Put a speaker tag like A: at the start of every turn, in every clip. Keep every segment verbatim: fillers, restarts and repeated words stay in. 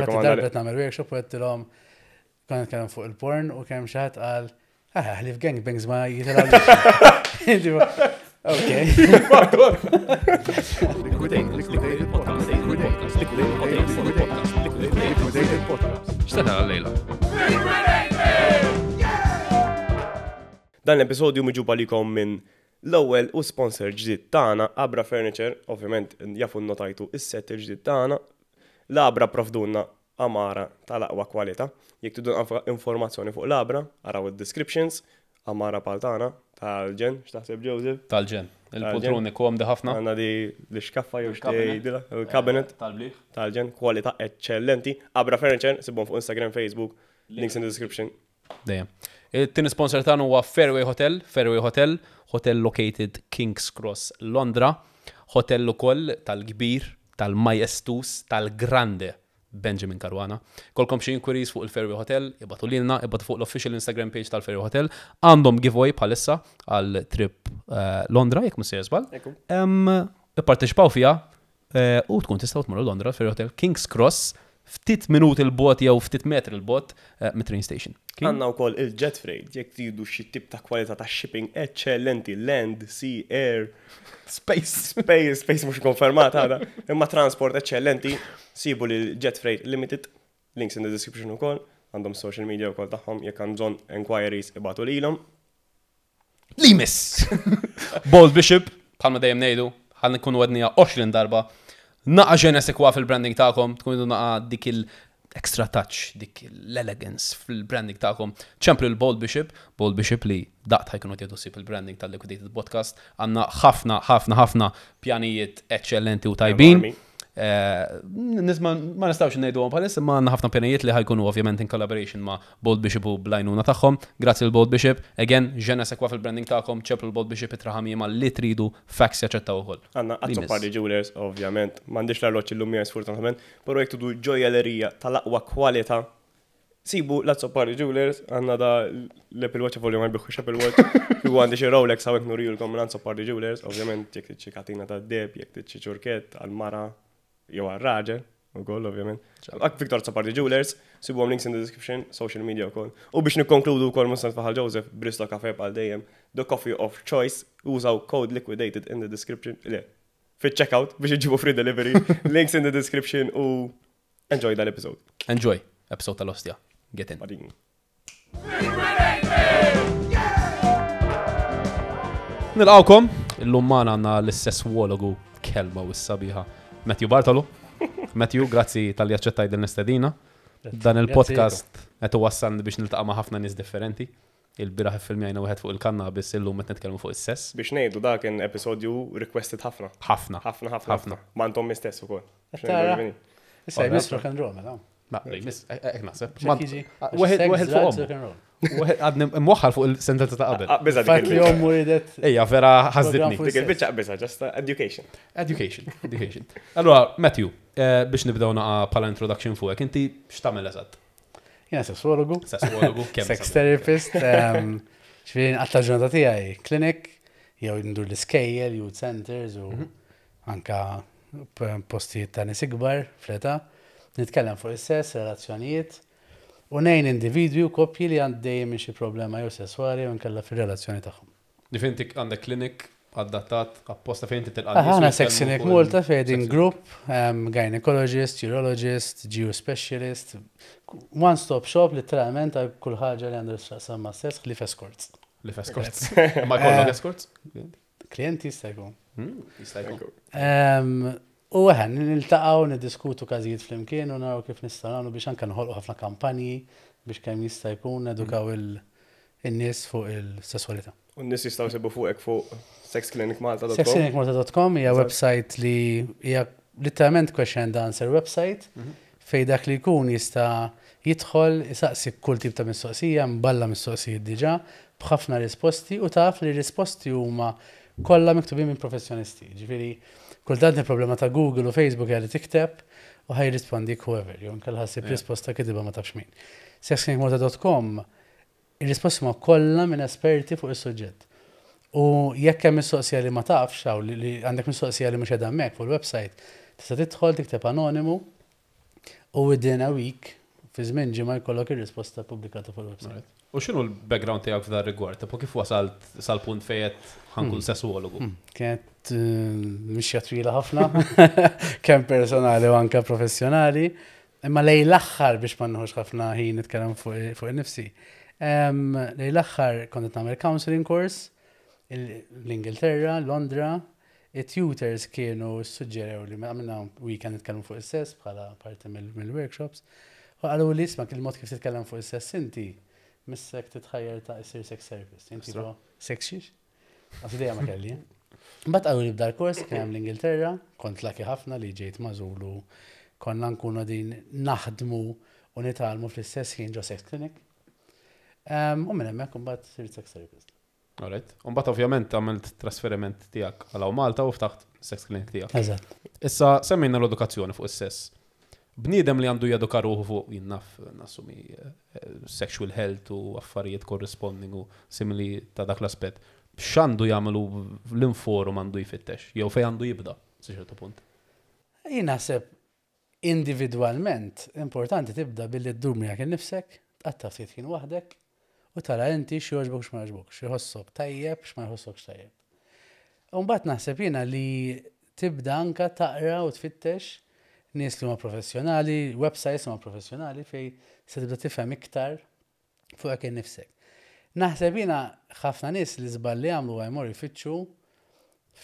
A: Infatti
B: Nirrikomanda
A: darba qed nagħmel workshop u għedtilhom konna nitkellem fuq il-porn u kemm xi ħadd qal ah ħlief gangbangs ma jitilgħu. Ok.
C: Liquidated Podcast. Liquidated Podcast. Liquidated Podcast.
D: X'se tara llejla?
B: Dan l-episodju miġjub għalikom minn l-ewwel u sponsor ġdid tagħna, Abra Furniture, ovvjament jafu notajtu is-set il-ġdid tagħna. L-Abra provdunna għamara tal-aqwa kwalità. Jekk tridu informazzjoni fuq l-Abra, araw id-descriptions, għamara pal tagħna tal-ġen, x'taħseb Joseph?
D: Tal-ġen. Il-poltroni komdi ħafna.
B: Għandna di l-iskaffa jew
D: Il-cabinet.
B: x'tgħidilha, il-cabinet
D: Tal-bliħ.
B: tal-ġen, kwalità eċċellenti. Abra Furniture, sibhom fuq Instagram, Facebook, links in the description.
D: Dejjem. Il-tieni sponsor tagħna huwa Fairway Hotel, Fairway Hotel, hotel located King's Cross, Londra, hotel ukoll tal-kbir, tal-majestus, tal-grande Benjamin Caruana. Kolkom xi inquiries fuq il-Fairway Hotel, ibagħtu lilna, ibagħtu fuq l-official Instagram page tal-Fairway Hotel. Għandhom giveaway bħalissa għal trip eh, Londra, jekk mhux sejjer żball.
B: Ekku.
D: Em, Ipparteċipaw fiha eh, u tkun tistgħu tmorru Londra Fairway Hotel King's Cross ftit minuti 'l bogħod jew ftit metri 'l bogħod eh, mit-train station. Kien?
B: Għandna wkoll il-jet freight, jekk tridu xi tip ta' kwalità ta' shipping eċċellenti, land, sea, air,
D: Space.
B: space, space mhux konfermat għada, imma transport eċċellenti, sibu lil Jet Freight Limited, links in the description ukoll, għandhom social media wkoll tagħhom, jekk għand bżonn enquiries ibagħtu lilhom.
D: Limis! Bold Bishop, bħalma dejjem ngħidu, ħa nkunu għednieha għoxrin darba. Naqa je ne sais quoi fil-branding tagħkom, tkun idu naqa dik il-extra touch, dik l-elegance fil-branding tagħkom. ċemplu l-Bold Bishop, Bold Bishop li daqt ħa jkunu jieħdu ħsieb il-branding tal-Liquidated Podcast. Għandna ħafna, ħafna, ħafna pjanijiet eccellenti u tajbin.
B: Enormi.
D: Eh, Nisma ma nistgħux ngħidu bħalissa, ma għandna ħafna pjanijiet li ħa jkunu ovvjament in collaboration ma' Bold Bishop u bl-għajnuna tagħhom. Grazzi l-Bold Bishop. Again, je ne sais quoi fil-branding tagħkom, ċemplu l-Bold Bishop itraħamima li tridu, fax jaċċettaw ukoll.
B: Għandna
D: Limis.
B: Azzopardi Jewelers, ovvjament, m'għandix l-arloġġ illum miegħi sfortunatament, però jekk tridu ġojjellerija tal-aqwa kwalità, sibu l-Azzopardi Jewelers, għandna da l-Apple Watch volju ma jbiħux Apple Watch, u għandi xi Rolex hawnhekk nurijulkom minn Azzopardi Jewelers, ovvjament jekk trid xi katina ta' deheb, jekk trid xi ċurkett għal-mara jew għal-raġel, ukoll ovvjament. Ak Victor Azzopardi Jewelers, sibuhom links in the description, social media ukoll. U biex nikkonkludu wkoll mhux faħal Joseph, Bristo Cafe bħal dejjem, the coffee of choice, użaw code liquidated in the description, le, fit-checkout biex iġibu free delivery, links in the description u enjoy that episode.
D: Enjoy, episode tal-ostja. Get in.
B: Badin.
D: Nilqawkom, illum magħna għandna l-sesswologu kelma u s-sabiħa Matthew Bartolo. Matthew, grazzi talli aċċettaj din l-istedina. Dan il-podcast qed iwassalni biex niltaqa' ma' ħafna nies differenti. Il-bieraħ iffilmjajna wieħed fuq il-kannabis, illum qed nitkellmu fuq is-sess.
B: Biex ngħidu dak kien episodju requested ħafna.
D: Ħafna.
B: Ħafna, ħafna,
D: Ħafna.
B: ħafna. Ma intom istess ukoll. Biex
A: Tara.
B: ngħidu ġifieri.
A: Issa jmiss rock and roll, mela.
D: Ma, miss, hekk naħseb.
A: X'hekk jiġi?
D: Wieħed
A: Sex,
D: wieħed
A: drugs,
D: fuq
A: rock and roll.
D: Wieħed għadni mwaħħal fuq il-sentenza ta' qabel.
B: Ah, biża dik
A: Fatt li
B: il-biċċa.
A: ommu ridet.
D: Ejja, vera ħażditni.
A: Program
B: Dik il-biċċa biża, just education.
D: Education, education. Allora, Matthew, eh, biex nibdew naqa bħala introduction fuqek, inti x'tagħmel eżatt?
A: Jiena sesswologu,
D: Sesswologu, kemm
A: sex therapist, ehm, ġifieri nqatta' ġurnata tiegħi clinic, jew ndur l-iskejjel, youth centers u anka p- postijiet ta' nies ikbar fl-età. Nitkellem fuq is-sess, relazzjonijiet, u ngħin individwi u koppji li għaddejjem minn xi problema jew sesswali jew inkella fir-relazzjoni tagħhom.
D: Ġifieri inti għandek clinic adattat apposta fejn inti tilqa'
A: Aħna Sex Clinic Malta fejn group, um, gynecologist, urologist, G U specialist, one-stop shop literalment għal kull ħaġa li għandu x'taqsam ma' sess ħlief escorts.
D: Ħlief escorts. Ma jkollok escorts?
A: Klienti jista' jkun.
D: Hmm, Jista' jkun.
A: Um, U għan, niltaqgħu, niddiskutu każijiet flimkien u naraw kif nistgħu nagħmlu biex anke nħolqu ħafna kampanji biex kemm jista' jkun edukaw il-nies fuq il-sesswalità.
B: U n-nies jistgħu jsibu fuqek fuq sexclinicmalta dot com.
A: sexclinicmalta dot com hija website li hija literalment question and answer website fej dak li jkun jista' jidħol isaqsi kull tip ta' mistoqsija, mballa mistoqsijiet diġà, b'ħafna risposti u taf li risposti huma kollha miktubin minn professjonisti. Ġifieri, kultant il-problema ta' Google u Facebook hija li tikteb u ħa jirrispondik whoever, jew inkella ħa ssib
D: Yeah.
A: risposta kitba ma tafx min. sexclinicmalta dot com ir-risposti huma kollha minn esperti fuq is-suġġett. U jekk hemm mistoqsija li ma tafx hawn li li għandek mistoqsija li mhux qiegħda hemmhekk fuq il-website, tista' tidħol tikteb anonimu U within a week, fi żmien ġimgħa jkollok ir-risposta pubblikata fuq il-website.
D: U x'inhu l-background tiegħek f'dan rigward? Tipo kif wasalt sal-punt fejn ħa nkun sessuologu?
A: Hmm, Kienet eh, mixja twila ħafna, kemm personali u anka professjonali. Imma lejn l-aħħar biex ma nħux ħafna ħin nitkellem fuq fuq nifsi. Em, Lejn l-aħħar kont qed nagħmel counseling course il- l-Ingilterra, Londra. It-tutors kienu suġġerew li għamilna weekend nitkellmu fuq is-sess bħala parti mill- mill-workshops. U qalu li isma' il-mod kif titkellem fuq is-sess inti missek titħajjar ta' issir sex therapist. Inti
D: Extra.
A: tipo, sex xiex? Għax idea ma kelli. eh? Mbagħad qalu li bda l-kors kien hemm l-Ingilterra, kont lucky ħafna li ġejt magħżul u konna nkunu din naħdmu u nitgħallmu fl-istess ħin ġo sex clinic. Um, u minn hemmhekk imbagħad sirt sex therapist.
D: Alright. Umbagħad ovvjament għamilt trasferiment tiegħek għal hawn Malta u ftaħt sex clinic tiegħek.
A: Eżatt.
D: Issa semmejna l-edukazzjoni fuq is-sess. Bniedem li għandu jeduka ruħu fuq jien naf nassumi eh, sexual health u affarijiet corresponding u simili ta' dak l-aspett. X'għandu jagħmlu l-inforum għandu jfittex, jew fejn għandu jibda, sa ċertu punt.
A: Jien naħseb individwalment importanti tibda billi ddur miegħek innifsek, tqatta' ftit ħin waħdek u tara inti x'jogħġbok x'ma jogħġbok, x'jħossok tajjeb x'ma jħossokx tajjeb. U mbagħad naħseb jiena li tibda anka taqra u tfittex nies li huma professjonali, websites huma professjonali fej se tibda tifhem iktar fuq innifsek. Naħseb jiena ħafna nies li żball li għamlu jmorru jfittxu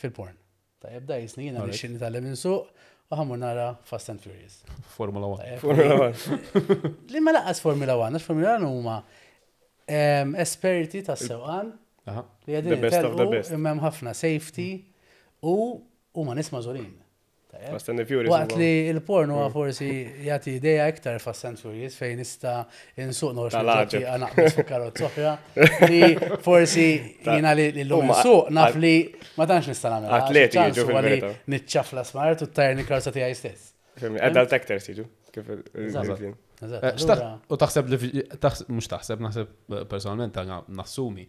A: fil-porn. Tajjeb da jisni jiena
D: Alright.
A: nixtieq nitgħallem insuq u ħa mmur nara Fast and Furious.
D: Formula one.
A: Tajjeb.
B: Formula One.
A: Li ma lanqas Formula one, għax Formula one huma em, esperti tas-sewqan
D: Aha.
A: li qegħdin
B: The best of the
A: jitellqu,
B: best.
A: imma hemm ħafna safety u huma nies magħżulin. Tajjeb.
B: Fast and the Furious.
A: Waqt
B: huwa-
A: li il-porn huwa forsi jagħti idea iktar Fast and Furious fejn nista' insuq noħroġ
B: Tal-għaġeb.
A: naqbes fuq karozza oħra li forsi jiena li llum
B: Huma
A: insuq naf
B: at-
A: li ma tantx nista' nagħmel.
B: Atleti jiġu fil-verità.
A: Niċċafla smart u ttajrni karozza tiegħi stess.
B: Fehmni, Adult actors jiġu. Kif il- il-
A: Eżatt.
B: il-
A: Eżatt,
D: Eh, x'taħ-
A: allura-
D: U taħseb li taħseb- mhux taħseb, naħseb eh, personalment għana nassumi.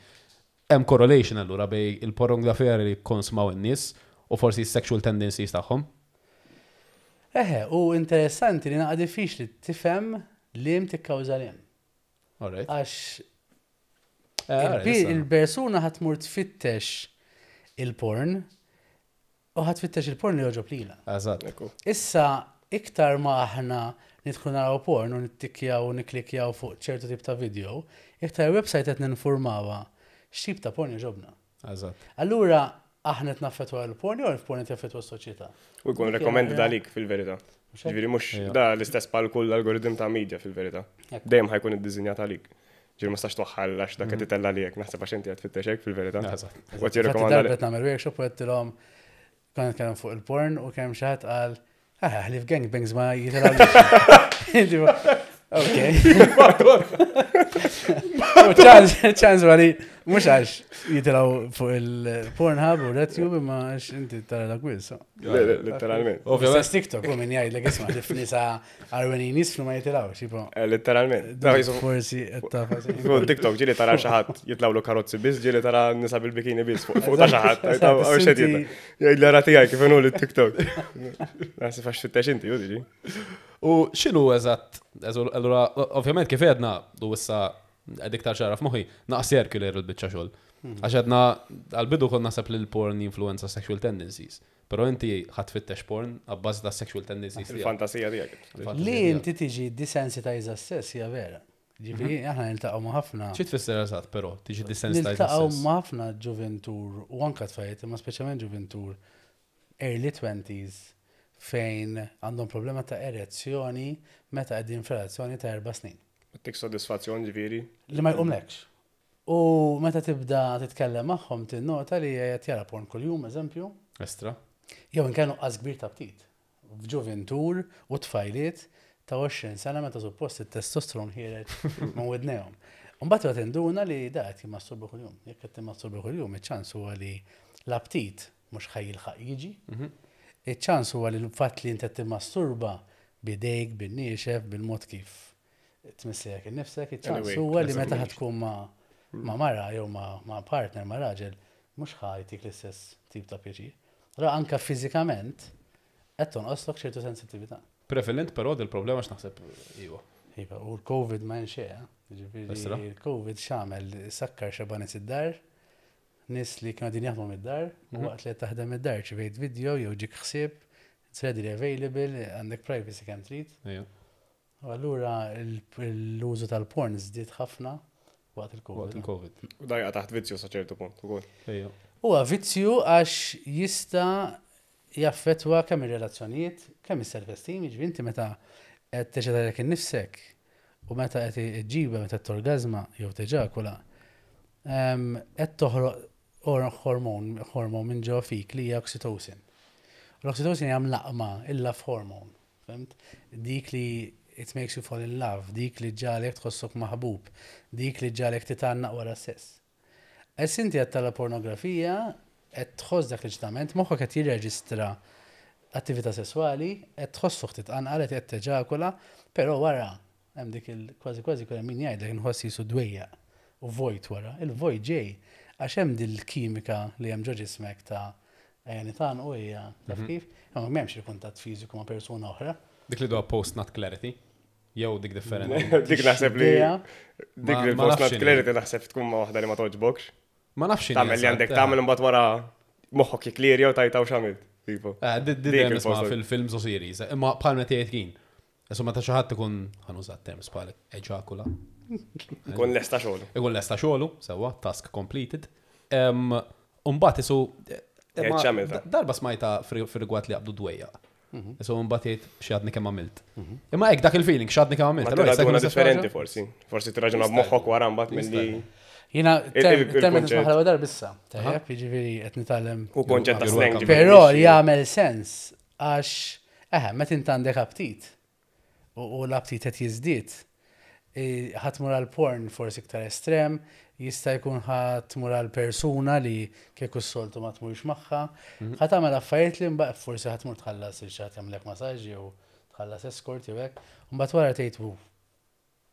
D: Hemm correlation allura bejn il-pornografija li konsmaw in-nies u forsi sexual tendencies tagħhom.
A: Eħe, u interessanti li naqa diffiċli tifhem li tikkawża liem.
D: Alright.
A: Għax
D: Eh, alright,
A: il-
D: issa.
A: il-persuna ħa tmur tfittex il-porn u ħa tfittex il-porn li jogħġob lilha.
D: Eżatt.
B: Ekku.
A: Issa, iktar ma aħna nidħlu naraw porn u nittikjaw u niklikjaw fuq ċertu tip ta' video, iktar website qed ninformawha x'tip ta' porn jogħġobna.
D: Eżatt.
A: Allura, aħna qed naffettwa l-porn jew il-porn qed jaffettwa s-soċjetà.
B: U jkun recommended għalik fil-verità.
A: Mhux hekk?
B: Ġifieri mhux
D: Ejja.
B: da l-istess bħal kull algoritm ta' media fil-verità.
A: Ekku.
B: Dejjem ħa jkun iddisinjat għalik. Ġifieri ma stax toħħal għax dak qed itella' għalik, naħseb għax inti qed tfittex hekk fil-verità.
D: Eżatt.
B: U qed
A: Infatti
B: jirrekomanda
A: darba qed nagħmel workshop u għedtilhom konna nitkellem fuq il-porn u kemm xi ħadd qal ah ħlief gangbangs ma jitilgħu. Ok. U ċans, ċans għali, mhux għax jitilgħu fuq il-Pornhub u RedTube imma għax inti tara dak quiz.
B: Letteralment.
D: Ovvjament.
A: Stess TikTok u min jgħidlek isma' ħlief nisa għarwenin jisfnu ma jitilgħux, tipo.
B: Eh, Letteralment. Da jisu-
A: Forsi qed taf.
B: Fuq TikTok ġieli tara xi ħadd jitlawlu karozzi biss, ġieli tara nisa bil-bikini biss fuq fuq ta' xi ħadd.
A: Eżatt,
B: Għaw xed
A: inti-
B: jgħid l tiegħi kif inhu l-TikTok. Naħseb għax tfittex inti, ju diġi.
D: U x'inhu eżatt, eżu- allura, ovvjament kif għedna, u issa għed iktar ċara f'moħħi, naqs circular il-biċċa xogħol. Għax għedna, għal-bidu kon naħseb li l-porn influenza sexual tendencies. Pero inti ħa tfittex porn għabbażi ta' sexual tendencies tiegħek.
B: Il-fantasija tiegħek.
D: Il-fantasija
A: Li
D: tiegħek.
A: inti tiġi desensitized għas-sess hija vera. Ġifieri aħna niltaqgħu ma' ħafna.
D: Xi tfisser eżatt, però, tiġi desensitized
A: Niltaqgħu
D: għas-sess.
A: ma' ħafna ġuventur u anka tfajt, imma speċjalment ġuventur early twenties fejn għandhom problema ta' erezzjoni meta qegħdin f'relazzjoni ta' erba' snin.
B: Tik soddisfazzjon ġifieri.
A: Li ma jqumlekx. U meta tibda titkellem magħhom tinnota li qed jara porn kuljum, eżempju,
D: Estra.
A: jew inkella nuqqas kbir ta' aptit. F'ġuventur u tfajliet ta' għoxrin sena meta suppost it-testosteron ħiereġ minn widnejhom. Mbagħad qed tinduna li da qed jimmasturba kuljum. Jekk qed timmasturba kuljum, iċ-ċans huwa li l-aptit mhux ħa jilħaq jiġi. Iċ-ċans huwa li l-fatt li inti qed timmasturba bidejk, bin-niexef, bil-mod kif tmissejek innifsek, iċ-ċans
B: Anyway,
A: huwa li meta
B: eżatt.
A: ħa tkun ma' ma' mara jew ma' ma' partner ma' raġel, mhux ħa jtik l-istess tip ta' pjaċir. Allora anka fiżikament qed tonqoslok ċertu sensittività.
D: Prevalent però dil-problema x'naħseb iwa.
A: Iva, u l-Covid ma nxie,
D: Esra.
A: ġifieri il-Covid x'għamel sakkar xeba nies id-dar, nies li kienu qegħdin jaħdmu mid-dar, u
D: Mhm.
A: waqt li qed taħdem mid-dar irċivejt video jew ġik ħsieb, it's readily available, għandek privacy kemm trid.
D: Ejja.
A: U allura il- l-użu tal-porn żdied ħafna waqt
D: Waqt
A: il-Covid.
D: il-Covid.
B: U dajqa taħt vizzju sa ċertu punt ukoll.
D: Ejja.
A: Huwa vizzju għax jista' jaffettwa kemm ir-relazzjonijiet, kemm is-self-esteem, jiġifieri inti meta qed teċċitalek innifsek u meta qed iġġibha meta torgazma jew teġakula, ehm, qed toħroq or- hormon hormon minn ġo fik li hija oxytocin. U L-oxytocin hija mlaqma il-love hormone, fhimt? Dik li it makes you fall in love, dik li ġġagħlek tħossok maħbub, dik li ġġagħlek titgħannaq wara s-sess. Ess inti qed tara pornografija, qed tħoss dak l-eċitament, moħħok qed jirreġistra attività sesswali, qed tħossok titqanqal, qed teġakula, però wara hemm dik il kważi kważi kull min jgħidlek inħoss jisu dwejjaq u vojt wara. Il-vojt ġej għax hemm dil-kimika li hemm ġo ġismek ta' ejja nitan u hija taf kif, imma m'hemmx il-kuntatt fiżiku ma' persuna oħra.
D: Dik li duha post-nut clarity. Jew dik differenti.
B: Dik naħseb li
A: Idea,
B: dik
D: Ma-
B: li
D: ma
B: post
D: nafx
B: not
D: x'inhi.
B: clarity naħseb tkun ma waħda li ma toġbokx.
D: Ma nafx x'inhi
B: Tagħmel li
D: eżatt,
B: għandek
D: eh.
B: tagħmel imbagħad wara moħħok jiklirja u tajtaw x'għamilt. Tipo.
D: Eh, di- di
B: Dik
D: dejjem nisma'
B: il-post-
D: fil-films u series. Imma bħal meta jgħid kien. Insomma ta' xi ħadd ikun ħa nuża terms bħal eġakula.
B: Ikun lesta xogħol.
D: Ikun lesta xogħlu, sewwa, task completed. Em, Umbagħad isu
B: Jgħid
D: imma
B: x'għamilta.
D: da- darba smajta fir-rigward li jaqbdu dwejjaq. Isu mbagħad jgħid x'għadni kemm għamilt. Imma hekk dak il-feeling x'għadni kemm
B: Ma
D: għamilt. Allura jista' jkun
B: tirraġuna
D: l-istess
B: differenti
D: ħaġa?
B: forsi. Forsi tirraġuna b'moħħok wara mbagħad milli
A: Jiena
B: Il- il-
A: term
B: il-kunċett.
A: nisma' ħalwa darba issa, tajjeb, jiġifieri qed nitgħallem
B: u konċett ta'
D: You're
B: slang.
D: welcome.
B: ġifieri
A: Però
B: mhix-
A: jagħmel sens għax eħe, meta int għandek aptit u u l-aptit qed jiżdied, eh, ħa tmur għal porn forsi iktar estrem, jista' jkun ħa tmur għal persuna li kieku s-soltu ma tmurx magħha, ħa tagħmel affarijiet li mbagħad forsi ħa tmur tħallas il xi ħadd jagħmlek masaġġ jew tħallas escort jew hekk, u mbagħad wara tgħid "Uf,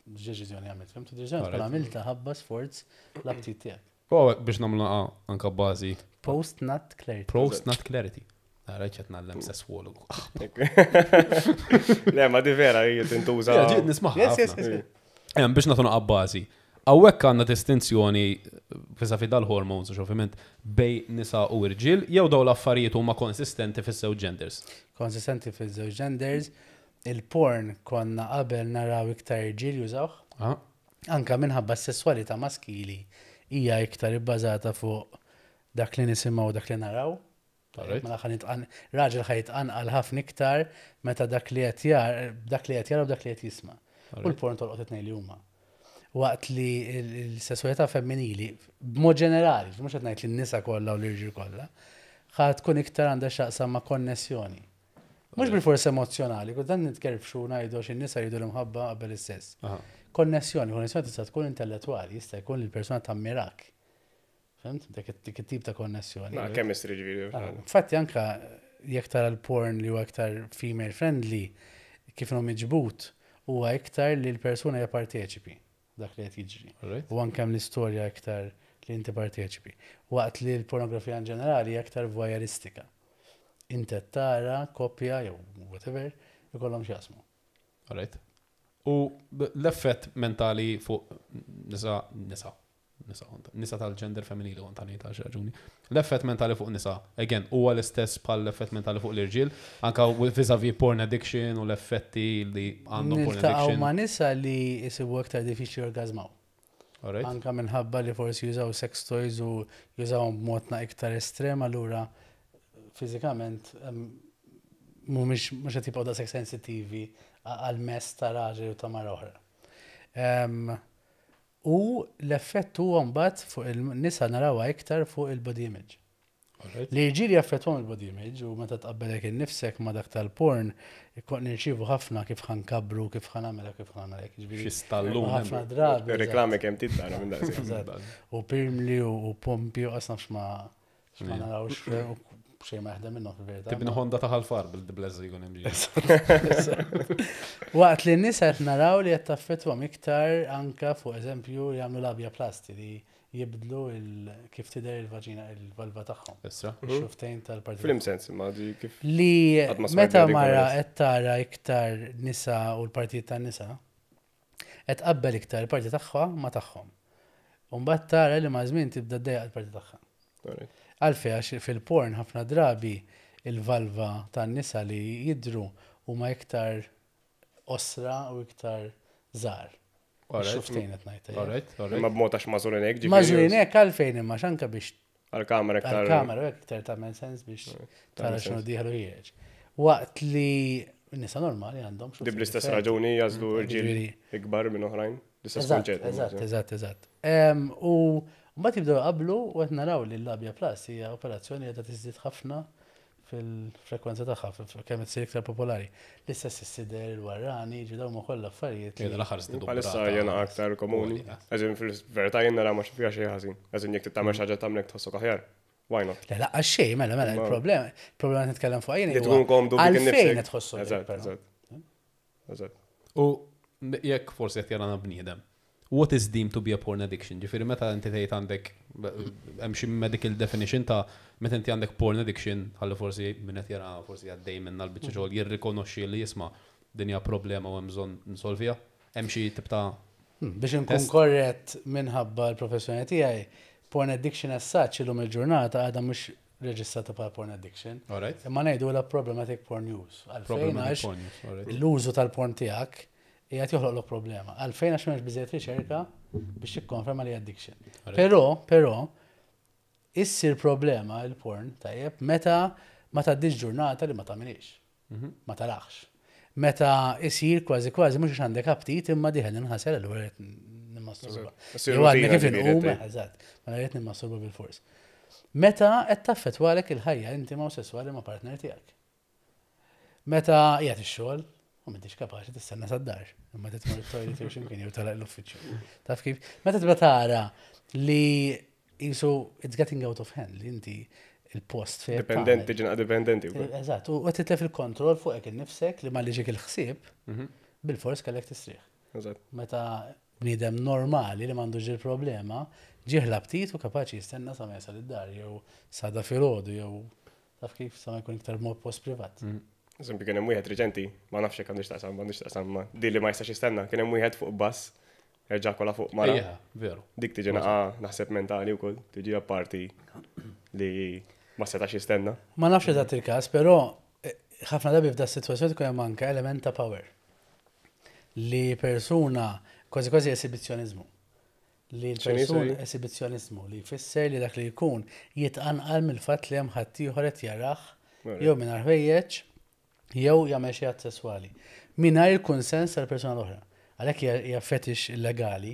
A: deċiżjoni għamilt, fhimt? Deċiżjoni tkun
D: Alright.
A: għamilta ħabba sforz l-aptit tiegħek.
D: U hawnhekk biex nagħmlu naqa anka bażi
A: Post nut clarity.
D: post-nut clarity. Nara qed ngħallem sesswologu.
B: Le, ma di vera hija tintuża.
D: Ja, ġiet nismaħ.
A: Yes, yes, yes. yes.
D: Em, biex nagħtu naqa bażi. Hawnhekk għandna distinzjoni vis-a-vis dal-hormones, u ovvjament bejn nisa u irġiel, jew daw l-affarijiet huma konsistenti fis-żewġ genders.
A: Konsistenti fil-żewġ genders. Il-porn konna qabel naraw iktar irġiel jużawh,
D: Ah,
A: anka minħabba s-sessualità maskili hija iktar ibbażata fuq dak li nisimgħu u dak li naraw.
D: Alright.
A: Mela ħa nitqan- raġel ħa jitqanqal ħafna iktar meta dak li qed jar, dak li qed jara u dak li qed jisma'. U l-porn tolqot it-tnejn li huma. Waqt li l-sessualità femminili, b'mod ġenerali, mhux qed ngħid li n-nisa kollha u l-irġiel kollha, ħa tkun iktar għandha x'taqsam ma' konnessjoni. Mhux bil-fors emozjonali, kultant nitkerfxu ngħidu għax in-nisa jridu l-imħabba qabel is-sess.
D: aha.
A: Konnessjoni, konnessjoni tista' tkun intellettwali, jista' jkun li l-persuna tammirak. Fhimt? Dik dik it-tip ta' konnessjoni.
B: Na, chemistry ġifieri.
A: Ah, Infatti anka jekk tara l-porn li huwa iktar female friendly, kif inhu miġbut, huwa iktar li l-persuna hija parteċipi dak li qed jiġri.
D: Alright.
A: U anke hemm l-istorja iktar li inti parteċipi. Waqt li l-pornografija in ġenerali hija iktar voyeuristika. Inti qed tara koppja jew whatever ikollhom x'jaqsmu.
D: Alright. U b- l-effett mentali fuq nisa, nisa, nisa, nisa tal-gender femminili kont għani ta' raġuni. L-effett mentali fuq nisa, again, huwa l-istess bħal l-effett mentali fuq l-irġiel, anka vis-a-vis porn addiction u l-effetti li għandhom porn
A: Niltaqgħu
D: addiction.
A: ma' nisa li jisibu aktar diffiċli jorgazmaw.
D: Alright.
A: Anka minħabba li forsi jużaw sex toys u jużawhom b'mod na iktar estrem, allura fiżikament em, mhumiex mhux qed jibqgħu daqshekk sensittivi għal mess ta' raġel u ta' mara oħra. Em, U l-effett huwa mbagħad fuq il-nisa narawha iktar fuq il-body image.
D: Alright.
A: Li ġieli jaffettwahom il-body image u meta tqabbelek innifsek ma dak tal-porn, ikon nirċievu ħafna kif ħa nkabru, kif ħa nagħmel, kif ħa nagħmel. Ġifieri,
D: Xi stallun.
A: ħafna drabi.
B: Reklami kemm titara minn daqshekk.
A: Eżatt. U pirmli u u pompi u qasna x'ma x'ma
D: Yeah.
A: narawx u xejn ma jaħdem minnhom fil-verità.
D: Tibni Honda ta' ħalfar bil-blezza jkun hemm ġie.
A: Waqt li n-nisa qed naraw li qed taffettwahom iktar anka fuq eżempju li jagħmlu labiaplasty li jibdlu il- kif tidher il-vaġina, il-valva tagħhom.
D: Issa.
A: Xuftejn tal-parti.
B: F'liema sens, ma di kif.
A: Li
B: Qatt ma smajt
A: meta
B: dik
A: mara
B: il-
A: qed tara iktar nisa u l-partijiet tan-nisa, qed tqabbel iktar il-parti tagħha ma tagħhom. U mbagħad tara li ma' żmien tibda ddejjaq il-parti tagħha.
B: Alright.
A: Għalfej għax fil-porn ħafna drabi il-valva tan-nisa li jidru huma iktar osra u iktar żgħar.
D: Alright.
A: Xuftejn qed ngħid.
D: Alright, alright.
B: Imma b'mod għax magħżulin hekk, ġifieri.
A: Magħżulin hekk għalfejn imma xanka biex
B: Għal-kamera iktar.
A: għal-kamera u hekk iktar tagħmel sens biex tara
B: tagħmel
A: x'inhu
B: sens.
A: dieħel u ħiereġ. Waqt li nisa normali għandhom
B: Di bl-istess raġuni jagħżlu rġiel
A: Ġifieri-
B: ikbar minn oħrajn. L-istess
A: Eżatt,
B: konċett.
A: eżatt, eżatt, eżatt. Em, U mbagħad jibdew qablu u qed naraw li l-labiaplasty hija operazzjoni li qed tiżdied ħafna fil-frekwenza tagħha, fil- kemm qed issir iktar popolari. L-istess is-sider, il-warrani, ġi dawn huma kollha affarijiet. li-
D: Jena l-aħħar żdiedu
B: Bħalissa
D: brata.
B: jena aktar komuni. Eżin fil-verità jena ra ma fiha xejn ħażin. Eżin jekk tagħmel xi ħaġa tagħmlek tħossok aħjar. Why not?
A: Le laqqa xejn, mela, mela,
B: Ma-
A: il-problema, il-problema qed nitkellem fuq jien
B: Li tkun komdu bik
A: Għalfejn
B: innifsek.
A: qed tħossu
B: Eżatt, eżatt. Eżatt.
D: U jekk forsi qed jarana bniedem. What is deemed to be a porn addiction? Ġifieri meta inti tgħid għandek hemm xi medical definition ta' meta inti għandek porn addiction, ħalli forsi min qed jara forsi għaddej minn l-biċċa xogħol jirrikonoxxi li jisma' din hija problema u hemm bżonn nsolviha. Hemm xi tip ta'
A: Hmm, Biex nkun
D: Test.
A: korrett minħabba l-professjoni tiegħi, porn addiction as such illum il-ġurnata għadha mhux reġistrata bħala porn addiction.
D: Alright.
A: Imma ngħidu la problematic porn use. Għalfejn
D: Problematic
A: għax
D: porn use, alright.
A: l-użu tal-porn tiegħek qiegħed joħloqlok problema. Għalfejn għax m'hemmx biżejjed riċerka biex tikkonferma li addiction.
D: Alright.
A: Però, però, issir problema il-porn, tajjeb, meta ma tgħaddix ġurnata li ma tagħmilix.
D: Mhm.
A: Ma tarax. Meta isir kważi kważi mhux għax għandek aptit imma dieħel inħasel allura rrid nimmasturba.
B: Issir
A: Jew għadni
B: rutina
A: kif
B: ġifieri,
A: inqum,
B: tgħid.
A: eżatt, ma rrid nimmasturba bil-fors. Meta qed taffettwalek il-ħajja intima u sesswali ma' partner tiegħek. Meta qiegħed ix-xogħol u m'intix kapaċi tistenna sad-dar, imma titmur it-toilet jew x'imkien jew telaq l-uffiċċju. Taf kif? Meta tibda tara li jisu it's getting out of hand li inti il-post fejn
B: Dipendenti, ġina dipendenti. wkoll.
A: Eżatt, u qed titlef il-kontroll fuqek innifsek li ma liġik il-ħsieb
D: Mhm.
A: bil-fors kellek tistrieħ.
B: Eżatt.
A: Meta bniedem normali li m'għandux il-problema, ġieħ l-aptit u kapaċi jistenna sa ma jasal id-dar jew sada filgħodu jew taf kif sa ma jkun iktar mod post privat.
D: Mhm.
B: Eżempju, kien hemm wieħed reċenti, ma nafx jekk għandix taqsam, m'għandix taqsam, ma di li ma jistax jistenna, kien hemm wieħed fuq bus, erġa' fuq mara.
D: Ejja, veru.
B: Dik tiġi naqa naħseb mentali wkoll, tiġi apparti li ma setax jistenna.
A: Ma nafx eżatt il-każ, però eh, ħafna drabi f'da sitwazzjoni tkun hemm anke element ta' power. Li persuna kważi kważi esibizzjonizmu. Li
B: X'inhi,
A: l-persuna
B: sorry?
A: esibizzjonizmu li jfisser li dak li jkun jitqanqal mill-fatt li hemm ħaddieħor qed jarah
B: Alright.
A: jew mingħajr ħwejjeġ jew jagħmel xi att sesswali. Mingħajr il-kunsens tal-persuna l-oħra. Għalhekk hija- hija fetish illegali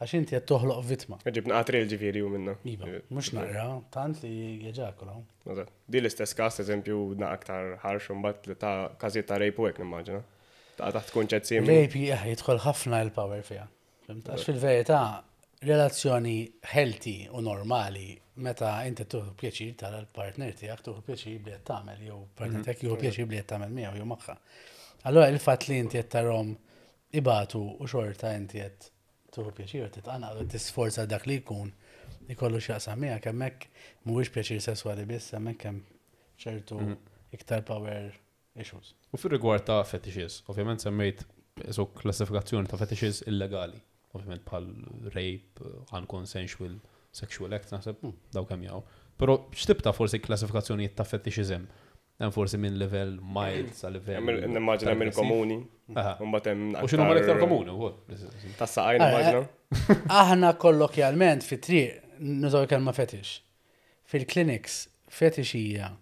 A: għax inti qed toħloq vittma.
B: Ġib naqa trill ġifieri u minna.
A: Iva, mhux naqra, tant li jeġakolaw.
B: Eżatt. Di l-istess każ, eżempju, naqa aktar ħarx u mbagħad li ta' każijiet ta' rape u hekk nimmaġina. Ta' taħt kunċett simili.
A: Rape eh, jidħol ħafna il-power fiha. Fhimt? Għax fil-verità, relazzjoni healthy u normali meta inti tuħu pjaċir tara l-partner tiegħek tuħu pjaċir bli qed tagħmel jew partner tiegħek jieħu pjaċir bli qed tagħmel miegħu jew magħha. Allura il-fatt li inti qed tarhom ibatu u xorta inti qed tuħu pjaċir u titqanqal u tisforza dak li jkun ikollu x'jaqsam miegħek hemmhekk mhuwiex pjaċir sesswali biss, hemmhekk hemm ċertu iktar power issues.
D: U fir rigward ta' fetishes, ovvjament semmejt so klassifikazzjoni ta' fetishes illegali. Ovvjament bħal rape, unconsensual sexual act, naħseb daw kemm jaw. Però x'tip ta' forsi klassifikazzjonijiet ta' fetishes hemm? Hemm forsi minn level mild sa level.
B: Hemm Nimmaġina hemm il-komuni.
D: Aha.
B: U mbagħad hemm
D: U x'inhu l-iktar komuni wkoll.
B: Tas-saqajn nimmaġina.
A: Aħna kollokjalment fit-triq nużaw kelma fetish. Fil-clinics fetish hija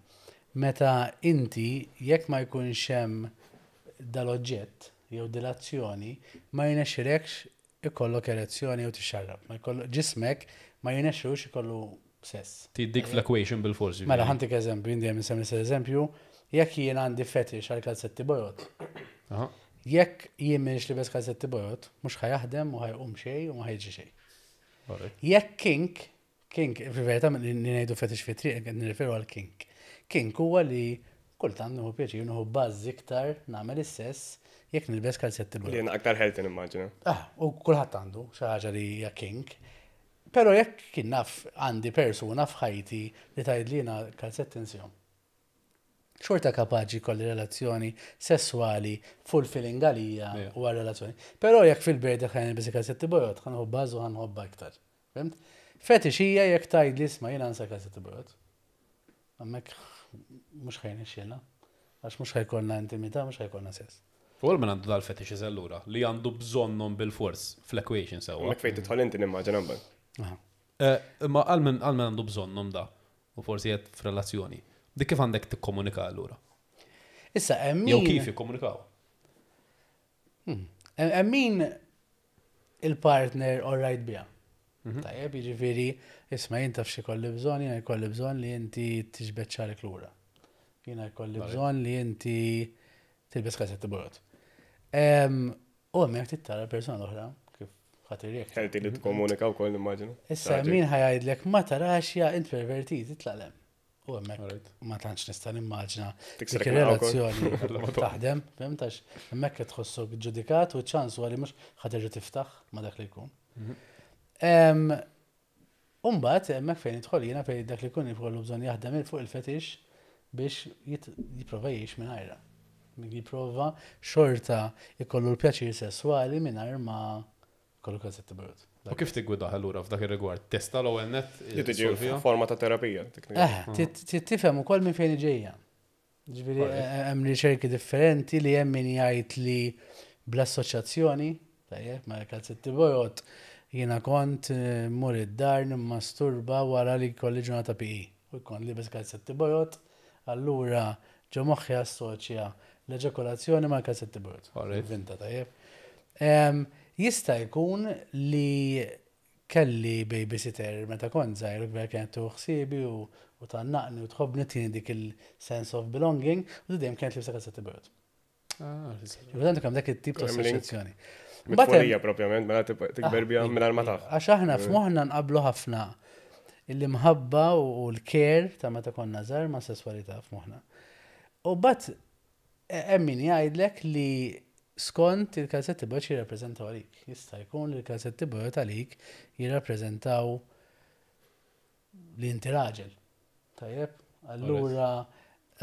A: meta inti jekk ma jkunx hemm dal-oġġett jew dil-azzjoni ma jirnexxilekx ikollok erezzjoni jew tixxarrab. Ma jkollu ġismek ma jirnexxilux ikollu sess.
D: Dik fl-equation bil-forsi.
A: Mela ħa ntik eżempju, jien dejjem insemmi eżempju, jekk jien għandi fetish għal kalzetti bojod,
D: Aha.
A: jekk jien m'iniex libes kalzetti bojod, mhux ħa jaħdem u ħa jqum xejn u ma ħa jiġi xejn.
D: Alright.
A: Jekk kink, kink, fil-verità li ngħidu fetish fi triq, qed nirreferu għal kink. Kink huwa li kultant nieħu pjaċir nieħu buzz iktar nagħmel is-sess jekk nilbes kalzetti
B: Li
A: bojod.
B: jena aktar healthy nimmaġina.
A: Ah, u kulħadd għandu xi ħaġa li hija kink. Pero jekk kien naf għandi persuna f'ħajti li tgħid li jiena kalzetti nsihom. Xorta kapaċi kolli relazzjoni sessuali fulfilling għalija
D: Yeah.
A: u għal relazzjoni. Pero jekk fil-birthday ħa nilbes kalzetti bojod, ħa nħobbha u ħa nħobbha iktar. Fhimt? Fetish hija jekk tgħid li isma' jiena nsa kalzetti bojod. Hemmhekk mhux ħa jirnexxilna. Għax mhux ħa jkollna intimità, mhux ħa jkollna sess.
D: U għal min għandu dal-fetishes allura, li għandu bżonnhom bil-fors fl-equation sewwa.
B: Hemmhekk fejn tidħol inti nimmaġina mbagħad.
A: Aha.
D: Eh, Imma għal min għal min għandu bżonnhom da, u forsi qed f'relazzjoni. Dik kif għandek tikkomunika allura?
A: Issa, hemm
D: Jew
A: min-
D: kif jikkomunikaw?
A: Hemm min il-partner all right biha. Tajjeb, jiġifieri, isma' jien taf xi kolli bżonn, jiena jkolli bżonn li inti tiġbed xagħrek lura. Jiena jkolli bżonn li inti tilbes kalzetti bojod. U hemmhekk tittara persuna l-oħra kif ħa tirreaġixxi.
B: Healthy li tikkomunika wkoll nimmaġina.
A: Issa min ħa jgħidlek ma tarax ja int pervertit, itlaq 'l hemm. U hemmhekk
D: Alright.
A: ma tantx nista' nimmaġina
B: Tiksrek
A: dik
B: naqra
A: ir-relazzjoni taħdem, fhimt għax hemmhekk qed tħossok ġudikat u ċans huwa li mhux ħa terġa' tiftaħ ma dak li jkun. Em, Umbagħad hemmhekk fejn idħol jiena fejn dak li jkun jkollu bżonn jaħdem il fuq il-fetish biex jit- jipprova jgħix mingħajrha. Jipprova xorta jkollu l-pjaċir sesswali mingħajr ma jkollu kalzetti bojod.
D: U kif tiggwidah allura f'dak ir-rigward? Testa l-ewwel net?
B: Li tiġi
D: solvija?
B: forma ta' terapija. teknikament.
A: Eh, tit- tifhem ukoll minn fejn ġejja. Ġifieri
D: Alright.
A: hemm riċerki differenti li hemm min jgħid li bl-assoċjazzjoni, tajjeb, ma' kalzetti bojod, jiena kont eh, mur id-dar nimmasturba wara li kolli ġurnata P E. U jkun libes kalzetti bojod, allura ġo moħħi assoċja l-eġakulazzjoni ma' kalzetti bojod.
D: Alright.
A: Vinta, tajjeb. Em, Jista' jkun li kelli babysitter meta kont żgħir u kbir kienet tieħu ħsiebi u u tgħannaqni u tħobbni, tini dik il-sense of belonging u dejjem kienet libsa kalzetti bojod.
D: Ah,
A: Ġifieri kemm dak it-tip ta'
B: Hemm link.
A: assoċjazzjoni. Mbagħad hemm-
B: Mit-tfulija propjament, mela tib- tikber biha mingħajr ma taf.
A: Għax aħna f'moħħna nqablu ħafna l-imħabba u l-care ta' meta konna żgħar ma' sesswalità f'moħħna. U but hemm min jgħidlek li skont il-kalzetti bojod jirrappreżentaw għalik. Jista' jkun li l-kalzetti bojod għalik jirrappreżentaw li inti raġel. Tajjeb? Allura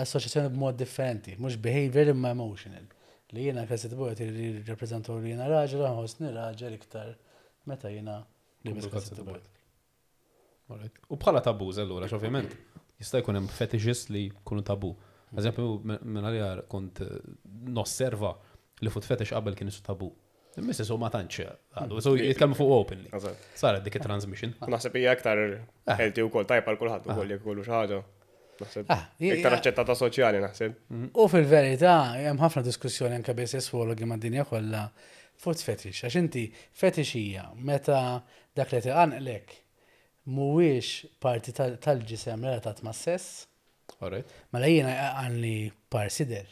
A: assoċjazzjoni b'mod differenti, mhux behavior imma emotional. Li jiena kalzetti bojod jirrappreżentaw li jiena raġel, nħossni raġel iktar meta jiena liebes kalzetti bojod.
D: Alright. U bħala taboos allura, ovvjament, jista' jkun hemm fetishes li jkunu tabu. Eżempju, minn għalija kont eh, nosserva li foot fetish qabel kien isu tabu. Imma so ma tantx għadu, so jitkellmu fuq openly.
B: Eżatt.
D: Saret dik it-transmission.
B: Naħseb hija aktar healthy wkoll tajba għal kulħadd ukoll jekk ikollu xi ħaġa. Naħseb
A: Ah,
B: iktar aċċettata soċjali naħseb.
A: U fil-verità, hemm ħafna diskussjoni anke bejn sesswologi mad-dinja kollha foot fetish. Għax inti fetish hija meta dak li tqanqlek mhuwiex parti tal- tal-ġisem relatat ma' sess,
D: Alright.
A: mela jiena għanni par sider.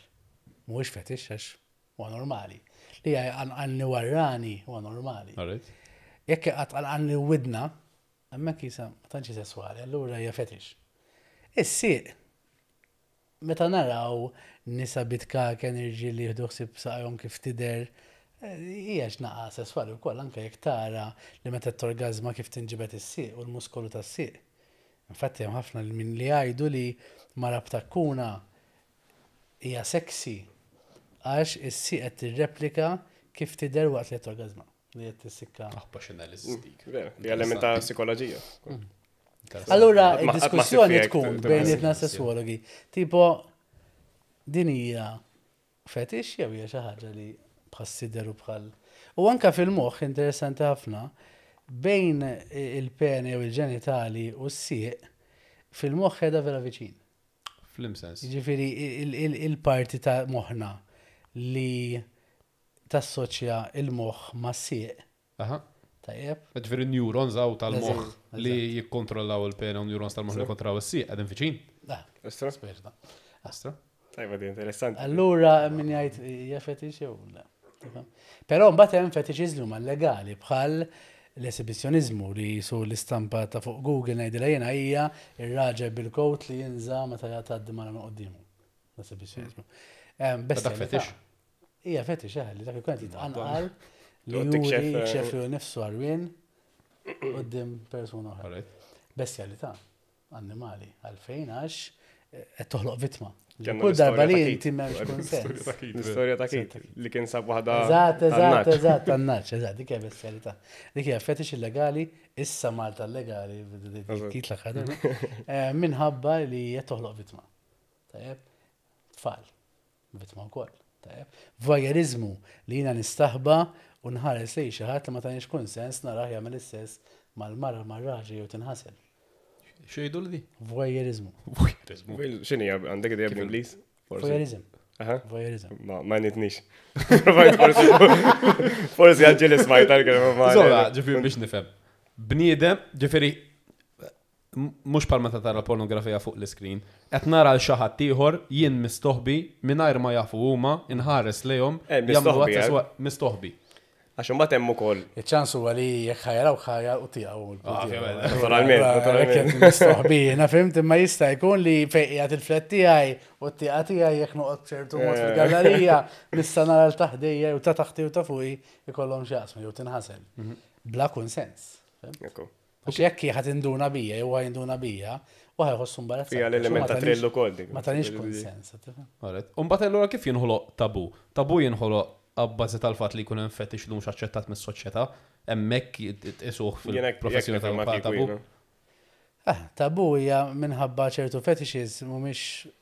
A: Mhuwiex fetish għax huwa normali. Li għanni warrani huwa normali.
D: Alright.
A: Jekk għanni widna, hemmhekk jisa ma tantx sesswali, allura hija fetish. Is-sieq, meta naraw nisa bit-kaken, irġiel li jieħdu ħsieb saqajhom kif tidher, eh, hija x'naqa sesswali wkoll, anke jekk tara li meta torgazma kif tinġibed is-sieq u l-muskolu tas-sieq. Infatti hemm ħafna min li jgħidu li mara b'takkuna hija sexy għax is-sieq qed tirreplika kif tidher waqt li qed torgazma, li qed tissikka.
D: Aħba x'analisis dik.
B: Vera, Di element ta' psikoloġija.
A: Allura,
B: Qatt ma- qatt ma
A: id-diskussjoni
B: ssib
A: tkun
B: fih
A: bejnietna sesswologi. Tipo, din hija fetish jew hija xi ħaġa li bħal sider u bħal. U anka fil-moħħ interessanti ħafna, bejn il-pene u il-ġenitali u s-sieq fil-moħħ qiegħda vera viċin.
D: F'liema sens.
A: Jiġifieri il- il- il-parti ta' moħħna li tassoċja il-moħħ ma' sieq.
D: Aha.
A: Tajjeb?
D: Ġifieri neurons għaw tal-moħħ
A: Eżatt,
D: li jikkontrollaw il-pene u neurons tal-moħħ li jikkontrollaw is-sieq qegħdin viċin.
A: Ah,
B: Istra?
A: sperta.
D: Astra.
B: Tajba, di interessanti.
A: Allura min jgħid hija fetish jew le. Tifhem? Però mbagħad hemm fetishes li huma legali bħal l-esibizjonizmu li su l-istampa ta' fuq Google ngħidilha jiena hija ir-raġel bil-coat li jinża meta jgħaddi mara minn quddiemu. L-esibizjonizmu. Em,
D: Dak
A: bestialità.
D: fetish?
A: Hija fetish, eh, li dak ikun qed jitqanqal li
B: Toqgħod
A: juri
B: tikxef, eh,
A: jikxef lilu nifsu għarwien quddiem persuna oħra.
D: Alright.
A: Bestjalità, annimali, għalfejn għax eh, qed toħloq vittma.
B: Kellna
A: Kull darba li
B: l-istorja ta'
A: inti
B: Kate.
A: m'hemmx kunsens.
B: L-istorja ta' Kate li kien sab waħda.
A: Eżatt, eżatt,
B: tan-naċ.
A: eżatt, tan-naċ, eżatt, dik hija bestjalità. Dik hija fetish illegali, issa Malta illegali, kit l-aħħar, eh, minħabba li qed toħloq vittma. Tajjeb, tfal, vittma wkoll. Tajjeb, voyeurizmu li jiena nistaħba u nħares lejn xi ħadd li ma tanix kunsens narah jagħmel is-sess mal-mara mar-raġel jew tinħasel.
D: Xejdu li di?
A: Voyeurizmu.
D: Voyeurizmu.
B: X'inhi għandek idea bl-Ingliż? Forsi.
A: Voyeurism.
B: Aha.
A: Voyeurism.
B: Ma ma nitnix. Forsi forsi għagġili smajt għal-kelma ma.
D: Zola, ġifiri biex nifhem. Bniedem, ġifiri, m- mhux bħal meta tara pornografija fuq l-iskrin, qed nara l xi ħadd ieħor jien mistoħbi mingħajr ma jafu huma inħares lejhom
B: Eh,
D: jagħmlu
B: mistoħbi,
D: għat
B: eh.
D: sesswa- mistoħbi.
B: Għax imbagħad hemm ukoll.
A: Il-ċans huwa li jekk ħajaraw ħajar u tiegħu.
D: Ah, ovvjament.
B: Naturalment, naturalment.
A: Mistoħbi, jiena fimt imma jista' jkun li fejn qiegħed il-flet tiegħi u t-tieqa tiegħi jekk noqgħod ċertu mod
B: Eh.
A: fil-gallerija nista' nara l taħdejja u ta' taħti u ta' fuqi ikollhom xi jaqsmu jew tinħasel. Bla kunsens. Fimt?
B: Ekku.
A: Għax jekk ħadd induna bija jew jinduna bija, u ħajħossu imbarazzat.
B: Fija l-element ta' thrill ukoll dik.
A: Ma tanix kunsens. tifhem?
D: Alright. Umbagħad allura kif jinħoloq tabu? Tabu jinħoloq abbażi tal-fatt li jkun hemm fetish li mhux aċċettat mis-soċjetà, hemmhekk isuh
B: Jien hekk-
D: fil-professjoni
B: jekk nifhem
D: tal
B: kieku
D: tabu.
B: jiena.
A: Ah, tabu hija minħabba ċertu fetishes mhumiex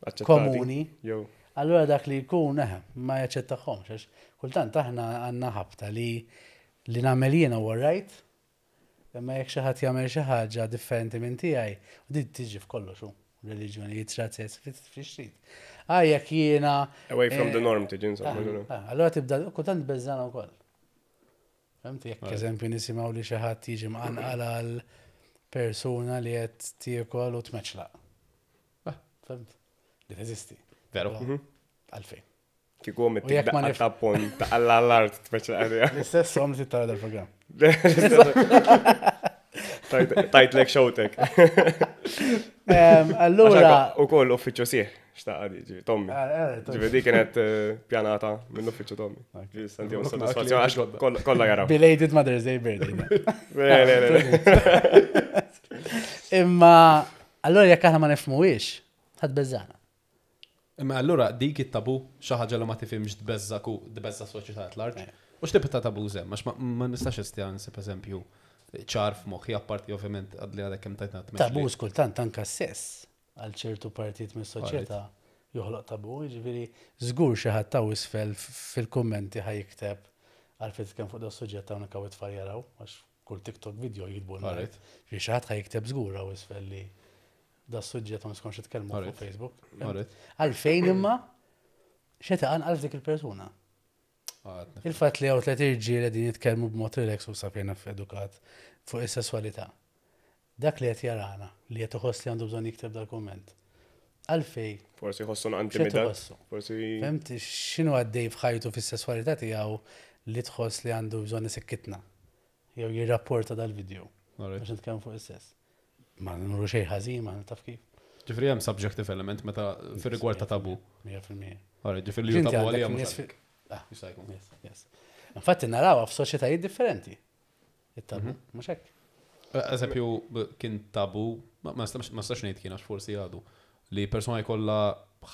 B: Aċċettati.
A: komuni.
B: Jew.
A: Allura dak li jkun eh, ma jaċċettahomx għax kultant aħna għandna ħabta li li nagħmel jiena huwa right, imma jekk xi ħadd jagħmel xi ħaġa differenti minn tiegħi, u din tiġi f'kollox hu, reliġjonijiet, razzez, fix trid. Ah, jekk jiena
B: Away from
A: eh,
B: the norm tiġi insomma.
A: ah, ah, Allura tibda kultant beżżana wkoll. Fimt, jekk eżempju nisimgħu li xi ħadd jiġi mqanqal għal persuna li qed tiekol u tmeċlaq.
D: Ah.
A: Fimt? Li teżisti.
D: Veru.
A: Għalfejn.
B: Kieku għom
A: U jekk ma nif-
B: ta' pon ta' l-art tmeċ l-għarja.
A: L-istess om li tittara dal-programm.
B: Tajtlek xowtek.
A: Em, Allura.
B: U koll uffiċċju sieħ, xtaqqa di, ġivi, Tommy.
A: Ah, eh,
B: Ġivi, di kienet eh, pjanata minn uffiċċju Tommy. Ġivi, santi
D: Look,
B: soddisfazzjon, għax
D: ġodda.
B: koll- kollha jaraw.
A: Belated Mother's Day birthday.
B: Le, le, le, le.
A: Imma, allura jekk aħna ma nifhmuhiex, ħadd beżżana.
D: Imma allura dik it-tabu xi ħaġa li ma tifhimx tbeżżak u tbeżża soċjetà at large. U x'tip ta' tabu żemm, għax ma- ma nistax istja nsib eżempju ċar f'moħħi apparti ovvjament għadli għadek kemm tajtna tmexxi.
A: Tabu kultant anka sess għal ċertu partit mis-soċjetà joħloq tabu, jiġifieri żgur xi ħadd ta' isfel fil-kummenti ħa jikteb għal fit kemm fuq da suġġett hawnhekk hawn it-tfal jaraw, għax kull TikTok video jitbu.
D: Alright.
A: Ġifieri xi ħadd ħa jikteb żgur hawn isfel li da suġġett ma niskonx nitkellmu fuq
D: Alright.
A: Facebook.
D: Alright.
A: Għalfejn imma xeta għal dik il-persuna.
D: Għadna.
A: Il-fatt li hawn tliet irġiel qegħdin jitkellmu b'mod relax u sapjena f'edukat fuq is-sesswalità. Dak li qed jarana, li qed iħoss li għandu bżonn jikteb dal-kumment. Għalfej,
B: Forsi jħossu
A: x'qed
B: intimidat.
A: iħossu?
B: Forsi.
A: Fimt x'inhu għaddej f'ħajtu fis-sesswalità tiegħu li tħoss li għandu bżonn isikkitna jew jirrapporta dal-video
D: Alright.
A: biex nitkellmu fuq is-sess. Ma nuru xejn ħażin, ma taf kif.
D: Ġifri hemm subjective element meta fir-rigward ta' tabu.
A: mija fil-mija.
D: Alright, ġifri li hu
A: Inti
D: tabu
A: għandek
D: għalija mhux
A: nies fi-
D: għalik.
A: Ah,
D: Jista' jkun.
A: Yes, yes. Infatti narawha f'soċjetajiet differenti. It-tabu, mhux hekk.
D: Eżempju, b- kien tabu, ma ma nistax ma nistax ngħid kien għax forsi għadu, li persuna jkollha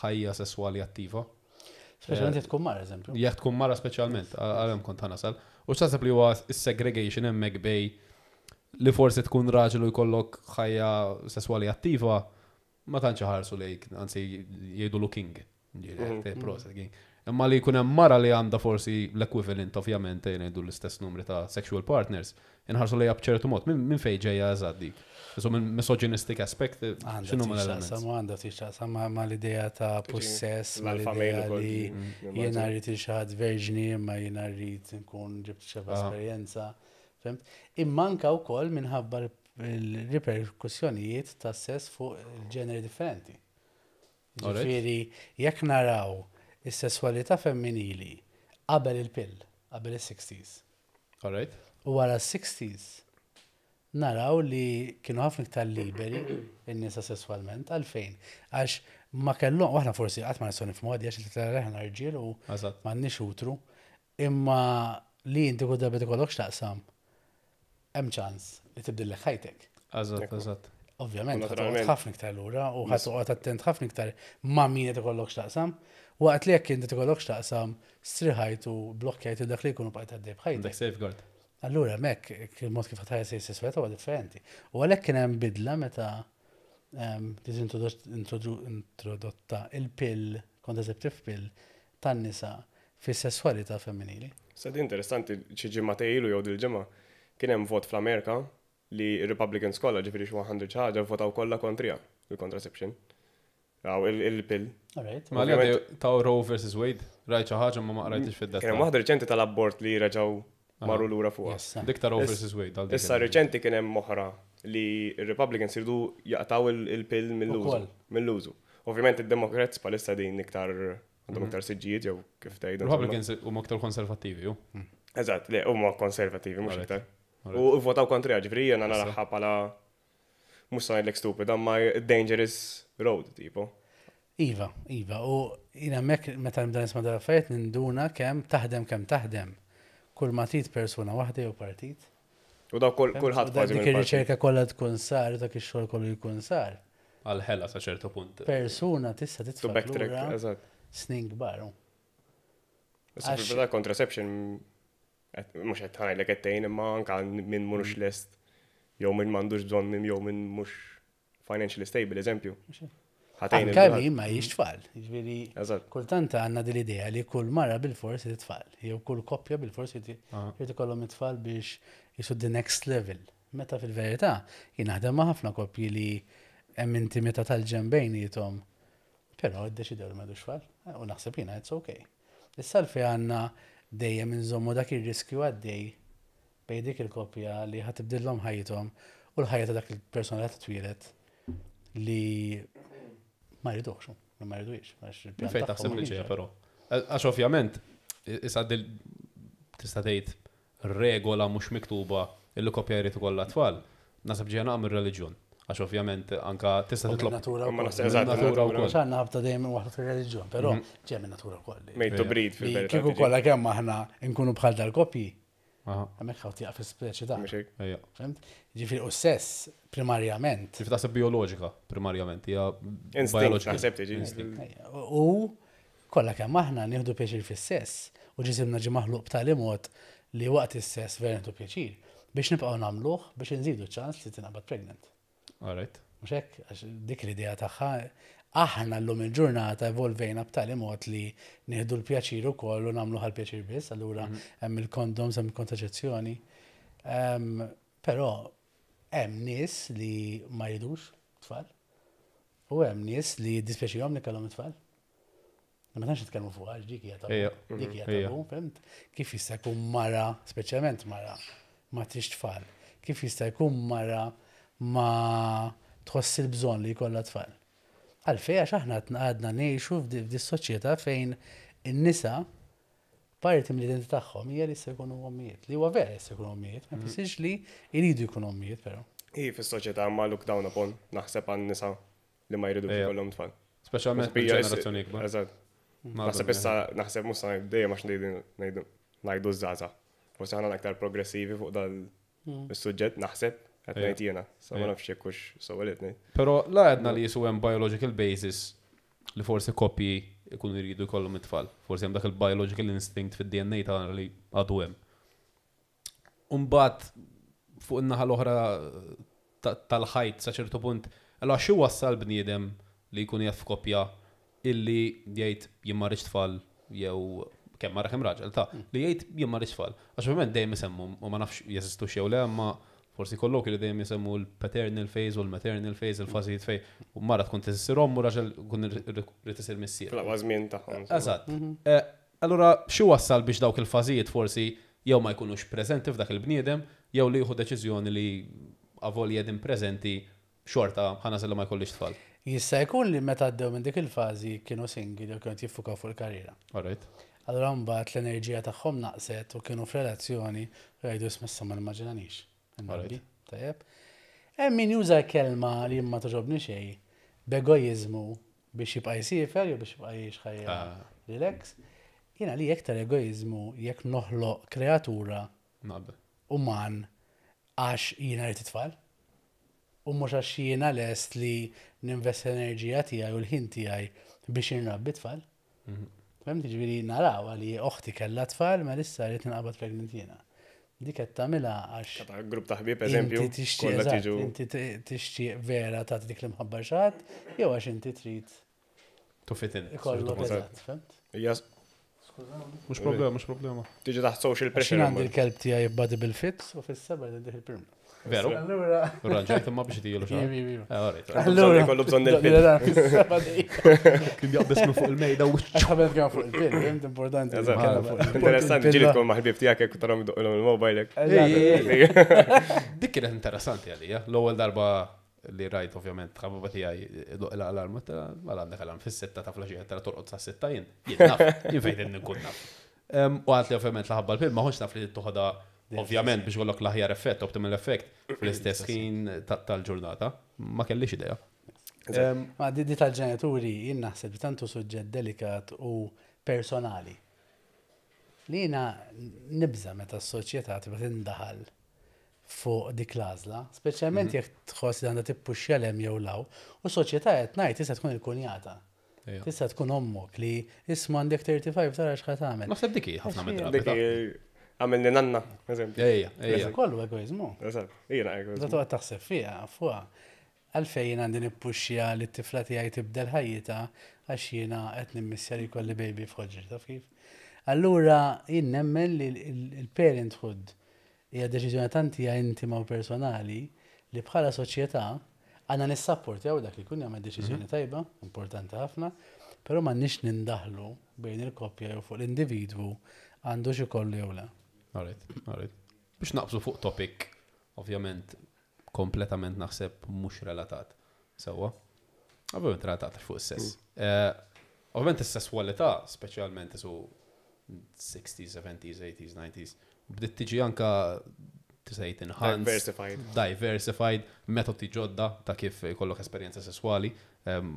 D: ħajja sesswali attiva.
A: Speċjalment jekk tkun mara, eżempju.
D: Jekk tkun mara speċjalment, għalhem kont ħanasal. U x'taħseb li huwa s-segregation hemmhekk bej li forsi tkun raġel u jkollok ħajja sesswali attiva, ma tantx ħarsu lejk, anzi jgħidu looking. Proset, king. Imma li jkun hemm mara li għandha forsi l-equivalent ovvjament jgħidu l-istess numri ta' sexual partners, inħarsu lejha b'ċertu mod. Minn min fejn ġejja eżatt dik? So minn misogynistic aspect,
A: Għandha
D: x'inhu ma
A: tixtaqsam
D: l-elements?
A: u għandha tixtaqsam ma' ma' l-idea ta' possess, ma'
B: L-alpha
A: l-idea
B: male ukoll.
A: li
B: Mm,
A: jiena rrid xi ħadd verġni imma jiena rrid nkun ġibt xi
D: Ah.
A: esperjenza. Fimt? Imma anka wkoll minħabba l-riperkussjonijiet ta' sess fuq il-ġeneri differenti.
D: Alright.
A: Ġifieri, jekk naraw is-sesswalità femminili qabel il-pill, qabel is-sixties,
D: Alright?
A: u wara s-sixties naraw li kienu ħafna iktar liberi in-nisa sesswalment għalfejn. Għax ma kellhom, u aħna forsi qatt ma nistgħu nifhmu għadi għax li aħna rġiel u
D: Eżatt.
A: m'għandniex utru, imma li inti kull darba tikollok x'taqsam. hemm ċans li tibdillek ħajtek.
D: Eżatt, eżatt.
A: Ovvjament,
B: U
A: ħa toqgħod
B: naturalment.
A: ħafna iktar lura u ħa toqgħod attent ħafna iktar ma' min qed ikollok x'taqsam. Waqt li jekk inti ikollok x'taqsam, striħajt u blokkjajt dak li jkunu bqajt għaddej b'ħajtek.
D: Għandek safeguard.
A: Allura hemmhekk il-mod kif ħadd is-sesswalità huwa differenti. U għalhekk kien hemm bidla meta ehm, ġiet introdu- introdotta il-pill, contraceptive pill tan-nisa fis-sesswalità femminili.
B: Sa di interessanti, xi ġimgħa ilu jew dil-ġimgħa kien hemm vot fl-Amerika li Republicans kollha ġifieri xi mija xi ħaġa votaw kollha kontrija il-contraception. Għaw il-pill.
A: All right.
D: Ma li għaddew ta' Roe versus Wade, rajt xi ħaġa ma ma qrajtix
B: Kien hemm
D: fid-dettall.
B: waħda reċenti tal-abort li reġgħu marru lura fuqha.
A: Yes.
D: Dik ta' Roe
B: Is-
D: versus Wade. għal dik
B: Issa
D: il-
B: reċenti kien hemm oħra li r-Republicans iridu jaqtaw il- il-pill mill-użu.
A: Ukoll.
B: Mill-użu. Ovvjament id-Democrats palissa din iktar għandhom iktar siġġijiet jew kif tgħidu. insomma.
D: Republicans huma aktar konservattivi, ju.
B: Eżatt, le, huma konservativi mhux
D: Alright.
B: iktar.
D: Alright.
B: U votaw kontra, ġifieri jiena naraha bħala mhux se ngħidlek stupid, imma dangerous road tipo.
A: Iva, Iva, u jina mek meta nibda nisma' dal-affarijiet ninduna kemm taħdem kemm taħdem. Kull ma trid persuna waħda jew partit.
B: U daw kull- kulħadd
A: U
B: kważi
A: Dik
B: mill-partit.
A: ir-riċerka kollha tkun sar, dak ix-xogħol kollu jkun sar.
D: Għal-ħela sa ċertu punt.
A: Persuna tista'
B: To
A: titfa'
B: backtrack,
A: lura
B: eżatt.
A: snin kbar. u.
B: Issa
A: Għax-
B: fil-verità contraception qed- mhux qed ngħidlek qed tgħin imma anke min mhux lest jew min m'għandux bżonn minn jew min mhux financially stable, eżempju. Ħa tgħin
A: Anka
B: il-kulħadd.
A: min ma jix tfal. Jiġifieri
B: Eżatt.
A: kultant għandna din l-idea li kull mara bil-fors trid tfal, jew kull koppja bil-fors jrid
D: Aha.
A: jrid ikollhom it-tfal biex jisu the next level. Meta fil-verità jien naħdem ma' ħafna koppji li hemm intimità tal-ġenn bejniethom, però iddeċidew li m'għandux tfal u naħseb jiena it's okay. Issa l għandna dejjem inżommu dak ir-riskju għaddej bejn dik il-koppja li ħa tibdillhom ħajjithom u l-ħajja ta' dak il-persona li ħa titwieled li ma jridux, li ma jridux. għax il-pjan
D: Fejn
A: tagħhom
D: taħseb
A: ma
D: li
A: kienx
D: ġejja
A: hekk.
D: però. Għax ovvjament, issa dil tista' tgħid regola mhux miktuba illi koppja jrid ikollha tfal, naħseb ġejja naqra mir-reliġjon. Għax ovvjament anka tista'
A: U
D: titlob
A: min-natura
B: Ma
A: wkoll.
B: naħseb eżatt,
D: Min-natura
B: natura.
D: wkoll.
A: Għax għandna ħabta dejjem waħda fir-reliġjon, però ġej min-natura wkoll.
B: Made to
D: Ejja.
B: breed
A: Li
B: fil-verità.
A: Kieku
B: tiġi.
A: kollha kemm aħna nkunu bħal dal-koppji,
D: Aha,
A: hemmhekk ħaw tieqaf is-speċi ta'
B: Mhux hekk.
D: ejja.
A: Fhimt? Ġifieri u sess primarjament.
D: Kif taħseb bioloġika primarjament, hija
B: Instinct,
D: biological.
B: naħseb tiġi.
D: Instinct.
A: Ejja, U kollha kemm aħna nieħdu pjaċir fis-sess u ġisimna ġie maħluq b'tali mod li waqt is-sess vera nieħdu pjaċir biex nibqgħu nagħmluh biex inżidu ċans li tinqabad pregnant.
D: All right.
A: Mhux hekk, għax dik l-idea tagħha aħna llum il-ġurnata evolvejna b'tali mod li nieħdu l-pjaċir ukoll u nagħmlu għall-pjaċir biss, allura hemm il-kondoms, hemm il-kontraċezzjoni. Em, Però hemm nies li ma jridux tfal u hemm nies li jiddispjaċihom li kellhom it-tfal. Ma tantx nitkellmu fuq għax dik hija tabu.
D: Ejja.
A: Dik hija
D: Ejja.
A: tabu, fhimt? Kif jista' jkun mara, speċjalment mara, ma tridx tfal? Kif jista' jkun mara ma tħoss il-bżonn li jkollha tfal? Għalfej għax aħna għadna ngħixu f'di f'di soċjetà fejn in-nisa parti mill-identità tagħhom hija li jista' jkunu ommijiet. Li huwa vera jista' jkunu ommijiet, ma jfissirx li jridu jkunu ommijiet però.
B: Hi fis-soċjetà ma look down upon naħseb għan nisa li ma jridux
D: Ejja.
B: ikollhom tfal.
D: Speċjalment
B: Naħseb hija-
D: ġenerazzjoni ikbar.
B: Eżatt. Naħseb issa naħseb mhux sa dejjem għax ngħidu ngħidu ngħidu żgħażagħ. Forsi aħna aktar progressivi fuq dal is-suġġett naħseb qed
D: Ejja.
B: ngħid jiena. Sa ma
D: Ejja.
B: nafx jekk hux sewwa li qed ngħid.
D: Però la għedna li jisu hemm biological basis li forsi koppji ikunu jridu jkollhom it-tfal. Forsi hemm dak il-biological instinct fid-D N A tagħna li għadu hemm. Umbagħad fuq in-naħa l-oħra ta- tal-ħajt sa ċertu punt, allora xi wassal bniedem li jkun jaf f'koppja illi jgħid jien ma rridx tfal jew kemm mara kemm raġel ta' li jgħid jien ma rridx tfal. Għax ovvjament dejjem isemmu u ma nafx jeżistu jew le, imma forsi kollok li dejjem jisemmu l-paternal phase u l-maternal phase, il-fażijiet fej u mara tkun tisir omm u raġel kun irid isir missier.
B: Fl-aqwa żmien tagħhom.
D: Eżatt. Eh, Allura, xi wassal biex dawk il-fażijiet forsi jew ma jkunux preżenti f'dak il-bniedem, jew li jieħu deċiżjoni li avolja din preżenti xorta ħa nagħżel ma jkollix tfal.
A: Jista' jkun li meta għaddew minn dik il-fażi kienu single jew kienu jiffukaw fuq il-karriera.
D: All right.
A: Allura mbagħad l-enerġija tagħhom naqset u kienu f'relazzjoni u jgħidu isma' ma nimmaġinanix.
D: Alright.
A: Tajjeb. Hemm min juża kelma li ma toġobni xejn b'egoiżmu biex jibqa' jsifer jew biex jibqa' jgħix ħajja
D: Ah.
A: relax. Jiena li iktar egoiżmu jekk noħloq kreatura
D: Naqbel.
A: uman għax jiena rrid it-tfal. U mhux għax jiena lest li ninvesti l-enerġija tiegħi u l-ħin tiegħi biex inrabbi tfal. Fhimt, ġifieri naraw għali oħti kellha tfal, ma issa rrid ninqabad pregnant jiena. Dik qed tagħmilha għax
B: Ta' grupp ta' ħbieb, eżempju,
A: inti tixtieq
B: kollha
A: eżatt,
B: tiġu.
A: inti t- tixtieq vera tagħti dik l-imħabba xi ħadd, jew għax inti trid
D: To fit in.
A: ikollok
B: Eżatt.
A: eżatt, fhimt?
B: Hija
C: Mhux problema, mhux problema.
B: tiġi taħt social
A: Għax
B: pressure.
A: jien għandi l-kelb tiegħi body bil-fit u fis-seba' jidih il-pirma.
D: Veru?
A: Allura.
D: Ranġajt imma biex tijilu xa.
A: Ivi, ivi.
D: Eh, alright, alright.
A: Allura.
B: Ikollu bżonn il-pil.
A: Fis-seba' dejjem.
C: Kien jaqbes minn fuq il-mejda u
A: Għax ħabel kemm fuq il-pil, fhimt importanti.
B: Eżatt.
A: Nitkellem fuq il-pil.
B: Interessanti, ġieli tkun ma' ħbieb tiegħek jekk tarahom idoqqilhom il-mobile hekk.
D: Ej, ej, ej. Dik kienet interessanti għalija. L-ewwel darba li rajt ovvjament ħabiba tiegħi doq l-alarm, għal għandek alarm fis-sitta ta' filgħaxija tara torqod sa' sitta jien. Jien naf, jien fejn nkun naf. Em, U għalt li ovvjament laħabba l-pil, ma ħonx naf li toħodha ovvjament biex jkollok l-aħjar effett, optimal effect fl-istess ħin ta- tal-ġurnata. Ma kellix idea. Em,
A: Ma di di tal-ġenituri jien naħseb li tantu suġġett delikat u personali. Li jiena nibża meta s-soċjetà tibqa' tindaħal fuq dik l-għażla, speċjalment jekk tħoss li għandha tippuxxja 'l hemm jew 'l hawn, u s-soċjetà qed ngħid tista' tkun il-kunjata.
D: Ejja.
A: Tista' tkun ommok li isma' għandek thirty-five tara x'ħa tagħmel.
D: Naħseb dik hi ħafna mid-drabi.
B: Dik hi- għamilni nanna, eżempju.
D: Ejja, ejja.
A: Kollu egoizmu.
B: Eżatt, jiena
A: Da
B: egoizmu.
A: toqgħod taħseb fiha, fuqha. Għalfejn jien għandi nippuxxja li t-tifla tiegħi tibdel ħajjitha għax jiena qed nimmissja li jkolli baby f'ħoġri, taf kif? Allura jien nemmen li l-parenthood hija deċiżjoni tant hija intima u personali li bħala soċjetà għandna nissapportjaw dak li jkun jagħmel deċiżjoni tajba, importanti ħafna, però m'għandniex nindaħlu bejn il-koppja jew fuq l-individwu għandu xi kollu jew le.
D: Alright, alright. Biex naqbżu fuq topic, ovvjament, kompletament naħseb mhux relatat. Sewwa? Ovvjament relatat fuq is-sess. Eh, Ovvjament is-sesswalità, speċjalment su sixties, seventies, eighties, nineties, bdiet tiġi anka tista' enhanced,
B: Diversified.
D: Diversified, metodi ġodda ta' kif jkollok esperjenza sesswali, em,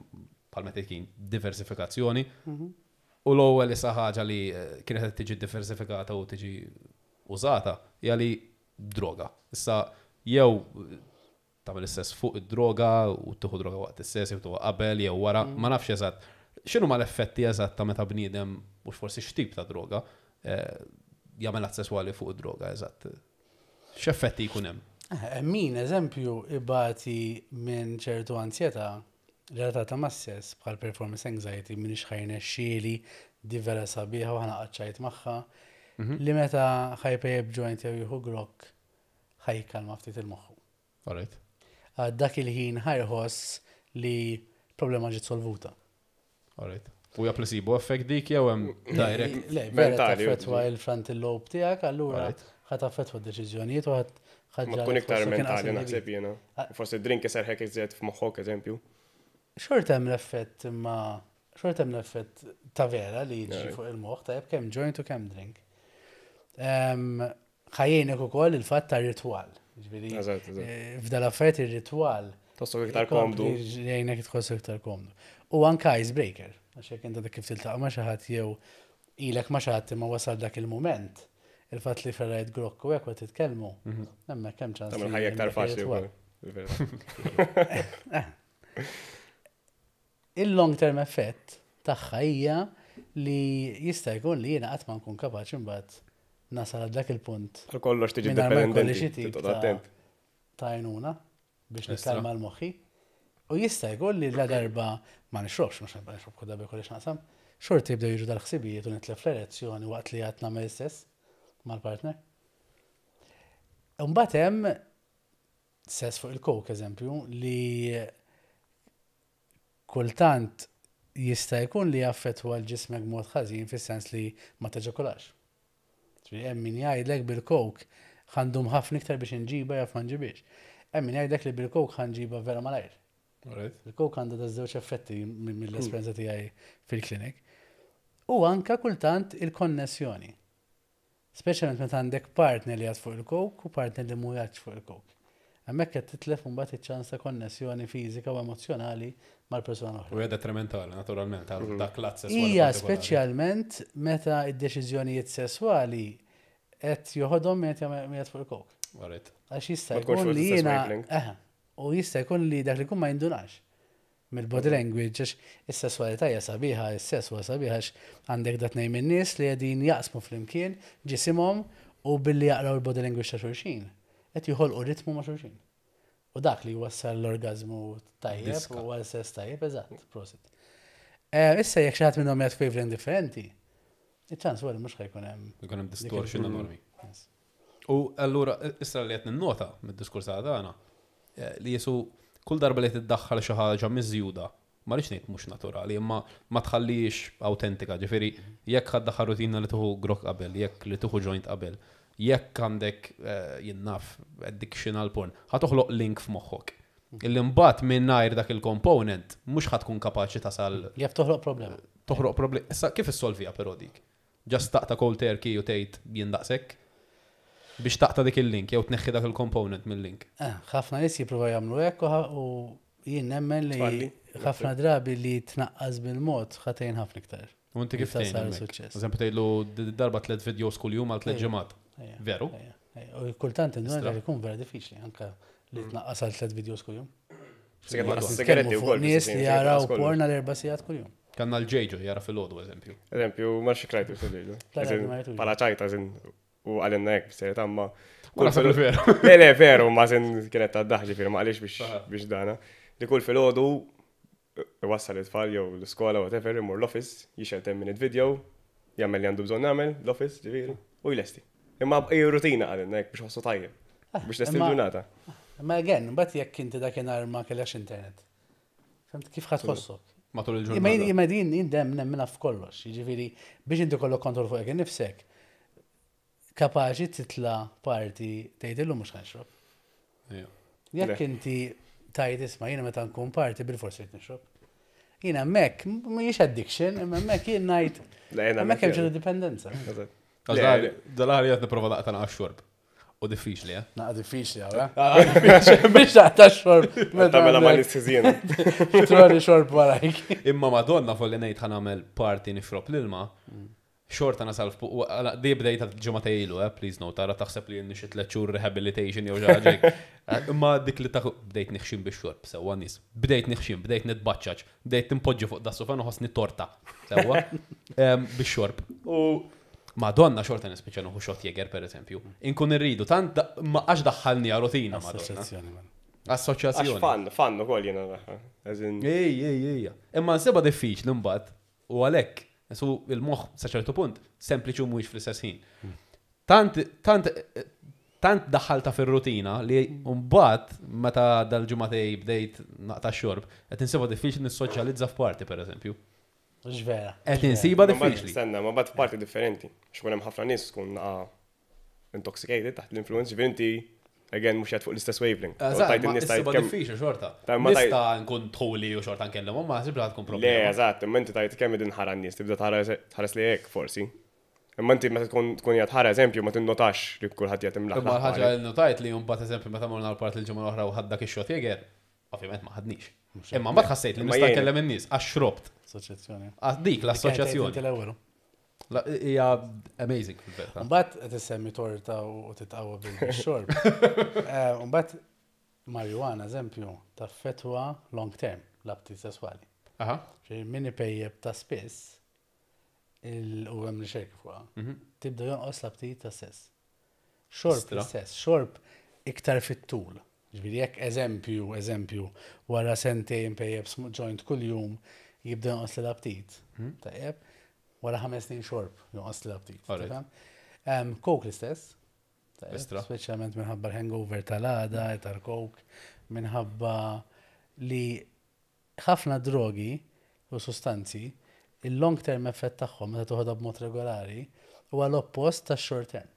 D: bħal meta kien diversifikazzjoni. U l-ewwel issa ħaġa li eh, kienet qed tiġi diversifikata u tiġi użata hija li droga. Issa jew eh, tagħmel is-sess fuq id-droga u tieħu droga waqt is-sess jew tieħu qabel jew wara, ma nafx eżatt. X'inhu ma l-effetti eżatt ta' meta bniedem mhux forsi x'tip ta' droga eh, jagħmel att sesswali fuq id-droga eżatt. X'effetti jkun hemm?
A: Eh, Min, eżempju, ibati minn ċertu ansjetà relatata ma' sess bħal performance anxiety, minn ħa jirnexxieli, di vera sabiħa u ħa naqta' magħha, li meta ħa jpejjep joint jew jieħu grokk ħa jikkalma ftit il-moħħu.
D: Alright.
A: Għad dak il-ħin ħa jħoss li problema ġiet solvuta.
D: Alright. U hija placebo effect dik jew hemm direct?
A: Le, vera
B: Mentali,
A: taffetwa il-frontal lobe tiegħek, allura
D: Alright.
A: ħa taffetwa d-deċiżjonijiet u ħa
B: Ma tkun iktar mentali naħseb jiena. Forsi drink iserħek iżjed f'moħħok, eżempju.
A: Xorta hemm l-effett imma xorta hemm l-effett ta' vera li jiġi
B: Alright.
A: fuq il-moħħ tajjeb kemm joint u kemm drink. Em, Ħa jgħinek ukoll il-fatt ta' ritwal. Ġifieri,
B: Eżatt, eżatt.
A: eh, f'dal affarijiet ir-ritwal
B: Tħossok iktar komdu.
A: Jgħinek tħossok iktar komdu. U anka icebreaker, għax jekk inti dak kif tiltaqa' ma' xi ħadd jew ilek ma' xi ħadd imma wasal dak il-mument, il-fatt li ferrajt grokk u hekk u titkellmu, hemmhekk hemm ċans.
B: Tagħmel
A: li
B: ħajja iktar
A: hemmhekk
B: faċli
A: ir-ritwal.
B: wkoll. Il-verità.
A: Il-long term effett tagħha hija li jista' jkun li jiena qatt ma nkun kapaċi mbagħad nasal għal dak il-punt
B: Għal kollox tiġi
A: mingħajr ma jkolli
B: dependenti.
A: xi tip
B: Toqgħod
A: ta'
B: attent.
A: ta' għajnuna biex
D: Estra.
A: nikkalma l-moħħi. U jista' jkun li la darba ma nixrobx, mhux nibqa' nixrob kull darba jkolli x'naqsam, xorta jibdew jiġu dal-ħsibijiet u nitlef l-erezzjoni waqt li qed nagħmel istess mal-partner. Imbagħad hemm sess fuq il-coke, eżempju, li kultant jista' jkun li jaffettwa l-ġismek mod ħażin fis-sens li ma teġakulax. Ġifieri hemm min jgħidlek bil-coke ħa ndum ħafna iktar biex inġiba jaf ma nġibix. Hemm min jgħidlek li bil-coke ħa nġiba vera malajr.
D: Alright.
A: Il-coke għandha da żewġ effetti minn- mill-esperjenza tiegħi fil-klinik. U anka kultant il-konnessjoni. Speċjalment meta għandek partner li għad fuq il-coke u partner li mhuwiex fuq il-coke. Hemmhekk qed titlef mbagħad iċ-ċans ta' konnessjoni fiżika u emozjonali mal-persuna oħra.
D: U hija detrimentali, naturalment, għal dak l-att sesswali
A: Hija
D: partikolari.
A: speċjalment meta id-deċiżjonijiet sesswali qed joħodhom min qed jagħmel- min qed fuq il-coke.
D: Alright.
A: Għax jista'
B: Ma tkunx
A: jkun
B: fuq
A: li
B: l-istess
A: jiena.
B: wavelength.
A: Eħe, u jista' jkun li dak li jkun ma jindunax mill-body language, għax is-sessualità hija sabiħa, is-sess huwa sabiħa għax għandek dat-tnejn minn nies li qegħdin jaqsmu flimkien ġisimhom u billi jaqraw il-body language ta' xulxin. Qed joħolqu ritmu ma' xulxin. U dak li jwassal l-orgazmu tajjeb
D: Diska.
A: u għal sess tajjeb, eżatt, prosit. Eh, Issa jekk xi ħadd minnhom jgħid wavelength differenti, iċ-ċans huwa li mhux ħa jkun hemm.
D: Ikun hemm distortion
A: Dik il-
D: enormi.
A: Yes.
D: U allura, issa li qed ninnota mid-diskors tagħna, eh, li jisu kull darba li tiddaħħal xi ħaġa miżjuda, ma rridx ngħid mhux naturali, imma ma tħallix autentika, ġifieri jekk ħa ddaħħal rutina li tieħu grok qabel, jekk li tieħu joint qabel, jekk għandek eh, jien naf addiction għal porn, ħa toħloq link f'moħħok. Illi mbagħad mingħajr dak il-component mhux ħa tkun kapaċi tasal
A: Jaf toħloq problema.
D: toħroq problem. Issa kif issolvija però dik? Just taqta' cold turkey u tgħid jien daqshekk? Biex taqta' dik il-link jew tneħħi dak il-component mill-link.
A: Eh, ħafna nies jippruvaw jagħmlu hekk u ħa- u jien nemmen li
B: Tfalli.
A: ħafna drabi li tnaqqas bil-mod ħa tgħin ħafna iktar.
D: U inti kif
A: Tasal
D: tgħin hemmhekk?
A: suċċess.
D: Eżempju tgħidlu d- darba tliet videos kuljum għal tliet
A: Ejja.
D: ġimgħat.
A: Ejja,
D: Veru?
A: ejja, ejja. U kultant induna
D: Istra.
A: li jkun vera diffiċli anke li tnaqqas għal tliet videos kuljum.
B: Sigaretti
A: Nitkellmu
B: u
A: fuq nies li jaraw porn għal erba' sigħat kuljum.
D: Kanna l-ġejġo jara fil-ħodu, eżempju.
B: Eżempju, ma xikrajtu fil-ġejġo.
A: La, ma rajtux.
B: Pala ċajta, zin, u għalenna hekk, b'serjetà, ma.
D: Ma naħseb li veru.
B: Le, le, veru, ma zin kienet ta' daħ ġifieri, ma għalix biex
D: Aha.
B: biex dana. Li kull fil-ħodu, wassal it-tfal jew l-iskola, whatever, imur l-office, jixgħel ten minute video, jagħmel li għandu bżonn jagħmel, l-office, ġifieri, u jlesti. Imma hija rutina għalenna hekk biex ħossu tajjeb. Biex lesti
A: imma-
B: l-ġurnata.
A: Ma again, mbagħad jekk inti dakinhar ma kellekx internet. Fhimt kif ħa tħossok?
D: Matul
A: Imma jien
D: il-ġurnata.
A: imma din jien dem nemmina f'kollox, jiġifieri biex inti kollok kontroll fuq innifsek, kapaċi titla party tgħid illum mhux ħa nixrob.
D: Ejja.
A: Jekk
B: Le.
A: inti tajt isma' jiena meta nkun party bil-forsi qed nixrob. Jiena hemmhekk mhijiex addiction, imma hemmhekk jien ngħid
B: Le, jiena
A: hemmhekk hemm
B: hemmhekk
A: ċertu dipendenza.
B: Eżatt.
D: Għax
B: Le,
D: dal-
B: le.
D: Dal-ħar jgħat niprofa daqta naqqa xorb. U diffiċli, eh?
A: Naqa diffiċli għawra. Biex taqta xorb.
B: Meta mela ma nistizjena.
A: Troli xorb warajk.
D: Imma madonna folli ngħid ħa nagħmel party nixrob l-ilma, xorta nasal f'pu- u għala, di bdejta ġimgħa ilu, eh, please note, tara taħseb li xi tliet xhur rehabilitation jew xi ħaġa hekk. Eh, Imma dik li taħ bdejt nixxin bix-xorb, sewwa nies. Bdejt nixxin, bdejt nitbaċċaċ, bdejt timpoġġi fuq das-sofa nħossni torta, sewwa, Em, bix-xorb. U Madonna xorta nispiċċa nieħu shot Jäger per eżempju. Inkun irridu, tant da- ma għax daħħalni rutina Madonna.
A: Assoċjazzjoni, man.
B: Għax
D: Assoċjazzjoni.
B: fan, fan ukoll jiena naħa. As in,
D: Ej, ej, ej. Imma nsibha diffiċli mbagħad u għalhekk su il-moħħ sa ċertu punt sempliċi u mhuwiex fl-istess ħin. Tant tant tant daħħalta fir-rutina li mbagħad meta dal-ġimgħatej bdejt naqta' xorb, qed insibha diffiċli nissoċjalizza f'party pereżempju.
A: Mhux vera.
D: Qed insiba
B: Ma mbagħad-
D: diffiċli.
B: Stenna, ma bad parti differenti. Xkun hemm ħafna nies tkun naqa intoxicated taħt l-influence, ġifieri inti again mhux qed fuq l-istess wavelength. U
D: Eżatt,
B: tajt
D: ma
B: in-nies tajt
D: insiba
B: kemm-
D: diffiċli xorta.
B: Ta' ma tajt-
D: Nista' nkun tħuli u xorta nkellem, ma nsib li tkun
B: Le,
D: problema.
B: eżatt, imma inti tajt kemm idin ħara n-nies, tibda tħares tħares li hekk forsi. Imma inti meta tkun tkun qiegħed ħara eżempju ma tinnotax li kulħadd qiegħed imlaħ.
D: Imma l-ħaġa li notajt li mbagħad eżempju meta morna l-party l-ġimgħa l-oħra u ħadd dak ix-shot Jäger, ovvjament ma ħadnix. Imma mbagħad ħassejt li
B: Imma
D: nista'
B: jien-
D: nkellem in-nies għax xrobt.
A: Assoċjazzjoni.
D: Għax dik l-assoċjazzjoni.
A: Inti l-ewwel.
D: La- Hija amazing fil-verità.
A: Mbagħad qed issemmi torta u titqawwa bil-xorb. Eh, Mbagħad marijuana, eżempju, taffetwa long term l-aptit sesswali.
D: Aha.
A: Ġifieri min ipejjeb ta' spiss il- u hemm riċerki fuqha, tibda jonqos l-aptit ta' sess. Xorb
D: Istra.
A: l-istess, xorb iktar fit-tul. Ġifieri jekk eżempju, eżempju, wara sentejn pejjeb sm- joint kuljum jibda jonqos l-aptit. Tajjeb, wara ħames snin xorb jonqos l-aptit.
D: Alright.
A: tifhem? Em, Coke l-istess. Tajjeb,
D: Istra.
A: Speċjalment minħabba l-hangover tal-għada, tal-coke, minħabba li ħafna drogi u sustanzi, il-long term effett tagħhom meta toħodha b'mod regolari huwa l-oppost tax-short term.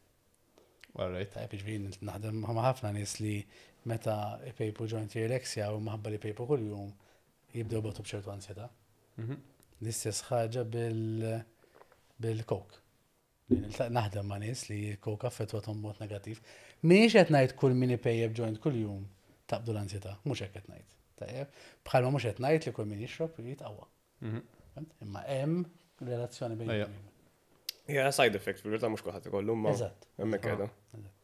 D: All right.
A: Tajjeb, jiġifieri naħdem ma' ħafna nies li meta ipejpu joint jirelaxja u minħabba li pejpu kuljum jibdew batu b'ċertu ansjetà. L-istess ħaġa bil bil-coke. Li niltaq- Naħdem ma' nies li l-coke affettwathom b'mod negattiv. M'iniex qed ngħid kull min ipejjeb joint kuljum taqbdu l-ansjetà, mhux hekk qed ngħid. Tajjeb, bħalma mhux qed ngħid li kull min jixrob jitqawwa. Fhimt? Imma hemm relazzjoni bejn
D: Ejja.
B: Ja, side effect, fil-verità mhux kulħadd ikollu, ma
A: Eżatt.
B: hemmhekk qiegħda.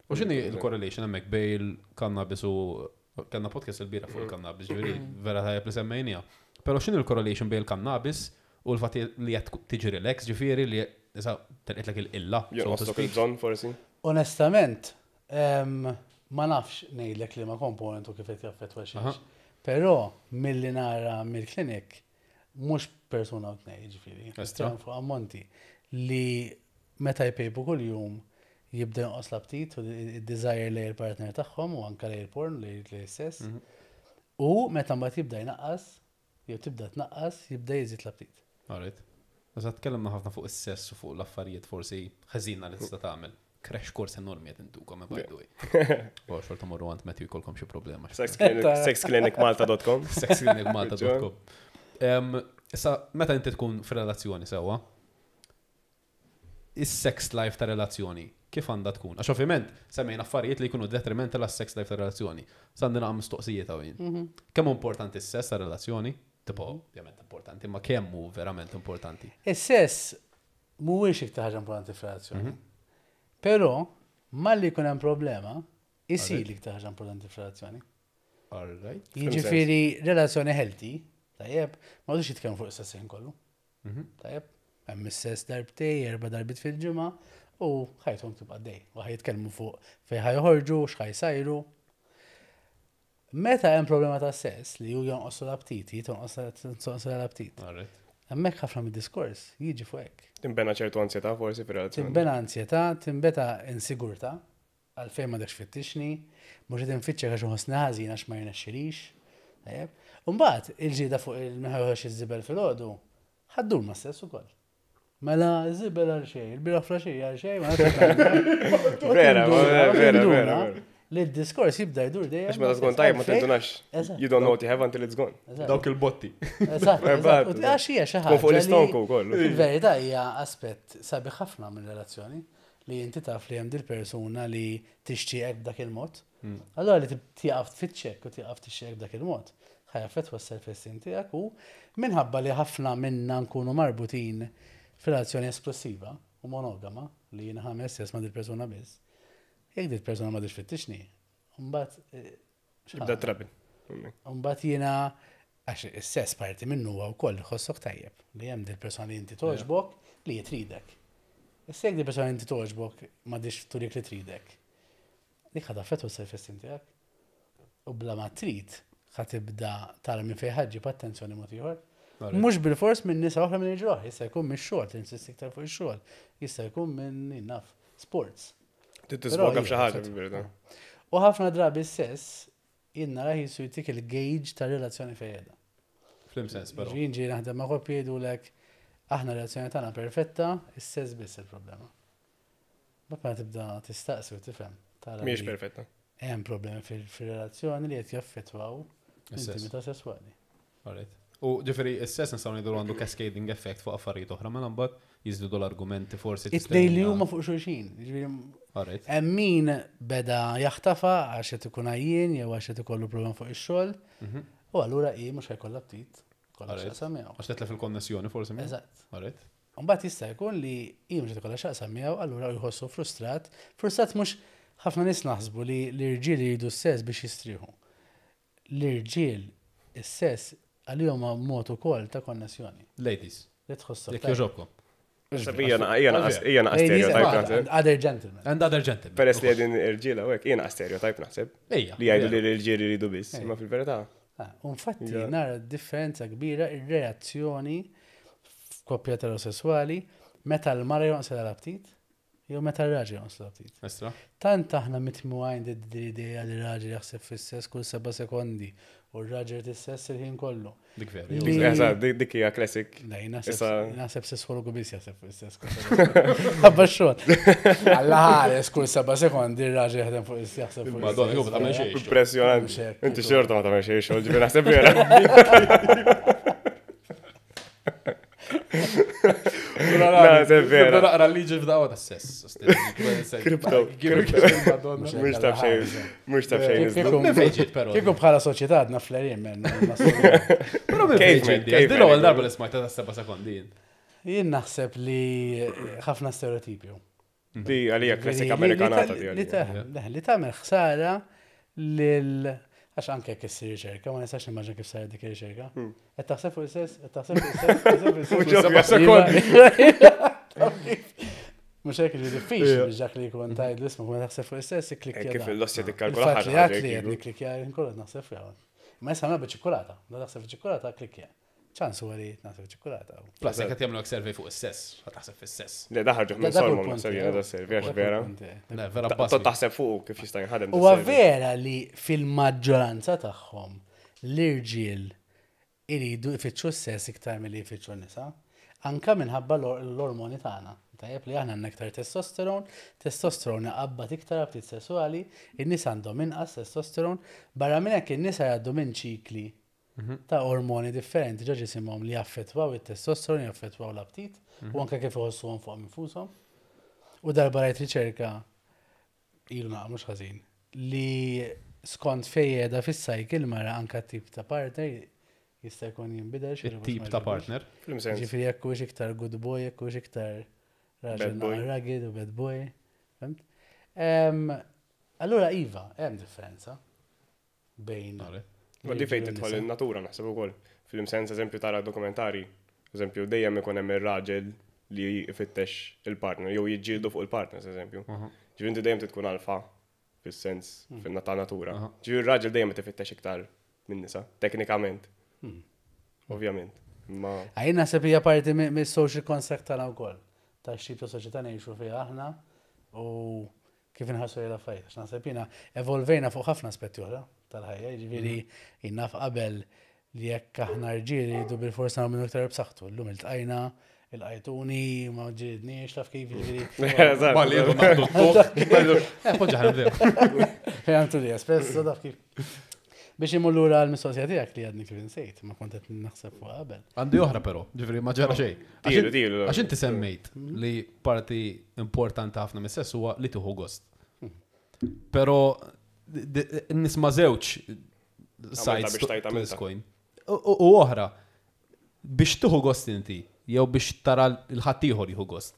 D: U x'inhi il-correlation hemmhekk bejn il-cannabis u kellna podcast il-bieraħ fuq il-cannabis, ġifieri vera tajjeb li semmejnija. Però x'inhi il-correlation bejn il-cannabis u l-fatt li qed tiġi relax, ġifieri li issa telqitlek il-illa, so to
B: Jonqoslok
D: speak.
B: il-bżonn forsi.
A: Onestament, em, ma nafx ngħidlek li ma komponent u kif qed jaffettwa
D: Aha.
A: xiex. Però milli nara mill-klinik mhux persuna u tnejn, ġifieri,
D: Estra.
A: nitkellem fuq ammonti li meta jpejpu kuljum jibda jonqos l-aptit u id-desire lejn il-partner tagħhom u anke lejn il-porn, lejn lejn sess.
D: Mhm.
A: U meta mbagħad jibda jnaqqas, jew tibda tnaqqas, jibda jiżid l-aptit.
D: Alright. Issa tkellimna ħafna fuq is-sess u fuq l-affarijiet forsi ħażina li tista' tagħmel. Crash course enormi qed intukom, by the way. U xorta morru għand Matthew jkollkom xi problema.
B: Sexclinicmalta dot com.
D: sexclinicmalta dot com. Em, Issa, meta inti tkun f'relazzjoni sewwa, is-sex life ta' relazzjoni kif għandha tkun? Għax ovvjament semmejna affarijiet li jkunu detrimental għas-sex life ta' relazzjoni. Sandina għam mistoqsijiet hawn. Kemm hu importanti s-sess ta' relazzjoni? Tipo, ovvjament importanti, ma kemm hu verament importanti?
A: Is-sess mhuwiex iktar ħaġa importanti f'relazzjoni. Però malli jkun hemm problema, isir l-iktar ħaġa importanti f'relazzjoni.
D: All right.
A: Jiġifieri relazzjoni healthy, tajjeb, ma għadux jitkellmu fuq is-sess ħin kollu.
D: Mhm.
A: Tajjeb, hemm is-sess darbtej, erba' darbiet fil-ġimgħa u ħajthom tibqa' dej. U ħa jitkellmu fuq fejn ħa joħorġu, x'ħa jsajru. Meta hemm problema ta' sess li hu jonqosu l-aptit, tonqos l-aptit.
D: All right.
A: Hemmhekk ħafna mid-diskors jiġi fuq hekk.
B: Timbena ċertu ansjetà forsi fir-relazzjoni.
A: Timbena ansjetà, timbena insigurtà, għalfejn ma dakx fittixni, mhux qed infittxek għax inħossni ħażin għax ma jirnexxilix. Tajjeb. U mbagħad il-ġieda fuq il-min ħa joħroġ iż-żibel filgħodu, ħa ddur ma' sess ukoll. Mela żibel għal xejn, il-bieraħ filgħaxija għal xejn, ma nafx x'għandna. U
B: Vera,
A: tinduna,
B: vera,
A: u
B: vera,
A: tinduna
B: vera, vera.
A: li d-diskors jibda jdur dejjem.
B: Għax meta tkun tajb ma tindunax.
A: Eżatt.
B: You don't know what you have until it's gone.
A: Eżatt.
C: Dawk il-botti.
A: Eżatt, eżatt. U għax hija xi
B: Tkun fuq
A: ħaġa li-
B: l-istonku wkoll.
A: Fil-verità hija aspett sabiħ ħafna minn relazzjoni li inti taf li hemm dil-persuna li tixtieqek b'dak il-mod. Allora li tieqaf tfittxek u tieqaf tixtieqek b'dak il-mod. Ħa jaffettwa s-self-esteem tiegħek u minħabba li ħafna minna nkunu marbutin f'relazzjoni esklusiva u monogama li jiena ħames sess ma' dil-persuna biss. Jekk dil-persuna ma tfittixni, mbagħad eh,
B: Jibda trouble.
A: Mbagħad jiena għax is-sess parti minnu huwa wkoll ħossok tajjeb li hemm dil-persuna li inti toġbok li jitridek. Issa jekk dil-persuna li inti toġbok m'għadix turik li tridek. Dik ħa taffettwa s-self-esteem tiegħek. U bla ma trid ħa tibda tara minn fejn ħa ġġib attenzjoni mod ieħor. Mhux bil-fors minn nisa oħra minn ġroħ, jista' jkun mix-xogħol, tinsisti iktar fuq ix-xogħol, jista' jkun minn naf, sports.
B: Tisboga f'xi ħaġa
A: Però
B: fil-verità.
A: U ħafna drabi s-sess jien nara jisu jtik il-gauge ta' relazzjoni fejjeda.
D: F'liema sens, però.
A: Jien ġie naħdem ma' koppji jgħidulek aħna relazzjoni tagħna perfetta, is-sess biss il-problema. Mbagħad tibda tistaqsi u tifhem. Tara
B: Mhijiex
A: li
B: perfetta.
A: Hemm problemi fil- fil-relazzjoni li qed jaffettwaw
D: Is-sess.
A: l-intimità sesswali.
D: Alright. U ġifieri, is-sess nistgħu ngħidu għandu cascading effect fuq affarijiet oħra, mela mbagħad jiżdiedu l-argumenti forsi.
A: It-tnejn li huma fuq xulxin. Ġifieri
D: Alright.
A: Hemm min beda jaħtafa għax qed ikun għajjien jew għax qed ikollu problem fuq ix-xogħol, u allura hi mhux ħa jkollha aptit, kollha
D: Alright.
A: x'taqsam miegħu.
D: Għax tetlef il-konnessjoni forsi miegħu.
A: Eżatt.
D: Alright.
A: Mbagħad jista' jkun li hi mhux qed ikollha x'taqsam miegħu, allura jħossu frustrat. Frustrat mhux ħafna nies naħsbu li l-irġiel jridu s-sess biex jistrieħu. L-irġiel is-sess għalihom huwa mod ukoll ta' konnessjoni.
D: Ladies,
A: Li tħossok.
D: jekk jogħġobkom.
B: Ija naqas ija naqas
A: Ladies
B: stereotype
A: and
B: naħseb.
A: other gentlemen.
D: And other gentlemen.
B: Peress li għedin irġiela u hekk, ija naqas stereotype naħseb.
D: Ejja.
B: Li jgħidu li l-irġiel iridu biss, imma fil-verità.
A: Ah, u infatti
B: Ja.
A: nara differenza kbira ir-reazzjoni f'koppja eterosessuali meta l-mara jonqos l-aptit jew meta r-raġel jonqos l-aptit.
D: Estra.
A: Tant aħna mitmugħin l-idea li r-raġel jaħseb fis-sess kull seba' sekondi u r-raġel tis-sess il-ħin kollu.
D: Dik vera.
A: Li-
B: Dik- Eżatt, dik dik hija classic.
A: Le, naħseb
B: Issa-
A: naħseb sessologu biss jaħseb fuq is-sess kull seba' sekondi. Ħabba x-xogħol. Alla ħares kull seba' sekondi r-raġel jaħdem fuq is jaħseb fuq
D: Madonna,
A: is-sess.
D: jew ma tagħmel xejn.
B: Impressjonanti.
A: Mhux hekk,
B: Inti xorta ma tagħmel xejn xogħol, ġifieri naħseb vera. Naħseb vera.
D: Naqra liġi f'daqwa ta' sess.
B: Crypto,
C: Madonna.
B: Mhux taf xejn, mhux taf xejn. iżda.
A: Kieku-
D: Minn fejn ġiet, però?
A: Kieku bħala soċjetà għadna flerin men.
D: Però minn fejn
B: Caveman,
D: ġiet di?
B: caveman.
D: Din l-ewwel darba li smajta ta' seba' sekondi.
A: Jien naħseb li ħafna stereotipju.
B: Di għalija klassika
A: Li- li-
B: Amerikanata
A: li-
B: di
A: Li
B: għalija.
A: ta- le, li tagħmel ħsara lil għax anke jekk issir riċerka, ma nistax nimmaġina kif saret dik ir-riċerka. Qed taħseb fuq is-sess, qed taħseb fuq is-sess, qed taħseb fuq is-sess.
B: Mhux ovvja
A: Iva, Mhux hekk ġi diffiċli biex dak li jkun tgħid l-ismu ma taħseb fuq is-sess ikklikkja.
B: Kif
A: dan.
B: il-lossja tikkalkula
A: Il-fatt li
B: ħaġa.
A: għat li qed nikklikkja nkun qed naħseb fiha. Ma issa nagħmel ċikkulata, da taħseb ċikkulata klikkja. Ċans huwa li naħseb ċikkulata.
D: Plus, jekk qed jagħmlu survey fuq is-sess, ħa taħseb fis-sess.
B: Le daħarġuh minn
A: Da- dak
B: solmom
A: il-punt
B: naħseb
A: tiegħi.
B: jiena da survey għax
A: Dak
B: vera.
A: il-punt tiegħi.
D: Le, vera
B: Ta'
D: bażi.
B: taħseb fuq kif jista' jinħadem.
A: Huwa
B: da survey.
A: vera li fil-maġġoranza tagħhom l-irġiel iridu jfittxu s-sess iktar milli jfittxu n-nisa, anka minħabba l- l-ormoni tagħna. Tajjeb li aħna għandna iktar testosteron, testosteron iqabbad iktar aptit sessuali, in-nisa għandhom inqas testosteron, barra minn hekk in-nisa jgħaddu minn ċikli ta' ormoni differenti ġo ġisimhom li jaffettwaw it-testosteron, jaffettwaw l-aptit, u anke kif iħossuhom fuq infushom. U darba rajt riċerka ilu naqa mhux ħażin li skont fejn qiegħda fis-cycle mara anka tip ta' partner jista' jkun jinbidel xi
D: Il-tip ta' partner.
B: Fil-sens.
A: Ġifieri jekk hux iktar good boy, jekk hux iktar raġel
B: Bad boy.
A: naqra rugged u bad boy. Fhimt? Em, Allura iva, hemm differenza bejn.
D: Alright.
B: Ma di fejn
A: l-irġiel u
B: tidħol
A: n-nisa.
B: in-natura naħseb ukoll. Fil-sens eżempju tara dokumentari, eżempju dejjem ikun hemm ir-raġel li jfittex il-partner jew jiġġieldu fuq il-partners eżempju. Ġifieri inti dejjem tkun alfa fis-sens fin ta' natura.
D: Aha.
B: Ġifieri ir-raġel dejjem qed ifittex iktar minn nisa, teknikament. Ovvjament. Ma
A: Għajn naħseb hija parti mis-social construct tagħna wkoll. Ta' x'tip ta' soċjetà ngħixu fiha aħna u kif inħarsu lejn l-affarijiet. Għax naħseb jiena evolvejna fuq ħafna aspetti oħra tal-ħajja, jiġifieri jien naf qabel li jekk aħna rġiel jridu bil-forsa nagħmlu iktar b'saħħtu. Llum iltqajna, il-qajtuni, ma ġilidniex, taf kif jiġifieri.
B: Eżatt.
D: Malli jieħdu naħdu t-tok. Eh, poġġa ħa nibdew.
A: Għamtu li espresso, taf kif. Biex imur lura l-mistoqsija tiegħek li għadni kif insejt, ma kont qed naħseb fuq qabel.
D: Għandi oħra però, ġifieri ma ġara xejn.
B: Tilu, tilu.
D: Għax inti semmejt li parti importanti ħafna mis-sess huwa li tieħu gost. Però nisma' żewġ sides
B: biex
D: to
B: tajt
D: to this
B: għamilta.
D: coin. U u oħra, biex tieħu gost inti, jew biex tara l-ħaddieħor jieħu gost.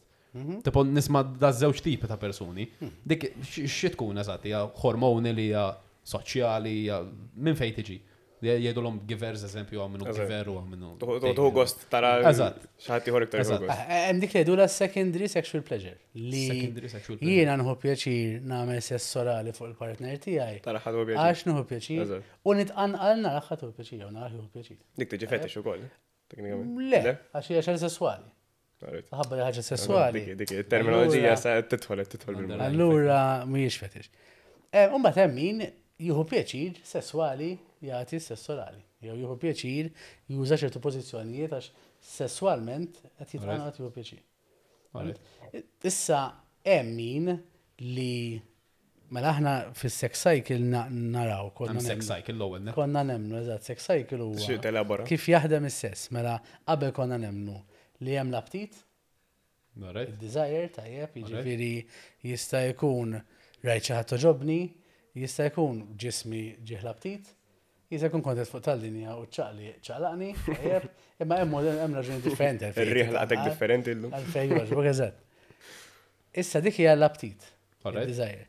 D: Tipo nisma' da żewġ tipi ta' persuni. Dik xi tkun eżatt, hija hormoni li hija soċjali, hija minn fejn tiġi. Jgħidulhom givers eżempju għaw minnu
B: Eżatt.
D: giver u għaw minnu.
B: Tieħu gost tara
D: Eżatt.
B: xi ħadd ieħor iktar jieħu
D: Eżatt.
B: gost.
A: Eh, Hemm dik li jgħidulha secondary sexual pleasure. Li
D: Secondary sexual pleasure.
A: jiena nieħu pjaċir nagħmel sess orali fuq il-partner tiegħi.
B: Tara ħadd pjaċir.
A: Għax nieħu pjaċir
B: Eżatt.
A: u nitqanqal nara ħadd hu pjaċir jew nara jieħu pjaċir.
B: Dik tiġi fetish ukoll. Teknikament.
A: Le, għax hija xejn sesswali.
B: Alright.
A: Ħabba li ħaġa sesswali.
B: Dik dik il-terminoloġija sa tidħol tidħol bil
A: Allura mhijiex fetish. Eh, Imbagħad hemm min jieħu pjaċir sesswali jagħti sess orali. Jew jieħu pjaċir juża ċertu pożizzjonijiet għax sesswalment qed jitqanqal jieħu pjaċir.
D: Alright.
A: Issa hemm min li mela aħna fis-sex cycle na- naraw konna
D: Hemm sex
A: nemmnu-
D: cycle l-ewwel, ne?
A: Konna nemmnu, eżatt, sex cycle
B: Xi
A: huwa
B: telabora.
A: kif jaħdem is-sess. Mela qabel konna nemmnu li hemm l-aptit,
D: Alright.
A: il-desire, tajjeb, jiġifieri jista' jkun rajt xi ħadd toġobni, jista' jkun ġismi ġieħ l-aptit, jista' jkun kontet fuq tal-linja u ċaqli ċaqlaqni, tajjeb, imma hemm hemm raġuni differenti. għalfejn
B: Ir-riħ laqtek
A: titqanqal.
B: differenti llum.
A: Għalfejn jogħġbok eżatt. Issa dik hija l-aptit,
D: Alright.
A: il-desire.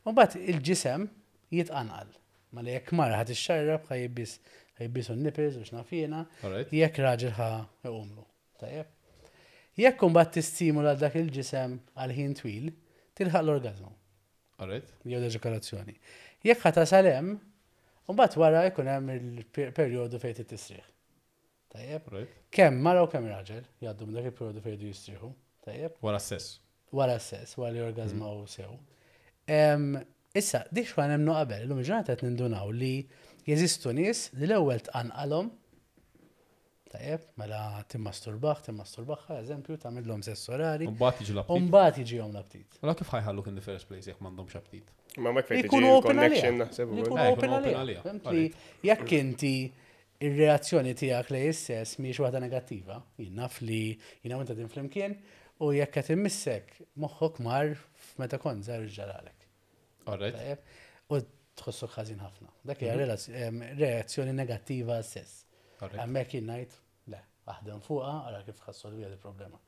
A: U mbagħad il-ġisem jitqanqal. Mela jekk mara ħa tixxarrab ħa jibbies ħa jibbisu n-nipples u x'naf jiena,
D: Alright.
A: jekk raġel ħa jqumlu. Tajjeb. Jekk imbagħad tistimula dak il-ġisem għal ħin twil, tilħaq l-orgazmu
D: Alright.
A: jew l-eġakulazzjoni. Jekk ħa tasal hemm, imbagħad wara jkun hemm il-perjodu fejn tistrieħ. Tajjeb.
D: Alright.
A: Kemm mara u kemm raġel jgħaddu minn dak il-perjodu fejn jridu jistrieħu. Tajjeb.
D: Wara s-sess.
A: Wara s-sess, wara li orgazmaw sew. Em, Issa, dik xwa nemmnu qabel, illum il-ġurnata qed nindunaw li jeżistu nies li l-ewwel tqanqalhom Tajjeb, mela timmasturbaħ, timmasturbaħha, eżempju, tagħmilhom sess orali.
D: Mbagħad jiġi
A: U
D: l-aptit.
A: mbagħad jiġihom l-aptit.
D: Allora kif ħa jħalluk in the first place jekk m'għandhomx aptit?
B: Ma mek fejn
A: Li
B: tiġi
A: jkunu open għaliha.
B: connection naħseb
A: Li
B: ukoll.
A: jkunu
D: Eh,
A: open
D: jkunu open
A: għaliha.
D: għaliha.
A: Fhimt li jekk inti ir-reazzjoni tiegħek lejn is-sess mhijiex waħda negattiva, jien naf li jiena u inta din flimkien, u jekk qed immissek moħħok mar meta kont żgħar ġaralek.
D: Alright.
A: Tajjeb? U tħossok ħażin ħafna. Dak hija relaz- em, reazzjoni negattiva għas-sess.
D: Alright.
A: Hemmhekk jien ngħid, le, aħdem fuqha, ara kif ħa ssolviha il-problema.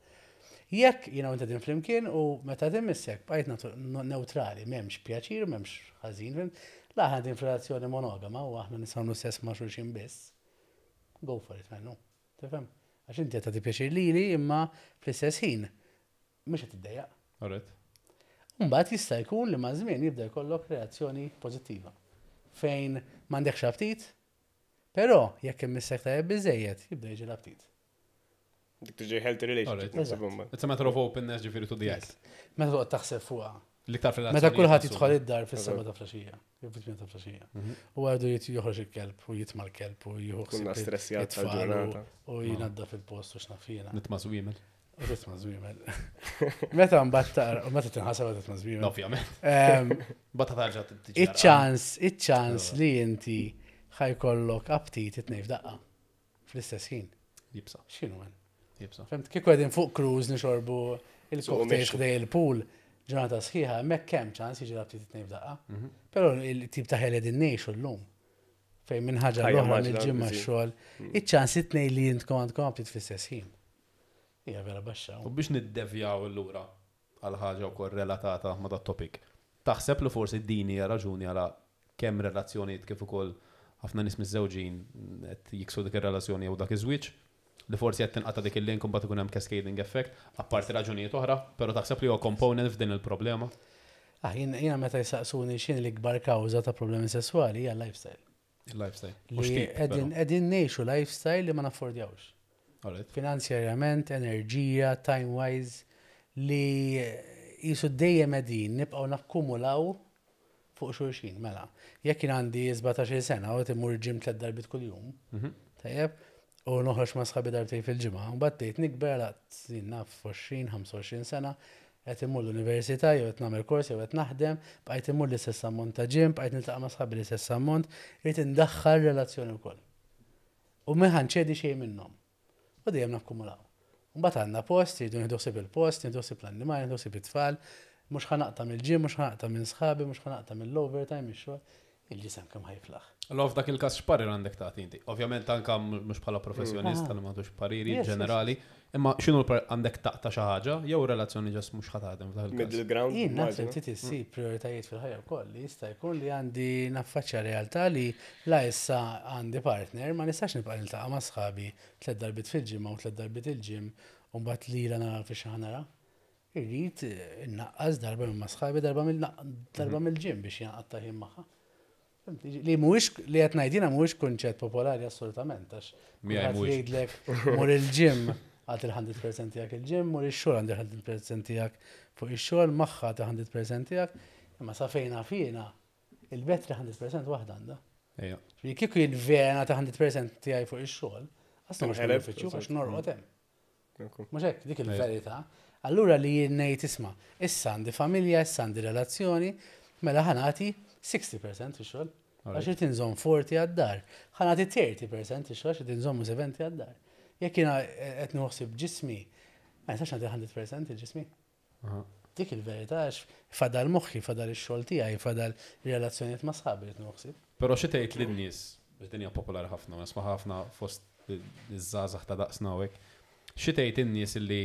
A: Jekk jiena u inti din flimkien u meta timmissek bqajt natu- neutrali, m'hemmx pjaċir, m'hemmx ħażin, fhimt? La aħna din f'relazzjoni monogama u aħna nistgħu sess ma' xulxin biss. Go for it, man, no. Tifhem? Għax inti qed tagħti pjaċir lili imma fl-istess ħin mhux qed tiddejjaq.
D: Alright.
A: Mbagħad jista' jkun li ma' żmien jibda jkollok reazzjoni pożittiva. Fejn m'għandekx aptit, però jekk immissek tajjeb biżejjed jibda jiġi l-aptit.
B: Dik tiġi healthy relationship.
D: Alright.
B: naħseb imbagħad.
D: It's a matter of openness ġifieri to the act.
A: Meta toqgħod taħseb fuqha.
D: L-iktar fil
A: Meta kulħadd jidħol id-dar fis-seba ta' filgħaxija, jew fit-tmien ta' filgħaxija. U għadu jit joħroġ il-kelb u jitma' l-kelb u jieħu
B: Kunna
A: ħsieb
B: stressjat
A: it-tfal
B: tal-ġurnata.
A: u u jinaddaf il-post u x'naf jiena.
D: Nitma' żwiemel.
A: U titma' żwiemel. Meta mbagħad taqra, u meta tinħaseb meta titma' żwiemel.
D: Ovvjament.
A: Ehm,
D: Bata tarġa tiġi.
A: Iċ-ċans, iċ-ċans li inti ħa jkollok aptit it-tnejn f'daqqa. Fl-istess ħin.
D: Jibsa,
A: X'inhu man?
D: jibsa.
A: Fhimt, kieku qegħdin fuq cruise nixorbu il-cocktails
B: mexxu.
A: ħdej il-pool ġurnata sħiħa, hemmhekk hemm ċans jiġi l-aptit it-tnejn f'daqqa. Però il-tip ta' ħajja qegħdin ngħixu llum. Fejn minn ħaġa
B: Ħajja
A: l-oħra
B: mgħaġġla,
A: mill-ġimgħa
B: busy.
A: x-xogħol, iċ-ċans it-tnejn li intkom għandkom aptit fl-istess ħin. Hija vera baxxa.
D: U biex niddevjaw l-lura għal ħaġa wkoll relatata ma' dat topic. Taħseb li forsi din hija raġuni għala kemm relazzjonijiet kif ukoll ħafna nies miżżewġin qed jiksu dik ir-relazzjoni jew dak iż-żwieġ li forsi qed tinqata' dik il-link u mbagħad ikun hemm cascading effect, apparti raġunijiet oħra, però taħseb li huwa component f'din il-problema.
A: Ah, jien- jiena meta jsaqsuni x'inhi l-ikbar kawża ta' problemi sesswali hija lifestyle.
D: Il-lifestyle. U
A: Li
D: x'tip,
A: qegħdin
D: però.
A: qegħdin ngħixu lifestyle li ma naffordjawx.
D: Alright.
A: Finanzjarjament, enerġija, time-wise, li jisu dejjem qegħdin nibqgħu nakkumulaw fuq xulxin, mela. Jekk jien għandi sbatax-il sena u immur gym tliet darbiet kuljum, tajjeb, u noħroġ ma' sħabi darbtejn fil-ġimgħa, u mbagħad tgħid nikber għal jien naf għoxrin, ħamsa u għoxrin sena, qed immur l-università jew qed nagħmel kors jew qed naħdem, bqajt immur l-istess ammont ta' gym, bqajt niltaqa' ma' sħabi l-istess ammont, irid indaħħal relazzjoni wkoll. U ma ħa nċedi xejn minnhom. U dejjem nakkumulaw. Mbagħad għandna post, jridu nieħdu ħsieb il-post, nieħdu ħsieb l-annimali, nieħdu ħsieb it-tfal, mhux ħa naqta' mill-gym, mhux ħa naqta' minn sħabi, mhux ħa naqta' mill-overtime, mix-xogħol. Il-ġisem kemm ħa jiflaħ.
D: Allora f'dak il-każ x'parir għandek tagħti inti? Ovvjament anka mhux bħala professjonist
A: Ah.
D: li m'għandux pariri
A: Yes, yes.
D: ġenerali, imma x'inhu l-par għandek taqta' xi ħaġa jew relazzjoni ġas mhux ħa taħdem f'dak il-każ.
B: Middle ground.
A: Jien naħseb
B: immaġina.
A: trid issib prioritajiet fil-ħajja wkoll li jista' jkun li għandi naffaċċja realtà li la issa għandi partner ma nistax nibqa' niltaqa' ma' sħabi tliet darbiet fil-ġimgħa u tliet darbiet il-gym u mbagħad lila nara fi xi nara. Irrid eh, innaqqas darba minn ma' sħabi darba mill darba mill-gym biex jinqatta' ħin magħha. Fhimt? Li mhuwiex li qed ngħid jiena mhuwiex kunċett popolari assolutament għax
D: Miegħi
A: kulħadd
D: mhuwiex.
A: jgħidlek mur il-gym għad il-mija fil-mija tiegħek il-gym, mur ix-xogħol għandi il-mija fil-mija tiegħek fuq ix-xogħol, magħha ta' mija fil-mija tiegħek, imma sa fejna fina il-battery mija fil-mija waħda għandha.
D: Ejja.
A: Ġifieri kieku jien vera ta' mija fil-mija tiegħi fuq ix-xogħol, għasna mhux
B: Tinħeleb,
A: benefiċċju għax
B: eżatt.
A: norqod hemm.
B: Ekku.
A: Mhux hekk, dik il-verità. Allura li jien ngħid isma', issa għandi familja, issa għandi relazzjoni, mela ħa nagħti sittin fil-mija ix-xogħol. Għax irid inżomm erbgħin għad-dar. Ħa nagħti tletin fil-mija ix-xogħol għax irid inżommu sebgħin għad-dar. Jekk jiena qed nħossib ġismi, ma nistax nagħti mija fil-mija il-ġismi.
D: Aha.
A: Dik il-verità għax fadal moħħi, fadal ix-xogħol tiegħi, fadal relazzjonijiet ma' sħabi li nħossib.
D: Però xi tgħid lin-nies, biex din hija popolari ħafna, ma nisma' ħafna fost iż-żgħażagħ ta' daqsna u hekk. Xi tgħid in-nies illi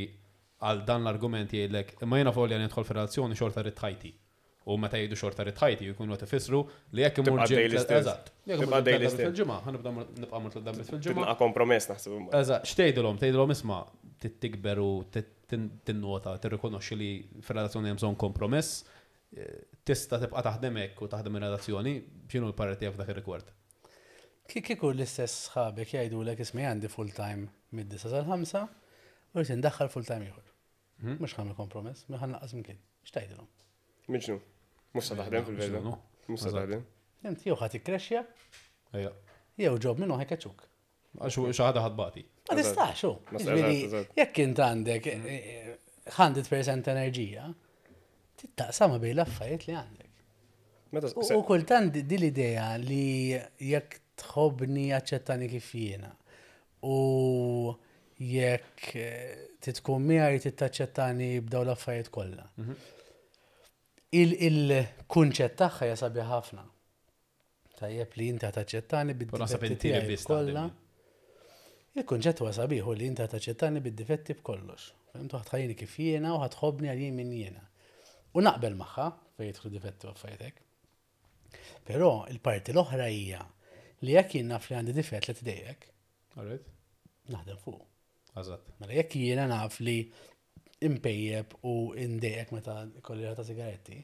D: għal dan l-argument jgħidlek imma jiena folja nidħol fir-relazzjoni xorta rrid ħajti. U meta jgħidu xorta rrid ħajti jkunu qed ifissru li jekk imur
B: Tibqa'
D: gym
B: daily stess.
D: Eżatt. Jekk imur
B: Tibqa'
D: gym
B: daily
D: tliet darbiet
B: stess.
D: fil-ġimgħa, ħa nibda nibqa' mur tliet darbiet fil-ġimgħa.
B: Tibqa' kompromess naħseb imbagħad.
D: Eżatt, x'tgħidilhom? Tgħidilhom isma' tikber u tinnota, tirrikonoxxi li fir-relazzjoni hemm bżonn kompromess, eh, tista' tibqa' taħdem hekk u taħdem ir-relazzjoni, x'inhu l-parir tiegħek f'dak ir-rigward?
A: Kieku l-istess sħabek jgħidulek isma' għandi full time mid-disa sal-ħamsa u rrid indaħħal full time ieħor.
D: Mhm.
A: Mhux ħa nagħmel kompromess, mhux ħa nnaqqas mkien. X'tgħidilhom?
B: Miġnu. Mhux sa taħdem fil-verità.
D: X'inhu?
B: Mhux sa
D: Eżatt.
B: taħdem.
A: Int jew ħa tikkrexxja,
D: Ejja.
A: jew job minnu ħa jkeċċuk.
D: Għax xi ħaġa ħa tbati.
A: Ma tistax, hu.
B: Ma
A: Ġifieri,
B: eżatt, eżatt.
A: jekk int għandek eh, eh, mija fil-mija enerġija, tittaqsama bejn l-affarijiet li għandek.
B: Meta
A: U u kultant di di l-idea li jekk tħobbni aċċettani kif jiena u jekk eh, titkun miegħi trid taċċettani b'daw l-affarijiet kollha. Il- Il-kunċett tagħha hija sabiħ ħafna. Tajjeb li inti taċċettani
D: Però naħseb
A: bid-difetti
D: inti li
A: tiegħi
D: biss
A: kollha.
D: taħdem.
A: Il-kunċett huwa sabiħ u li inti taċċettani bid-difetti b'kollox. Fhimt, u ħa tħallini kif jiena u ħa tħobbni għal jien min jiena. U naqbel magħha fejn jidħlu difetti u affarijiet. Però il-parti l-oħra hija li jekk jien naf li għandi difett li tdejjek,
D: Alright.
A: naħdem fuq.
D: Eżatt.
A: Mela jekk jiena naf li impejjeb u indejjek meta kolli ta' sigaretti,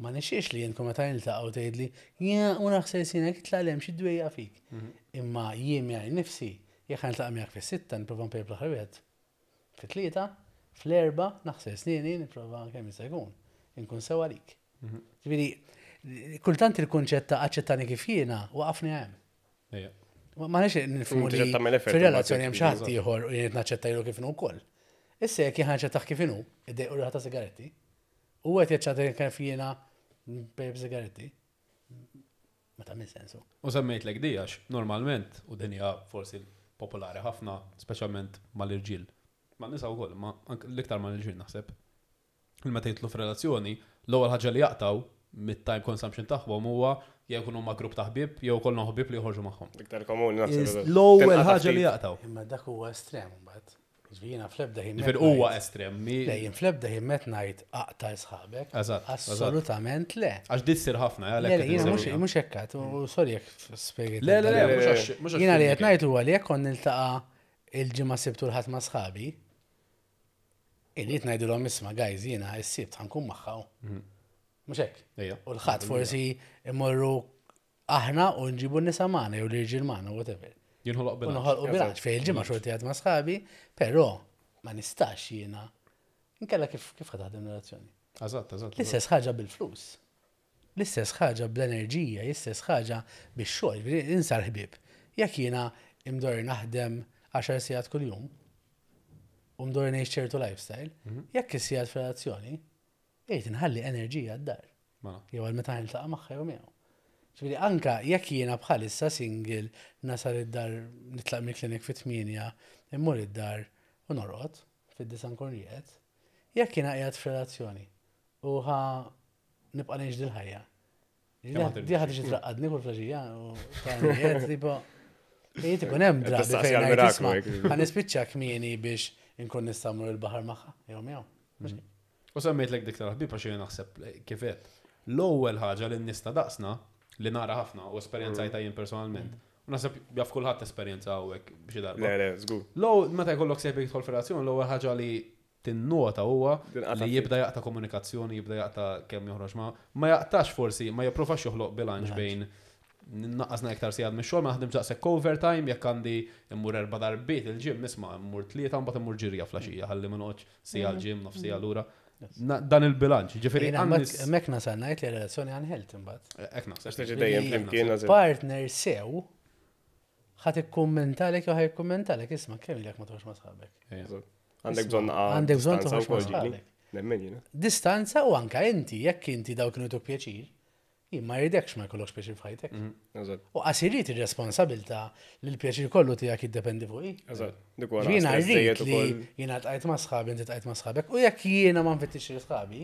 A: ma nixiex li jien meta niltaqgħu tgħidli, ja u naħseb sinek itlaq xi dwejja fik. Imma jien miegħi nifsi, jekk niltaqa' miegħek fis-sitta nipprova npejjeb l-aħħar wieħed. Fit-tlieta, fl-erba' naħsel snieni nipprova kemm jista' jkun. Inkun sew għalik. Ġifieri, kultant il-kunċett ta' aċċettani kif jiena waqafni hemm.
D: Ejja.
A: Ma ma nix nifhmu
B: Inti
A: li
B: trid tagħmel effort
A: fir-relazzjoni hemm xi ħadd
D: Eżatt.
A: ieħor u jien naċċetta kif inhu wkoll. Issa jekk jien naċċettah kif inhu, iddejqu riħa ta' sigaretti, u qed jaċċetta kif jiena npejjep sigaretti, ma tagħmel sensu.
D: U semmejtlek di għax normalment, u din hija forsi popolari ħafna, speċjalment mal-irġiel. Ma nisa wkoll, ma anke l-iktar mal-irġiel naħseb. Il-meta jidħlu f'relazzjoni, l-ewwel ħaġa li jaqtaw mit-time consumption tagħhom huwa jew jkunu ma' grupp ta' ħbieb jew kollhom ħbieb li joħorġu magħhom.
B: Iktar komuni naħseb.
D: L-ewwel
B: Tinqata'
D: ħaġa li
B: ftit.
D: jaqtaw.
A: Imma dak huwa estrem mbagħad. Ġifieri jiena fl-ebda ħin.
D: Ġifieri huwa estrem. mi-
A: Le, jien fl-ebda ħin met ngħid aqta' sħabek.
D: Eżatt, eżatt.
A: Assolutament le.
D: Għax di ssir ħafna,
A: Le,
D: għalhekk
A: le,
D: qed
A: jiena mhux
D: insemmiha.
A: mhux hekk, u sorry jekk spjegajt.
D: Le, le, le,
B: Le, le,
D: mhux
B: le.
D: għax mhux għax
A: Jiena li qed
D: fimni
A: ngħid huwa li jekk kont niltaqa' il-ġimgħa Sibt u l-Ħadd ma' sħabi, irrid ngħidulhom isma' guys jiena s-Sibt ħa nkun magħha. Mhux hekk.
D: Ejja.
A: U l-Ħadd forsi immorru aħna u nġibu n-nisa magħna jew l-irġiel magħna whatever.
D: Jinħoloq
A: U
D: bilanċ.
A: noħolqu bilanċ fejn il-ġimgħa xorti għad ma' sħabi, però ma nistax jiena. Inkella kif kif ħa taħdem relazzjoni.
D: Eżatt, eżatt.
A: L-istess ħaġa bil-flus. L-istess ħaġa bl-enerġija, l-istess ħaġa bix-xogħol, ġifieri insar ħbieb. Jekk jiena imdor naħdem għaxar sigħat kuljum u mdor ngħix ċertu lifestyle, jekk is-sigħat f'relazzjoni, irrid inħalli enerġija d-dar.
D: Mela.
A: Jew għal meta niltaqa' magħha jew miegħu. Ġifieri anka jekk jiena bħalissa single nasal id-dar nitlaq mill-klinik fit-tmienja, immur id-dar u norqod fid-disa nkun rieqed, jekk jiena qiegħed f'relazzjoni u ħa nibqa' ngħix dil-ħajja.
D: Kemm ħa
A: Di ħa tiġi traqqadni kull filgħaxija u ta' tipo Jiet ikun hemm drabi
B: Tistaqsi
A: fejn ngħid
B: għal-miraklu,
A: isma'
B: hekk.
A: ħa nispiċċa kmieni biex inkun nista' mmur il-baħar magħha jew miegħu. Mhux hekk.
D: U semmejtlek dik tal-ħbieb għax jien naħseb kif qed. L-ewwel ħaġa li n-nies ta' daqsna li nara ħafna u esperjenzajta jien personalment. U naħseb jaf kulħadd esperjenza hawnhekk b'xi darba.
B: Le, le, żgur.
D: L-ewwel meta jkollok sejbek jidħol f'relazzjoni, l-ewwel ħaġa li tinnota huwa
B: Tinqata'
D: li
B: ftit.
D: jibda jaqta' komunikazzjoni, jibda jaqta' kemm joħroġ ma ma jaqtax forsi, ma jipprovax joħloq bilanċ bejn naqqasna iktar sigħat mix-xogħol, ma naħdem daqshekk overtime, jekk għandi immur erba' darbiet il-gym, isma' immur tlieta mbagħad immur ġirja filgħaxija, ħalli ma noqgħodx siegħa l-gym, nofs siegħa lura. Na- Dan il-bilanċ, ġifieri
A: Jiena
D: għan-nies.
A: hemmhekk nasal ngħid li relazzjoni unhealthy imbagħad.
D: Hekk naħseb.
B: Għax tiġi dejjem flimkien nażel.
A: Partner sew ħa tikkummentalek jew ħa jikkummentalek isma' kemm ilek ma toħroġ ma' sħabek.
D: Ejja.
B: Għandek bżonn naqa'
A: Għandek bżonn
B: distanza
A: toħroġ ma'
B: wkoll ġieli.
A: sħabek.
B: Nemmen jiena.
A: Distanza u anka inti, jekk inti daw kienu tuk pjaċir, jien ma jridekx ma jkollokx pjaċir f'ħajtek.
B: Eżatt.
A: U qas irrid ir-responsabilità li l-pjaċir kollu tiegħek jiddependi fuqi.
B: Eżatt. Dik wara
A: Jiena
B: stress
A: rrid
B: żejjed
A: li
B: ukoll.
A: jiena tqajt ma' sħabi, inti tqajt ma' sħabek, u jekk jiena ma nfittix li sħabi,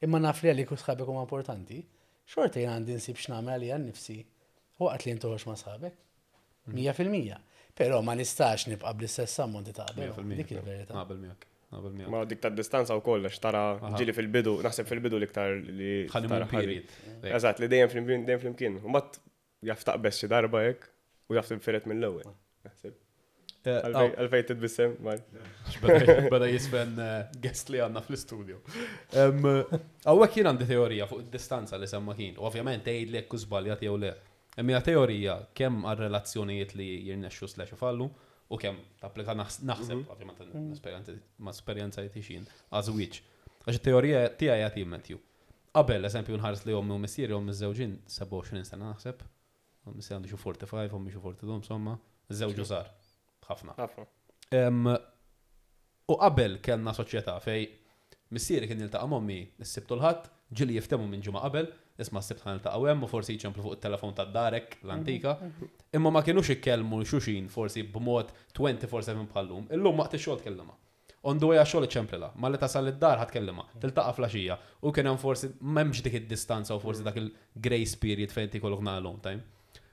A: imma naf li għalik u sħabek huma importanti, xorta jiena għandi nsib x'nagħmel għalija nnifsi waqt li intoħroġ ma' sħabek. Mija fil-mija. Però ma nistax nibqa' bl-istess ammonti ta' qabel.
D: Mija fil-mija.
A: Dik il-verità.
D: Naqbel miegħek. Naqbel miegħek.
B: Ma dik ta' distanza wkoll għax tara ġieli fil-bidu, naħseb fil-bidu l-iktar li
D: Honeymoon
B: tara ħalli.
D: period.
B: Eżatt, li dejjem flimkien, dejjem flimkien. U mbagħad jaf taqbeż xi darba hekk u jaf tinfiret mill-ewwel. Naħseb.
D: Eh,
B: Għalfejn għalfejn titbissem, mar.
D: Beda beda jisfen eh, guest li għandna fl-studio. Hawnhekk jien għandi teorija fuq id-distanza li semma kien. U ovvjament tgħid li jekk żbaljat jew le. Imma hija teorija kemm għal relazzjonijiet li jirnexxu slash ifallu u kemm tapplika naħs- naħseb, ovvjament esperjenza ma esperjenza jtixin għaż-żwieġ. Għax it-teorija tiegħi jagħti Matthew. Qabel, eżempju, nħares li ommi u missieri ommi żewġin sebgħa u għoxrin sena naħseb. Missieri għandu xi quarter five, ommi xi erbgħa u erbgħin, insomma, żewġu żgħar. Ħafna.
B: Ħafna.
D: Em, U qabel kellna soċjetà fej missieri kien jiltaqa' m'ommi s-Sibt u l-Ħadd, ġieli jiftehmu minn ġimgħa qabel, isma' s-Sibt ħa niltaqgħu hemm u forsi jċemplu fuq it-telefon tad-darek l-antika. Imma ma kienux ikkellmu xuxin forsi b'mod twenty-four seven bħallum. Illum waqt ix-xogħol tkellimha. On the way għax-xogħol iċċemplilha, malli tasal id-dar ħa tkellimha, tiltaqa' filgħaxija. U kien hemm forsi m'hemmx dik id-distanza u forsi dak il-grace period fejn tikollok na alone time.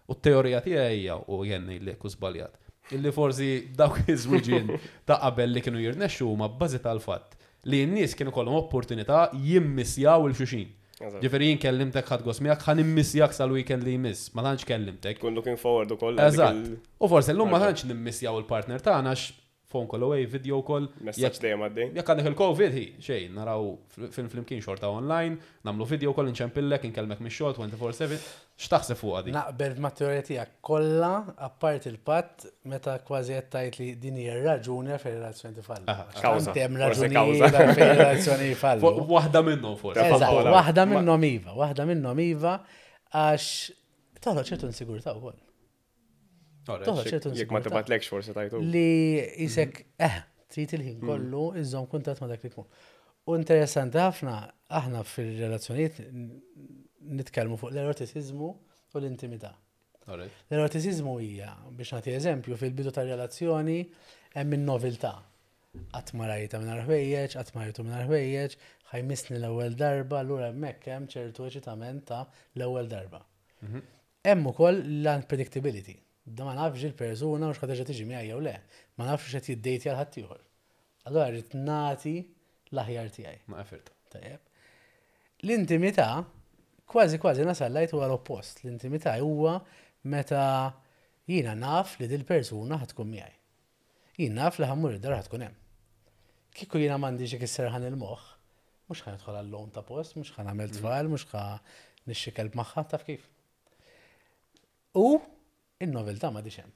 D: U t-teorija tiegħi hija u jenni li jekk żbaljat. Illi forsi dawk iż-żwiġin ta' qabel li kienu jirnexxu huma bbażi tal-fatt li n-nies kienu kollhom opportunità jimmissjaw lil xulxin.
B: Eżatt.
D: Ġifieri jien kellimtek, ħadt gost miegħek, ħa nimmissjak sal-weekend li jmiss, ma tantx kellimtek.
B: Tkun looking forward ukoll għal dik
D: Eżatt.
B: il-
D: U forsi llum ma tantx nimmissjaw il-partner tagħna għax phone call away, video call.
B: Messaġġ dejjem għaddej.
D: Jekk għandek il-Covid, hi, xejn, naraw film flimkien xorta online, nagħmlu video call, inċempillek, inkellmek mix-xogħol twenty-four seven. X'taħseb fuq di?
A: Naqbel ma' teorija tiegħek kollha, apart il-patt meta kważi qed tgħid li din hija r-raġuni għalfejn relazzjoni tifalli.
D: Aha.
B: Kawża.
A: Tant hemm
B: Forsi
A: raġunijiet
B: kawża.
A: għalfejn relazzjoni jfallu.
D: Waħda minnhom forsi.
A: Eżatt,
B: Paola.
A: waħda
B: Ma-
A: minnhom iva, waħda minnhom iva, għax toħloq ċertu insigurtà wkoll. Toħloq ċertu
B: Jekk ma
A: insigurtà.
B: tibatlekx forsi tajtu.
A: Li jisek, eh, trid il-ħin kollu iżżomm kuntatt ma' dak li jkun. U interessanti ħafna, aħna fil-relazzjonijiet nitkellmu fuq l-erotiċiżmu u l-intimità.
D: Alright.
A: L-erotiċiżmu hija, biex nagħti eżempju, fil-bidu tar-relazzjoni hemm in-noveltà. Qatt ma rajta mingħajr ħwejjeġ, qatt ma rajtu mingħajr ħwejjeġ, ħa jmissni l-ewwel darba, allura hemmhekk hemm ċertu eċitament ta' l-ewwel darba. Hemm ukoll l-unpredictability. Da ma nafx il-persuna mhux ħa terġa' tiġi miegħi jew le, ma nafx x'qed jiddejtja l ħaddieħor. Allura rrid nagħti l-aħjar tiegħi.
D: Ma effort.
A: Tajjeb. L-intimità kważi kważi nasal lajt huwa l-oppost. L-intimità huwa meta jiena naf li dil-persuna ħa tkun miegħi. Jien naf li ħa mmur id-dar ħa tkun hemm. Kieku jiena m'għandix dik is-serħan il-moħħ, mhux ħa nidħol għall-loan ta' post, mhux ħa nagħmel tfal, mhux ħa nixtri kelb magħha, taf kif. U in-noveltà m'għadix hemm.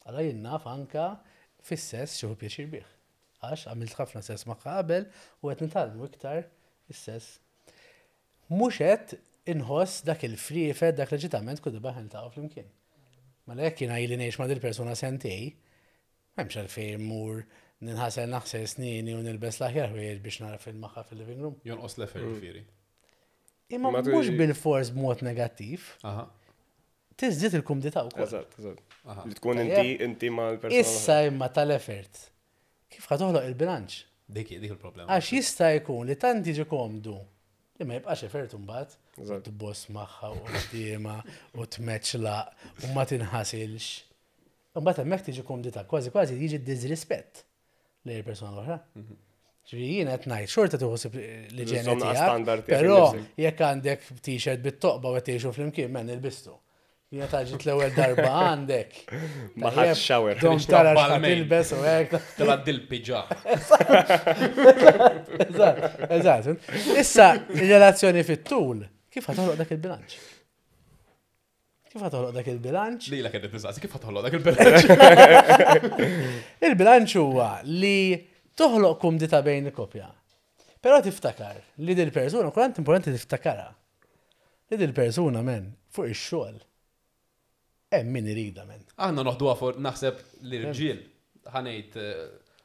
A: Allora jien naf anka fis-sess xieħu pjaċir bih. Għax għamilt ħafna sess magħha qabel u qed nitgħallmu iktar is-sess. Mhux qed inħoss dak il-friefet, dak l-eċitament kull darba niltaqgħu flimkien. Mela jekk jiena ili ngħix ma' dil-persuna sentej, m'hemmx għalfejn immur ninħasel, naħsel snini u nilbes l-aħjar ħwejjeġ biex nara film magħha fil-living room.
D: Jonqos l-effort, ġifieri.
A: Imma
B: Ma tu-
A: mhux bil-fors b'mod negattiv,
D: Aha.
A: tiżdied il-kumdità wkoll.
B: Eżatt, eżatt.
D: Aha.
B: Li tkun inti inti ma' l-persuna.
A: Issa imma tal-effort. Kif ħa toħloq il-bilanċ?
D: Dik dik il-problema.
A: Għax jista' jkun li tant jiġi komdu li ma jibqax effort imbagħad.
B: Eżatt.
A: Tboss magħha u quddiemha u tmeċlaq u ma tinħasilx. Imbagħad hemmhekk tiġi kumdità, kważi kważi jiġi disrispett lejn il-persuna l-oħra. Ġifieri jien qed ngħid xorta tieħu ħsieb l-iġene
B: Żomm
A: tiegħek,
B: standard tiegħek
A: però
B: innifsek.
A: jekk għandek t-shirt bit-toqba u qed tgħixu flimkien, men ilbistu. Jiena taġit l-ewwel darba għandek.
B: Ma ħadx shower.
A: Dom tara x'ħa
D: Balmain.
A: tilbes u hekk.
D: Tela dil-piġa.
A: Eżatt, eżatt. Issa, il-relazzjoni fit-tul, kif ħa toħloq dak il-bilanċ? Kif ħa toħloq dak il-bilanċ?
D: Li la kienet nistaqsi, kif ħa toħloq dak il-bilanċ?
A: Il-bilanċ huwa li toħloq kumdita bejn il-kopja. Però tiftakar li dil-persuna, kultant importanti tiftakara, li dil-persuna, men, fuq ix-xogħol. Hemm min irida, men.
D: Aħna noħduha for naħseb l-irġiel ħa ngħid eh,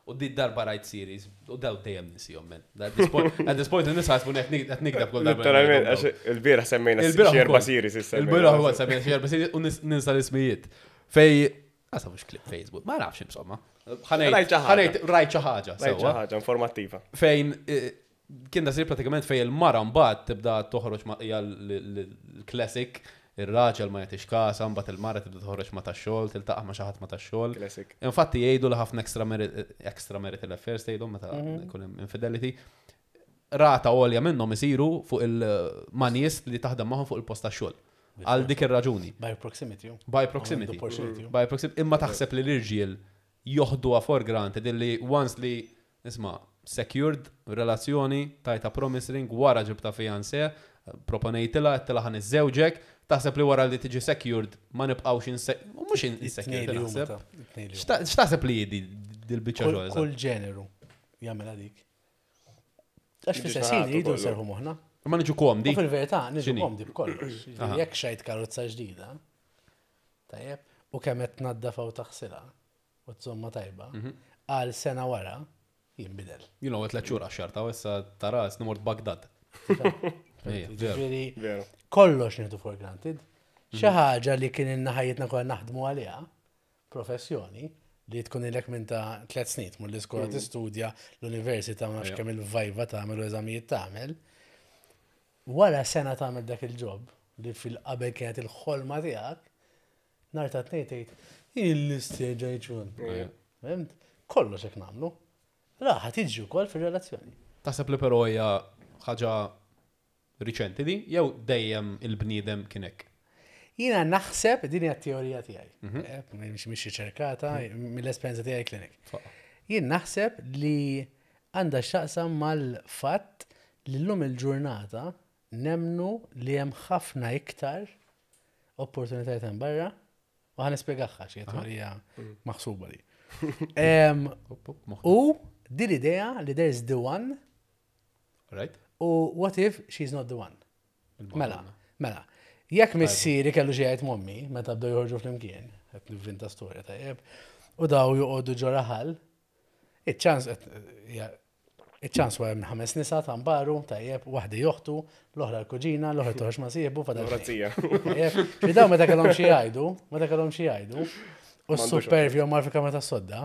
D: u di darba rajt series u daw dejjem ninsihom, men. At this point, at this point in-nisa ħasbu qed nikdeb kull darba.
B: Literalment, għax il-bieraħ semmejna
D: Il-bieraħ
B: xi erba'
D: ukoll.
B: series issa.
D: Il-bieraħ ukoll semmejna xi erba' series u nis- ninsa l-ismijiet. Fej għasa mhux clip Facebook, ma nafx insomma.
B: Rajt
D: Ħa ngħid
B: xi ħaġa.
D: ħa ngħid rajt xi ħaġa
B: Rajt xi
D: sewwa.
B: ħaġa informattiva.
D: Fejn eh, kien da sir pratikament fej il-mara mbagħad tibda toħroġ ma' hija l-classic, ir-raġel ma jagħtix kasa, mbagħad il-mara tibda toħroġ ma' tax-xogħol, tiltaqa' ma' xi ħadd ma' tax-xogħol.
B: Classic.
D: Infatti jgħidu li ħafna extra mari- extra marital affairs tgħidu meta jkun hemm infidelity. Rata għolja minnhom isiru fuq il-manies li taħdem magħhom fuq il-post tax-xogħol. Għal dik ir-raġuni.
A: By proximity.
D: By proximity.
A: Opportunity.
D: By proximity. Imma taħseb li l-irġiel joħduha for granted illi once li isma' secured relazzjoni, tajta promise ring, wara ġibta fiancé, proponejtilha, għedtilha ħa niżżewġek, taħseb li wara li tiġi secured ma nibqgħux inse mhux insecured
A: It-tnejn li huma
D: naħseb.
A: ta' it-tnejn li huma.
D: X'ta- X'taħseb li di dil-biċċa
A: Kull
D: xogħol?
A: kull ġeneru jagħmel dik. Għax
B: Jiġu
A: fis-sessin
B: xaħatu
A: jridu
B: kollu.
A: nserħu moħħna.
D: Ma niġu komdi.
A: U fil-verità niġu
D: X'inhi?
A: komdi b'kollox. Ġifieri jekk xtrajt karozza ġdida, tajjeb, u kemm qed tnaddafa u taħsilha u tżomma tajba, għal sena wara jinbidel.
D: You know, tliet xhur għax-xarta u issa tara mort Bagdad. Ejja, veru.
A: Ġifieri
B: Veru.
A: kollox nieħdu for granted. Xi ħaġa li kien ilna ħajjitna kollha naħdmu għaliha, professjoni, li tkun ilek minn ta' tliet snin tmur l-iskola, tistudja, l-università, ma nafx
D: Ejja.
A: kemm il-vajva tagħmel u eżamijiet tagħmel. Wara sena tagħmel dak il-job li fil-qabel kienet il-ħolma tiegħek, nhar ta' Tnejn tgħid, Il-istieġa jċun. Fhimt? Kollox hekk nagħmlu. Raħa tiġi wkoll fir-relazzjoni.
D: Taħseb li però hija ħaġa riċenti di, jew dejjem il-bniedem kien hekk?
A: Jiena naħseb, din hija t-teorija tiegħi. Eh, Mhix mhix riċerkata, mill-esperjenza tiegħi clinic. Jien naħseb li għandha x'taqsam mal-fatt li llum il-ġurnata nemnu li hemm ħafna iktar opportunitajiet hemm barra u ħa nispjegaha xi teorija maħsuba li. Em, U din l-idea li there's the one
D: Right?
A: u what if she's not the one? Mela, mela. Jekk missieri kellu xi jgħid m'ommi, meta bdew joħorġu flimkien, qed nivvinta storja tajjeb, u daw joqogħdu ġo raħal, iċ-ċans iċ-ċans huwa hemm ħames nisa tambaru, tajjeb, waħda joħtu, l-oħra l-kuġina, l-oħra toħroġ ma' sieħbu, fadal
B: L-oħra zija.
A: Tajjeb, Fi daw meta kellhom xi jgħidu, meta kellhom xi jgħidu, u
B: M'għandux
A: s-supervju mar fi kamra tas-sodda,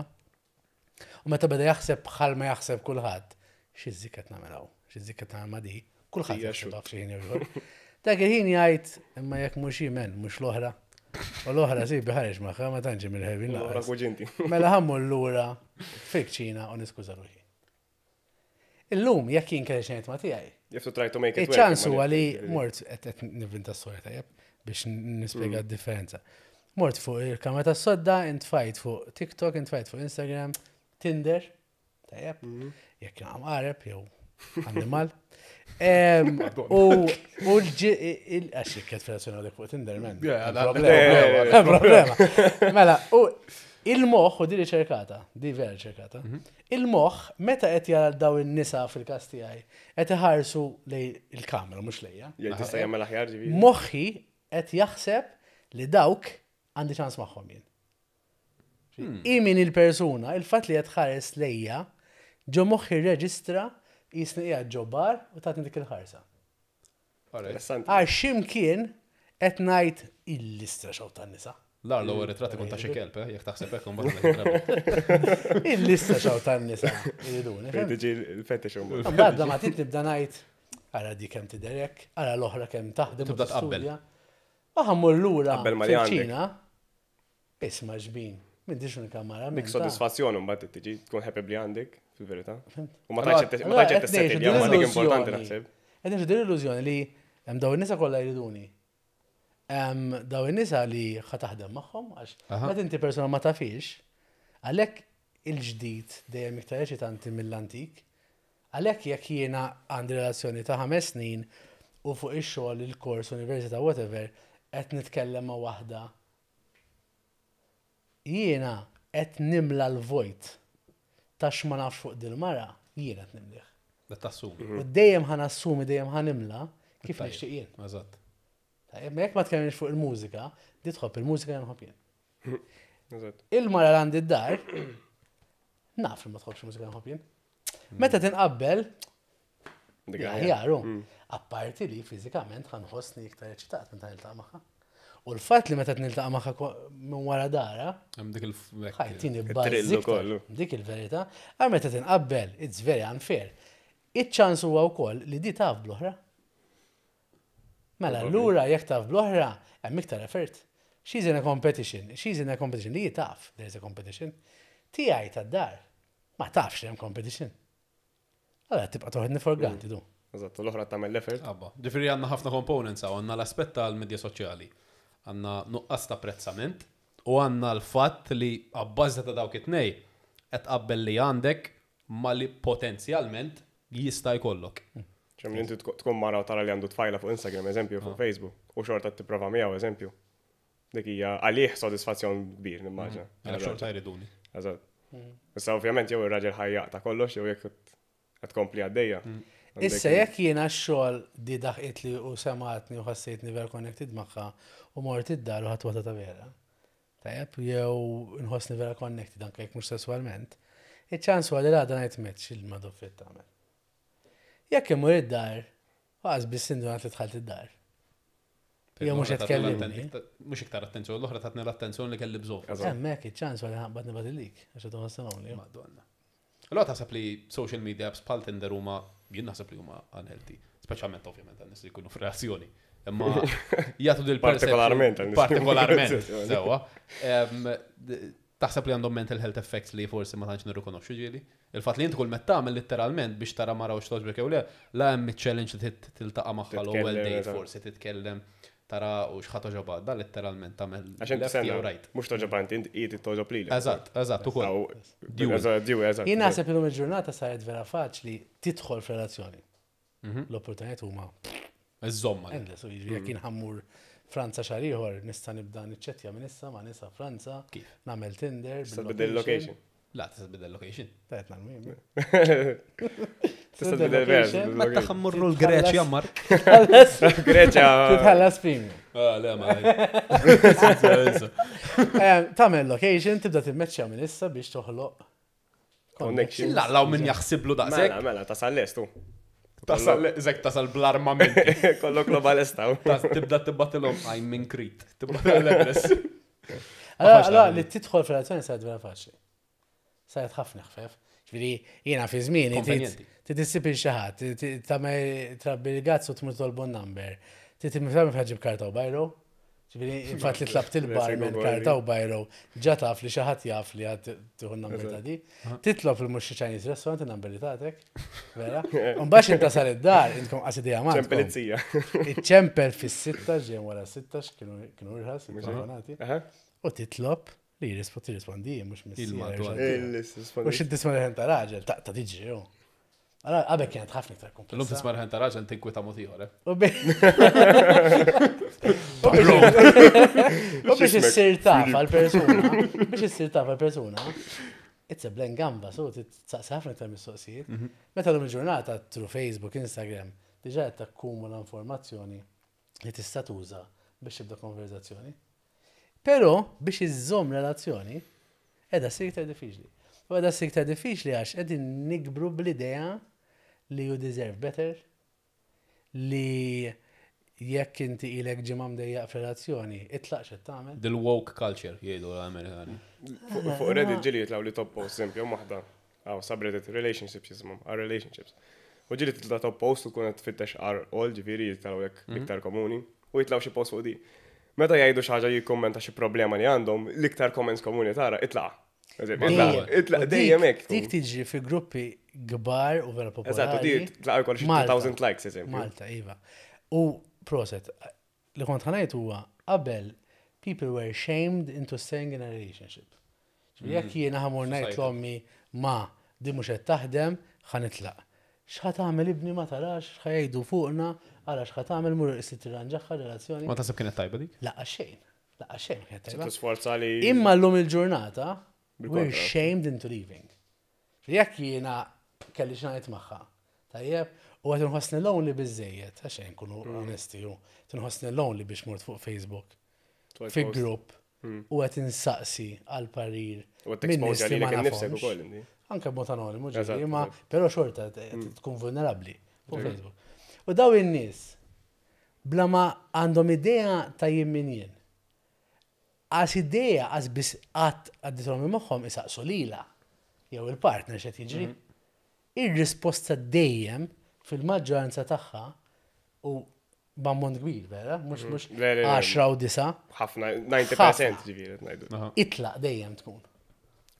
A: u meta beda jaħseb bħal ma jaħseb kulħadd, xi żikket nagħmel hawn, xi żikket nagħmel ma' di, kulħadd
B: Hija
A: jaħseb
B: xut.
A: f'xi ħin jew ieħor. Dak il-ħin jgħid, imma jekk mhux hi men, mhux l-oħra. U l-oħra si biħareġ magħha ma tantx mill-ħebin
B: L-oħra
A: lanqas.
B: kuġinti.
A: Mela ħa mmur lura fil-kċina u niskuża ruħi. Illum jekk jien kelli xi ngħid ma' tiegħi,
B: You have to try to make it work.
A: iċ-ċans
B: imma
A: huwa li
B: li-
A: mort qed qed nivvinta storja tajjeb biex nispjega d-differenza. Mort fuq il-kamra tas-sodda, intfajt fuq TikTok, intfajt fuq Instagram, Tinder, tajjeb, jekk naqam qareb jew animal. Em, U u l-ġi, għax jekk qed f'relazzjoni għadek fuq Tinder, man.
D: Yeah,
A: hemm
D: da-
A: problema. Hemm problema. Mela, u il-moħħ, u di riċerkata, di vera riċerkata, il-moħħ meta qed jara daw in-nisa fil-każ tiegħi, qed iħarsu lej il-kamera mhux lejja.
B: Jgħid tista' jagħmel aħjar ġifieri.
A: Moħħi qed jaħseb li dawk għandi ċans magħhom jien. I min il-persuna, il-fatt li qed ħares lejja, ġo moħħi reġistra jisni qiegħed ġo bar u tatni dik il-ħarsa.
B: Interessanti.
A: Għax ximkien qed ngħid il-listra xaw tan-nisa.
D: Lar l-ewwel ritratti kont ta' xi kelb, eh, jekk taħseb hekk imbagħad ngħid
A: Il-lista xaw tan-nisa iriduni.
B: Fejn tiġi l-fetish imbagħad.
A: Mbagħad la ma trid nibda ngħid ara di kemm tidherek, ara l-oħra kemm taħdem. u
D: Tibda tqabbel.
A: tistudja. U ħa mmur lura
B: Tqabbel ma li għandek.
A: fil-kċina. Isma' ġbin, m'intix unika mara.
B: Dik sodisfazzjon imbagħad tiġi tkun happy bli għandek, fil-verità. U ma
D: Allora,
B: tantx ma tantx tissettilja, ma dik importanti naħseb.
A: Qed ngħixu din l-illużjoni li hemm daw in-nisa kollha jriduni. Hemm daw in-nisa li ħa taħdem magħhom għax
D: Aha.
A: meta inti persuna ma tafix, għalhekk il-ġdid dejjem iktar eċitanti mill-antik. Għalhekk jekk jiena għandi relazzjoni ta' ħames snin u fuq ix-xogħol, il-kors, università, whatever, qed nitkellem ma' waħda. Jiena qed nimla l-vojt ta' x'ma nafx fuq dil-mara, jiena qed nimlih.
D: Da tassumi.
A: U dejjem ħa nassumi, dejjem ħa nimla kif
D: Tajjeb.
A: nixtieq jien.
D: Eżatt.
A: Tajjeb, ma jekk ma tkellimx fuq il-mużika, di tħobb il-mużika jien nħobb jien.
B: Eżatt.
A: Il-mara li għandi d-dar, naf li ma tħobbx il-mużika nħobb jien. Meta tinqabbel,
B: Dik aħjar.
A: aħjar, apparti li fiżikament ħa nħossni iktar eċitat meta niltaqa' magħha. U l-fatt li meta niltaqa' magħha ko- minn wara dara,
D: Hemm dik il
A: ħajtini
B: It-trillu
A: buzz
B: kollu.
A: Dik il-verità. Għal meta tinqabbel, it's very unfair. Iċ-ċans huwa wkoll li di taf bl-oħra. Mela, lura jekk taf bl-oħra, hemm iktar effort. She's in a competition. She's in a competition. Li taf, there's a competition. Tiegħi tad-dar, ma tafx li hemm competition. Allora tibqa' toħodni for granted du.
B: Eżatt, u l-oħra tagħmel l-effort.
D: Abba. Ġifieri għandna ħafna components hawn, għandna l-aspett tal-medja soċjali, għandna nuqqas ta' apprezzament u għandna l-fatt li abbażi ta' dawk it-tnej qed tqabbel li għandek ma li potenzjalment jista' jkollok.
B: ċem li inti tkun tkun mara u tara li għandu tfajla fuq Instagram, eżempju, fuq Facebook, u xorta tipprova miegħu, eżempju. Dik hija għalih sodisfazzjon kbir, nimmaġina.
D: Għalhekk xorta jriduni.
B: Eżatt. Issa ovvjament jew ir-raġel ħajjaq ta' kollox jew jekk qed tkompli għaddejja. Għandek
A: Issa jekk jiena x-xogħol di daħqitli u sematni u ħassejtni vera connected magħha u mort id-dar u ħadd waħda ta' vera. Tajjeb, jew nħossni vera connected anke jekk mhux sesswalment. Iċ-ċans huwa li l-għada ngħid met x'il-madoffett tagħmel. Jekk imur id-dar, għaż biss indunat li dħalt id-dar. Jew mhux qed tkellimni.
D: Mhux iktar attenzjoni, l-oħra tatni l-attenzjoni li kelli bżonn.
B: Eżatt.
A: Hemmhekk iċ-ċans huwa li ħabbat nibgħat il-lik għax qed toħossna
D: Madonna. Allora taħseb li social media apps bħal Tinder huma jien naħseb li huma unhealthy, speċjalment ovvjament għan nies li jkunu f'relazzjoni. Imma jagħtu dil
B: Partikolarment għal nies.
D: Partikolarment, sewwa. Em, d- Taħseb li għandhom mental health effects li forsi ma tantx nirrikonoxxu ġieli? Il-fatt li inti kull meta tagħmel letteralment biex tara mara u x'togħġbek jew le, la hemm iċ-challenge li tit- tiltaqa' magħha l-ewwel
B: Titkellem,
D: date
B: eżatt.
D: forsi titkellem tara u x'ħa togħġobha, da letteralment tagħmel
B: Għax inti
D: left jew
B: senna,
D: right.
B: mhux togħġob inti, inti qiegħed togħġob lilek.
D: Eżatt, eżatt, ukoll.
B: Aw,
D: Dual.
B: Eżatt, dual, eżatt.
A: Jien naħseb illum il-ġurnata saret vera faċli tidħol f'relazzjoni.
D: Mhm.
A: L-opportunitajiet huma
D: Iżomma.
A: endless, u jiġifieri jekk jien ħa mmur Franza xahar ieħor nista' nibda niċċettja minn issa ma' nisa Franza,
D: Kif?
A: nagħmel Tinder,
B: Tista' tbiddel location.
D: La, tista' tbiddel location.
A: Tajt nagħmel.
B: Tista' tbiddel vera, tbiddel
C: Meta
B: location.
C: ħa mmorru l-Greċja, Mark.
B: Greċja.
A: Titħallas premium.
D: Ah, le, ma.
A: Eh, Tagħmel location, tibda timmeċċja minn issa biex toħloq
B: Connection.
D: Lallaw min jaħsiblu daqshekk.
B: Mela, mela, tasal lest tu.
D: Tasal, zek tasal bl-armamenti.
B: Kollok globalista.
D: Tas- Tibda tibbatilhom I'm in Crete. Tibbatilhom l-address.
A: Allora,
D: faċli
A: allora
D: għamil.
A: li tidħol f'relazzjoni saret vera faċli. Saret ħafna ħfef. Ġifieri jiena fi żmieni
D: Konvenjenti.
A: titissib il xi ħadd, tagħmel trabbi l-gazz u tmur tolbu number. Tittimfhem ħaġib karta u bajro. Ġifieri infatti li tlabt il-barman karta u bajro, ġa taf li xi ħadd jaf li għad tieħu n-number ta' di. Titlob il mhux xi Chinese restaurant in-number li tagħtek. Vera? U mbagħad inta sar id-dar, intkom qas idea m'għandkom.
B: Ċempelizzija.
A: Iċċempel fis-sitta ġejn wara sitta x'kienu kienu irħas, telefonati.
B: Aha.
A: U titlob li jirrispo tirrispondi mhux missier.
D: Il-madwar.
A: U xi tisma' leħen ta' raġel, ta' ta' tiġri hu. Allora qabel kienet ħafna iktar
D: Illum
A: komplessa.
D: tisma' leħen ta' raġel tinkwita mod ieħor, eh?
A: U bi- U biex- U biex issir taf għal-persuna, biex issir taf għal-persuna, it's a blank gamba, so titsaqsi ħafna iktar mistoqsijiet. Meta l il-ġurnata through Facebook, Instagram, diġà qed takkumula informazzjoni li tista' tuża biex tibda konverzazzjoni. Però biex iżżomm relazzjoni, qiegħda ssir iktar diffiċli. U qiegħda ssir iktar diffiċli għax qegħdin nikbru bl-idea li you deserve better, li jekk inti ilek ġimgħa mdejjaq f'relazzjoni, itlaq x'qed tagħmel.
D: Dil-woke culture jgħidu l-Amerikani.
B: Fuq fuq Reddit ġieli jitilgħu li top post, eżempju, waħda. Għaw, subreddit, relationships jisimhom, our relationships. U ġieli titla' top post u kun qed tfittex r all, ġifieri jitilgħu jekk iktar komuni, u jitilgħu xi post fuq di. Meta jgħidu xi ħaġa jikkommenta xi problema li għandhom, l-iktar comments komuni tara, itlaq. Eżempju, Itlaq,
A: Dejjem.
B: itlaq,
A: U dik-
B: dejjem hekk.
A: Dik tiġi fi gruppi kbar u vera
B: Eżatt, u di
A: popolari.
B: tlaq jkoll xi
A: Malta.
B: elf likes, eżempju.
A: Malta, iva. U proset, li kont ħa ngħid huwa qabel people were shamed into staying in a relationship. Ġifieri Jekk jiena ħa mmur ngħid
D: Society.
A: l-ommi ma di mhux qed taħdem, ħa nitlaq. X'ħa tagħmel ibni ma tarax, x'ħa jgħidu fuqna, ara x'ħa tagħmel mur issi tirranġaħħa relazzjoni.
D: Ma taħseb kienet tajba dik?
A: Laqqa xejn. Laqqa xejn ma kienet tajba.
B: Tisforza li.
A: Imma l-lum il-ġurnata, we're
B: Bil-kontra.
A: shamed into leaving. Jekk jiena kelli xi ngħid magħha, tajjeb, u qed inħossni lonely biżejjed, għax nkunu onesti, u tinħossni lonely biex mort fuq Facebook, fi grupp, u qed insaqsi għal parir
B: U
A: minn nies
B: t-exposure
A: li
B: li
A: ma
B: innifsek
A: nafhomx.
B: ukoll inti.
A: Anke b'mod anonimu,
B: Eżatt,
A: ġifieri, ma
B: eżatt.
A: però xorta t- tkun vulnerabbli fuq Facebook. U daw in-nies bla ma għandhom idea ta' jien min jien. Għas idea għas biss qatt għaddithom minn moħħhom isaqsu lila jew il-partner x'qed jiġri. Ir-risposta dejjem fil-maġġoranza tagħha u b'ammont kbir, vera, mhux mhux
B: Le, le, le.
A: għaxra u disa,
B: Ħafna, disgħin fil-mija ġifieri qed ngħidu.
D: Aha.
A: itlaq dejjem tkun.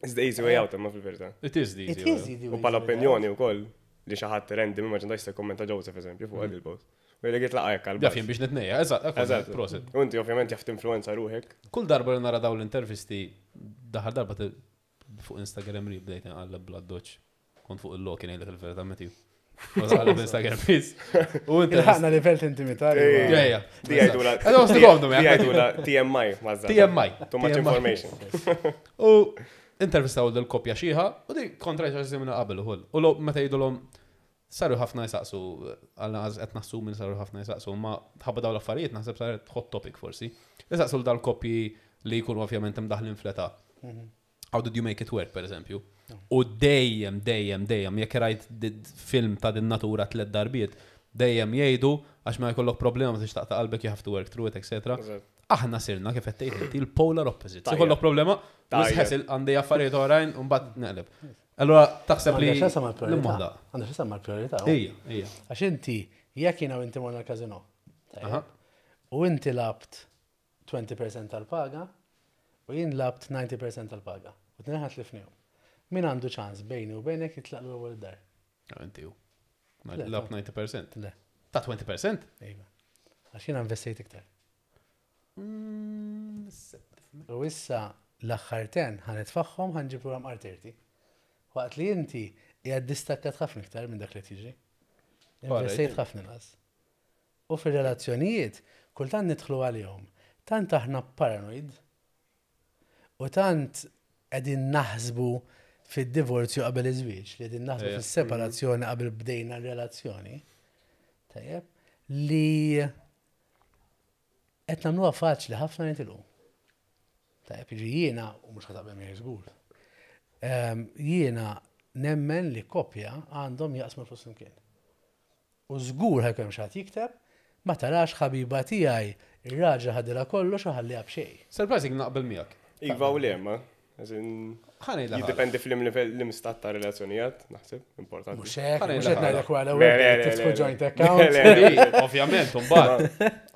B: It's the easy way out imma fil-verità.
D: It is the easy
A: It
D: way.
A: is easy
B: U
A: way
B: pala
A: out.
B: opinjoni wkoll li xi ħadd random immaġina jista' jkommenta Joseph eżempju fuq għad il-post. U jgħidlek itlaq hekk għal
D: Jaf jien biex nitnejja, eżatt,
B: Eżatt.
D: proset.
B: U inti ovvjament jaf tinfluenza ruħek.
D: Kull darba li nara daw l-intervisti, daħar darba te- fuq Instagram li bdejt nqalleb bla doċ. Kont fuq il-loki ngħidlek il-verità Matthew. Ma tqalleb Instagram please. U inti.
A: Ilħaqna livell ta' intimità. li
B: Ej.
A: huwa-
D: Ja, ja.
B: Di jgħidula.
D: Għadu għosnikom,
B: Di jgħidula T M I, mażza.
D: T M I.
B: Too much
D: T M I.
B: information.
D: U intervistaw dil-koppja xieħa, u di kontra xi qabel ukoll. U lo meta jgħidulhom saru ħafna jisaqsu, għalna qed naħsu minn saru ħafna jisaqsu, ma ħabba daw l-affarijiet naħseb saret hot topic forsi. Jisaqsu dal-koppji li jkunu ovvjament imdaħlin fl-età. How did you make it work, per eżempju? U dejjem, dejjem, dejjem, jekk rajt di- film ta' din natura tliet darbiet, dejjem jgħidu għax ma jkollok problema ma tixtaq ta' qalbek, you have to work through it, et cetera.
B: Eżatt.
D: Aħna sirna kif qed tgħid inti l-polar opposite. Se
B: Tajjeb.
D: jkollok problema,
B: Tajjeb.
D: ħesil għandi affarijiet oħrajn u mbagħad neqleb. Allora taħseb li
A: Għandha x'taqsam mal-priorità.
D: l-moħda.
A: Għandha x'taqsam mal-priorità.
D: Ejja, ejja.
A: Għax inti, jekk jiena u inti morna l-kazino.
D: Aha.
A: U inti lgħabt għoxrin fil-mija tal-paga u jien lgħabt disgħin fil-mija tal-paga. U t-tnejn ħa tlifnihom. Min għandu ċans bejni u bejnek jitlaq l-ewwel dar?
D: Ah, inti u.
A: Le,
D: Lgħabt disgħin fil-mija.
A: Le,
D: Ta' għoxrin fil-mija?
A: Iva. Għax jiena investejt iktar.
D: Mm,
A: U issa l-aħħar għaxra ħa nitfagħhom, ħa nġib lura mqar tletin. Waqt li inti qiegħed distakkat ħafna iktar minn dak li tiġi. Investejt ħafna inqas. U fir-relazzjonijiet, kultant nidħlu għalihom. Tant aħna paranoid u tant qegħdin naħsbu fid-divorzju qabel iż-żwieġ, li qegħdin naħsbu
D: Ejja.
A: fis-separazzjoni qabel bdejna r-relazzjoni. Tajjeb, li qed nagħmluha faċli ħafna nitilqu. Tajjeb, jiġi jiena, u mhux ħa taqbel miegħi żgur. Ehm, Jiena nemmen li koppja għandhom jaqsmu l-flus flimkien. U żgur ħa jkun hemm xi ħadd jikteb, "Ma tarax, ħabiba tiegħi, ir-raġel ħadilha kollox u ħalliha b'xejn."
D: Surprising naqbel miegħek.
B: Iva u le, ma. As in,
D: Ħa ngħidlek.
B: jiddependi fil livell l-imstat ta' relazzjonijiet, naħseb, importanti.
A: Mhux hekk,
D: Ħa ngħidlek
A: mhux qed
D: ħaġa.
A: ngħidlek wara
B: Le,
A: l-ewwel
B: le, le,
A: tiftħu
B: le,
A: joint
B: le.
A: account.
B: Le, le, le.
D: Ovvjament, mbagħad.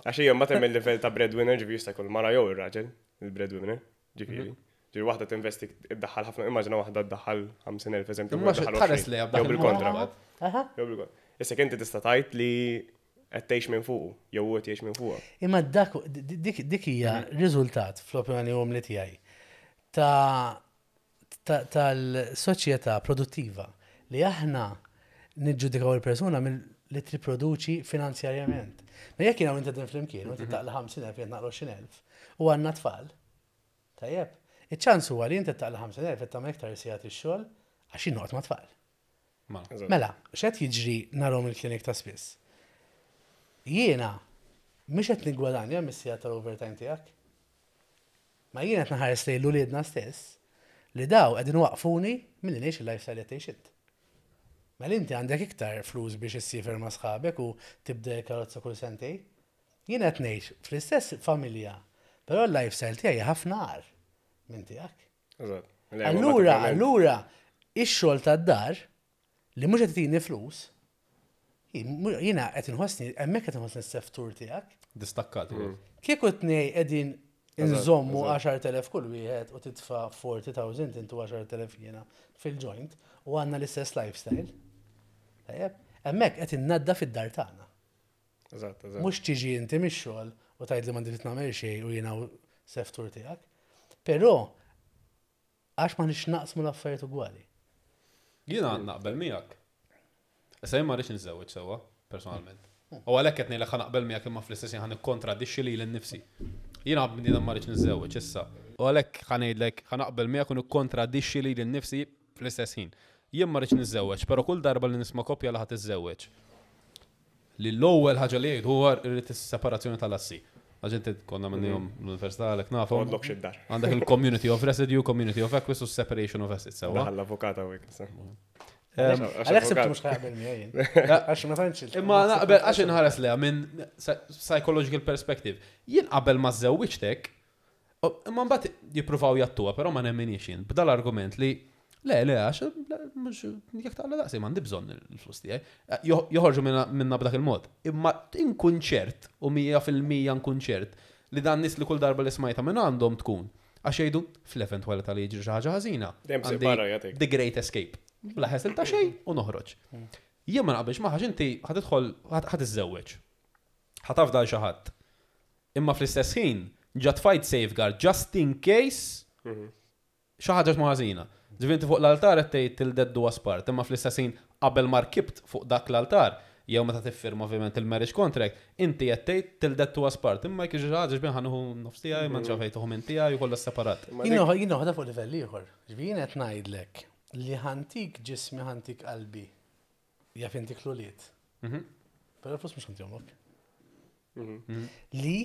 B: Għax hija mbagħad hemm il-livell ta' breadwinner, ġifieri jista' jkun mara jew ir-raġel, il-breadwinner, ġifieri. Ġifieri waħda tinvesti, iddaħħal ħafna, immaġina waħda ddaħħal ħamsin elf eżempju.
D: Imma
B: waħda ddaħħal
D: tħares
B: għoxrin.
D: lejha
B: Jew
D: b'dak
B: bil-kontra.
D: il-mod.
A: Aha.
B: Jew bil-kontra. Issa inti tista' tgħid li qed tgħix minn fuqu, jew hu qed jgħix minn fuqha.
A: Imma dak dik dik hija riżultat, fl-opinjoni umli tiegħi, ta' ta- tal-soċjetà produttiva li aħna niġġudikaw il-persuna mill li triproduċi finanzjarjament. Ma jekk jiena u inti din flimkien, u inti taqla ħamsin elf, jien naqla għoxrin elf, u għandna tfal, tajjeb, iċ-ċans huwa li inti taqla ħamsin elf qed tagħmel iktar sigħat ix-xogħol għax jien noqgħod ma' tfal.
D: Ma.
B: Eżatt.
A: Mela, x'qed jiġri narahom il-klinik ta' spiss? Jiena mhux qed nigwadanja mis-sigħat tal-overtime tiegħek. Ma jiena qed naħares lejn l-uliedna stess li daw qegħdin waqfuni milli ngħix il-lifestyle qed tgħix int. Mela inti għandek iktar flus biex issiefer ma' sħabek u tibda karozza kull sentej. Jiena qed ngħix fl-istess familja, però l-lifestyle tiegħi ħafna agħar minn tiegħek.
B: Eżatt. Le, ma
A: Allura,
B: ovvjament-
A: allura, ix-xogħol tad-dar li mhux qed tini flus, jiena qed inħossni, hemmhekk qed inħossni s-seftur tiegħek.
D: Distakkat.
A: Kieku tnej qegħdin
B: Eżatt,
A: nżommu
B: eżatt.
A: għaxart elef kull wieħed u titfa' erbgħin elf intu għaxart elef jiena fil-joint u għandna l-istess lifestyle. Tajjeb, hemmhekk qed innadda fid-dar tagħna.
B: Eżatt, eżatt.
A: Mhux tiġi inti mix-xogħol u tgħid li m'għandi nagħmel xejn u jiena seftur tiegħek. Però għax ma nix naqsmu l-affarijiet ugwali.
D: Jiena naqbel miegħek. Issa jien ma rridx niżżewweġ sewwa, personalment. U għalhekk qed ngħidlek ħa naqbel miegħek, imma fl-istess ħin ħa nikkontradixxi lili nnifsi. Jiena bniedem ma rridx niżżewweġ issa. U għalhekk ħa ngħidlek ħa naqbel miegħek u nikkontradixxi lili nnifsi fl-istess ħin. Jien ma rridx niżżewweġ, però kull darba li nisma' koppja li ħa tiżżewweġ, li l-ewwel ħaġa li jgħid huwa rrid is-separazzjoni tal-assi. Għax inti konna minnhom l-università, għalhekk nafhom.
B: Għodlok xid-dar.
D: Għandek il-community of residue, community of acquis u separation of assets, sewwa.
B: Daħal l-avukata u hekk.
D: Em,
A: Għalhekk sibtu mhux ħa jaqbel miegħi jien. Għax ma tantx il-
D: Imma naqbel għax inħares leha minn psychological perspective. Jien qabel ma żewwiġtek, imma mbagħad jippruvaw jattuha, però ma nemminix jien. B'dal argument li le, le, għax le, mhux jekk taqla daqsi m'għandi bżonn il-flus tiegħi. Jo- Joħorġu minna minna b'dak il-mod. Imma inkun ċert u mija fil-mija nkun ċert li dan nies li kull darba li smajta minn għandhom tkun għax jgħidu fl-eventwalità li jiġri xi ħaġa ħażina.
B: Dejjem
D: għandi
B: barra jagħtik.
D: The Great Escape. Bla ħesel ta' xejn u noħroġ. Jien ma naqbilx ma inti ħa tidħol, ħa tiżżewweġ. Ħa tafda xi ħadd. Imma fl-istess ħin ġa tfajt safeguard just in case xi ħaġa ma ħażina. Ġifieri inti fuq l-altar qed tgħid "till death do us part", imma fl-istess ħin qabel ma rkibt fuq dak l-altar, jew meta tiffirma ovvjament il-marriage contract, inti qed tgħid "till death do us part", imma jekk xi ħaġa xbin ħa nieħu nofs tiegħi, ma nxaf fejn tieħu minn tiegħi u kollha separat.
A: Jien jien noħodha fuq livell ieħor. Ġifieri jien qed ngħidlek li ħa ntik ġismi, ħa ntik qalbi. Jaf intik l-ulied.
D: Mhm.
A: Però flus mhux ħa ntihomlok. Li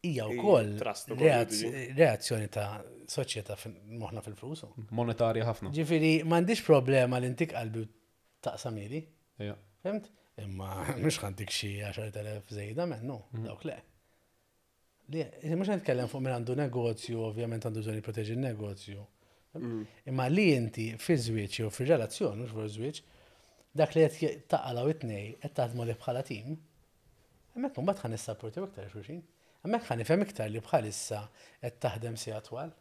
A: hija wkoll
B: Trust ukoll
A: reazz-
B: jiġi.
A: reazzjoni ta' soċjetà fil- moħħna fil-flus.
D: Monetarja ħafna.
A: Ġifieri m'għandix problema li ntik qalbi u taqsamili.
D: Ejja.
A: Fhimt? Imma mhux ħa ntik xi għaxart elef żejda minnu, dawk le. Li, mhux nitkellem fuq min għandu negozju, ovvjament għandu bżonn jipproteġi n-negozju. Imma li inti fi żwieġ jew fi relazzjoni, mhux fuq żwieġ, dak li qed taqalgħu it-tnej qed taħdmu li bħala tim, hemmhekk imbagħad ħa nissapportjaw iktar xulxin. Hemmhekk ħa nifhem iktar li bħalissa qed taħdem sigħat twal.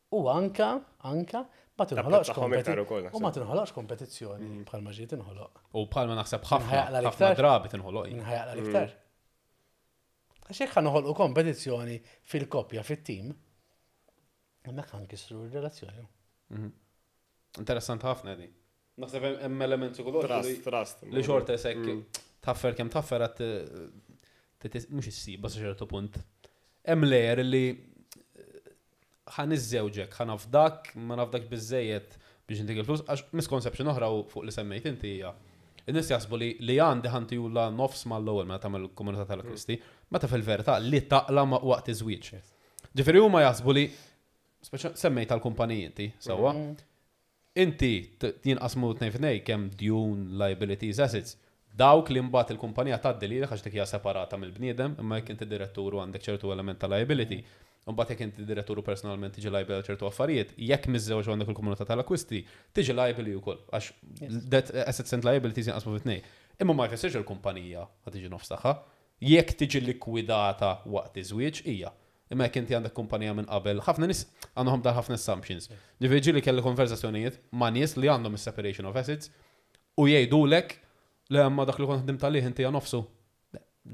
A: U anka, anka, ma tinħoloqx
B: Tapprezzahom iktar ukoll,
A: kompeti- u ma tinħoloqx kompetizzjoni bħalma ġiet tinħoloq.
D: U bħalma naħseb ħafna,
A: Ħajaqla
D: ħafna
A: l-iktar.
D: drabi tinħoloq.
A: Min ħa jaqla' l-iktar. Għax jekk ħa noħolqu kompetizzjoni fil-koppja, fit-tim, hemmhekk ħa nkissru r-relazzjoni.
D: Interessant ħafna di. Naħseb hemm- hemm element psikoloġiku li-
B: Trust, trust.
D: li xorta sekk taffer kemm taffer għat mhux issib sa ċertu punt. Hemm layer li ħa niżżewġek, ħa nafdak, ma nafdak biżejjed biex intik il-flus, għax misconception oħra u fuq li semmejt inti hija. In-nies jaħsbu li li għandi ħa ntihulha nofs mal-ewwel meta tagħmel komunità tal-akkwisti, meta fil-verità li taqla ma waqt iż-żwieġ. Ġifieri huma jaħsbu li speċa semmejt tal-kumpaniji inti, sewwa. Inti t- jinqasmu tnejn f'tnejn kemm djun, liabilities, assets. Dawk li mbagħad il-kumpanija tgħaddi lilek għax dik hija separata mill-bniedem, imma jekk inti direttur u għandek ċertu element ta' liability, mbagħad jekk inti direttur u personalment tiġi liable għal ċertu affarijiet, jekk miżżewġ u għandek il-komunità tal-akkwisti, tiġi liable wkoll għax that assets and liabilities jinqasmu fi tnejn. Imma ma jfissirx il-kumpanija ħa tiġi nofs tagħha. Jekk tiġi likwidata waqt iż-żwieġ hija. Imma jekk inti għandek kumpanija minn qabel, ħafna nies għandhom dar ħafna assumptions. Ġifieri ġieli kelli konversazzjonijiet ma' nies li għandhom is-separation of assets u jgħidulek li ma dak li kont ħdimt għalih inti nofsu.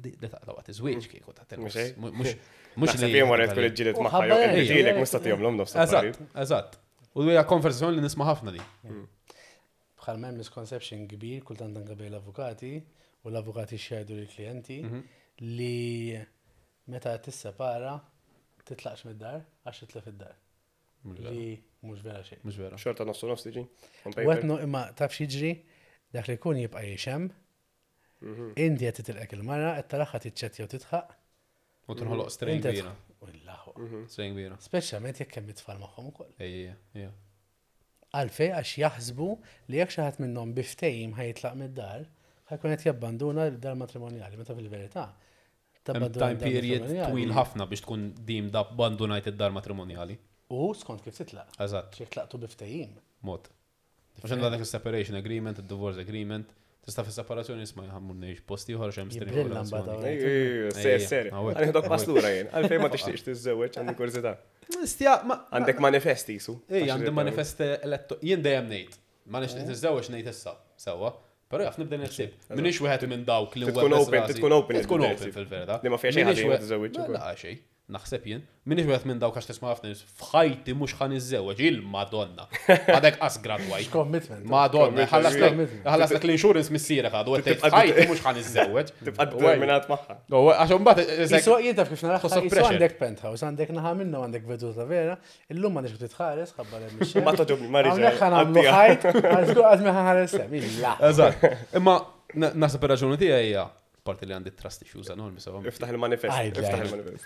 D: Li taqla waqt iż-żwieġ kieku ta'
B: Mhux hekk?
D: Mhux mhux
B: Naħseb jien wara tkun iġġieled
A: U
B: magħha
A: ħabba
B: jew
A: hekk.
B: iġġielek mhux tagħtihom l-om nofs
D: Eżatt, eżatt. U hija konversazzjoni li nisma' ħafna di.
A: Bħal hemm misconception kbir kultant anke bejn l-avukati u l-avukati xjajdu lill-klijenti li meta tissepara titlaqx mid-dar għax titlef id-dar. Li mhux vera xejn.
D: Mhux vera.
B: Xorta nofsu nofs tiġi. On
A: U
B: paper.
A: għetnu imma taf x'jiġri dak li jkun jibqa' jixem, inti qed titilqek il-mara qed taraha tiċċettja u tidħaq.
D: U tinħoloq strain
A: Inti
D: kbira.
A: U l-laħwa.
D: Strain kbira.
A: Speċjalment jekk hemm it-tfal magħhom ukoll.
D: Ejja, ejja.
A: Għalfej għax jaħsbu li jekk xi ħadd minnhom bi ftehim ħa jitlaq mid-dar, ħa jkun qed jabbanduna d-dar matrimonjali, meta fil-verità.
D: Hemm
A: tabbanduna
D: time
A: d-dar
D: period
A: matrimonjali.
D: twil ħafna biex tkun dim da abbandunajt id-dar matrimonjali.
A: U skont kif titlaq.
D: Eżatt,
A: Jekk tlaqtu bi ftehim.
D: mod. Għax għandha dak il-separation agreement, il-divorce agreement, tista' fis-separazzjoni isma' ħa mmur ngħix post ieħor x'hemm strain
A: Jibrilla mbagħad
D: relazzjoni.
B: Ej, ej, ej, Ser, ser.
D: Ejja,
B: Għandek pass lura jien. Għalfejn ma tixtieqx tiżżewweġ għandi kurżità.
D: Stja, ma.
B: Għandek manifesti jisu.
D: Ej, għandi manifest eletto. Jien dejjem ngħid. Ma nixtieq niżżewweġ ngħid issa, sewwa. Però jaf nibda nħsib. Minix wieħed minn dawk li
B: Tkun
D: webbes
B: open,
D: rasi.
B: tkun open
D: Tkun
B: li
D: open
B: tibda
D: fil-verità.
B: Li ma fiha xejn
D: Minix
B: ħażin
D: wieħed-
B: tiżżewweġ
D: Ma
B: ukoll.
D: La xejn. Naħseb jien. Minix wieħed minn dawk għax tisma' ħafna nies f'ħajti mhux ħa niżżewweġ il-Madonna. Għadek qas gradwajt.
A: Commitment.
D: Madonna, ħallaslek
A: Commitment.
D: ħallaslek l-insurance missierek għadu għedt
B: Tibqa'
D: f'ħajti mhux ħa niżżewweġ.
B: Tibqa' determinat magħha.
D: U għax imbagħad
A: Jisu jien taf kif naraħħa,
D: Tħossok
A: jisu
D: pressure.
A: għandek penthouse, għandek naħa minnu għandek veduta vera, illum m'għandix titħares, ħabba l
B: Ma toġobni, ma rridx.
A: Hawnhekk ħa nagħmlu ħajt, għax żgur qatt ma ħares hemm. Illa.
D: Eżatt. Imma na- naħseb ir-raġuni tiegħi hija parti li għandi trust issues enormi sewa.
B: Iftaħ il-manifest.
A: Għajd,
B: Iftaħ
A: għajd.
B: il-manifest.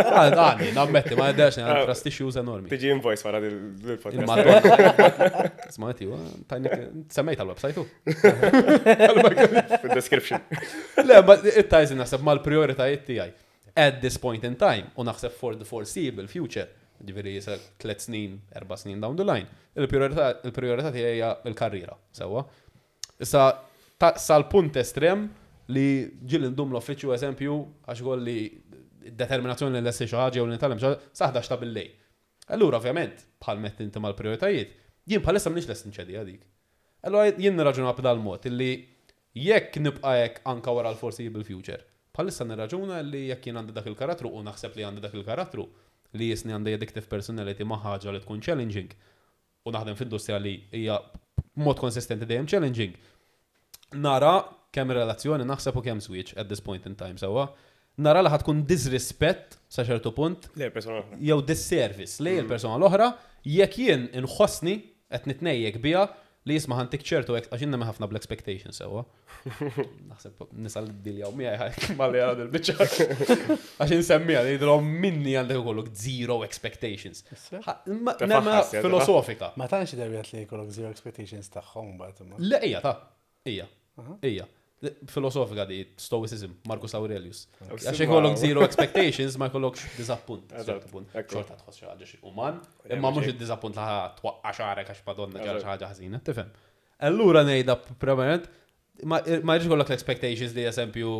D: Għandi, nammetti, ma għeddax għandi trust issues enormi.
B: Tiġi invoice wara il-podcast.
D: Il-Madonna. Smajti, tajnik, semmejt għal-website u.
B: Fil-description.
D: Le, ma it-tajzi naħseb mal-prioritajiet tiegħi. At this point in time, u naħseb for the foreseeable future, ġifieri jisa tlet snin, erba snin down the line, il-priorità il-priorità tiegħi hija l-karriera, sewwa. Issa ta- sal-punt estrem li ġieli ndum l-uffiċċju eżempju għax kolli determinazzjoni li nlesti xi ħaġa jew li nitgħallem xi ħaġa sa ħdax ta' bil-lejl. Allura ovvjament bħal mett inti mal-prioritajiet, jien bħalissa m'iniex lest nċedi dik. Allura jien nirraġuna b'dal mod illi jekk nibqa' hekk anka wara l-foreseeable future, bħalissa nirraġuna li jekk jien għandi dak il-karattru u naħseb li għandi dak il-karattru li jisni għandi addictive personality ma' ħaġa li tkun challenging u naħdem f'industrija li hija mod konsistenti dejjem challenging. Nara kemm relazzjoni naħseb u kemm switch at this point in time sewwa. Nara li ħa tkun disrespect sa ċertu punt
B: Le, persona oħra.
D: jew disservice lej il-persona l-oħra jekk jien inħossni qed nitnejjek biha li jisma' ħa ntik ċertu għax jien nemmen ħafna bl-expectations sewwa. Naħseb nisa li ddiljaw miegħi malli għad il-biċċa. Għax insemmiha li jidhom minni għandek ikollok zero expectations. Ha- ma-
B: Tefaħħas,
D: Nemmen
B: ja,
D: filosofika.
A: Ma tantx darbiet li jkollok zero expectations tagħhom mbagħad imma.
D: Le, ija ta' ija, ija. Filosofika di Stoicism, Marcus Aurelius. Għax ikollok zero expectations ma jkollokx disappunt.
B: Eżatt,
D: ċertu punt.
B: ekku.
D: Xorta tħoss xi ħaġa xi uman, imma mhux id-disappunt li ħa twaqqa' xagħrek għax madonna ġara xi ħaġa ħażina, tifhem. Allura ngħidha primarjament ma ma jridx ikollok l-expectations li eżempju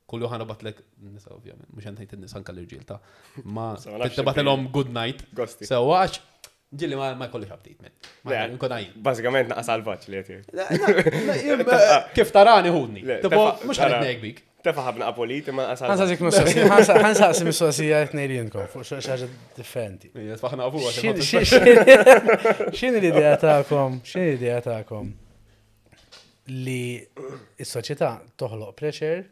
D: Kull jum ħa nibgħatlek, nisa ovvjament, mhux qed ngħid in-nisa anke l-irġiel ta' ma
B: So, ma nafx
D: tibgħatilhom good night.
B: Gosti.
D: So, għax, ġieli ma ma jkollix update, man. Ma
B: Le,
D: nkun għajn.
B: Bażikament naqa salvaġġ li qed jgħid.
D: Kif tarani ħudni.
B: Le,
D: Tipo,
B: tefa-
D: mhux ħanet
B: tara.
D: ngħid bik.
B: Tefa ħabna apoliti ma naqa salvaġġ.
A: Ħansaqsik mistoqsija, ħansaqsi mistoqsija tnejn li intkom fuq xi ħaġa differenti.
D: Tfaħna għafu
A: X'in- x'in- x'in- X'inhi l-idea tagħkom? X'inhi l-idea tagħkom li s-soċjetà toħloq pressure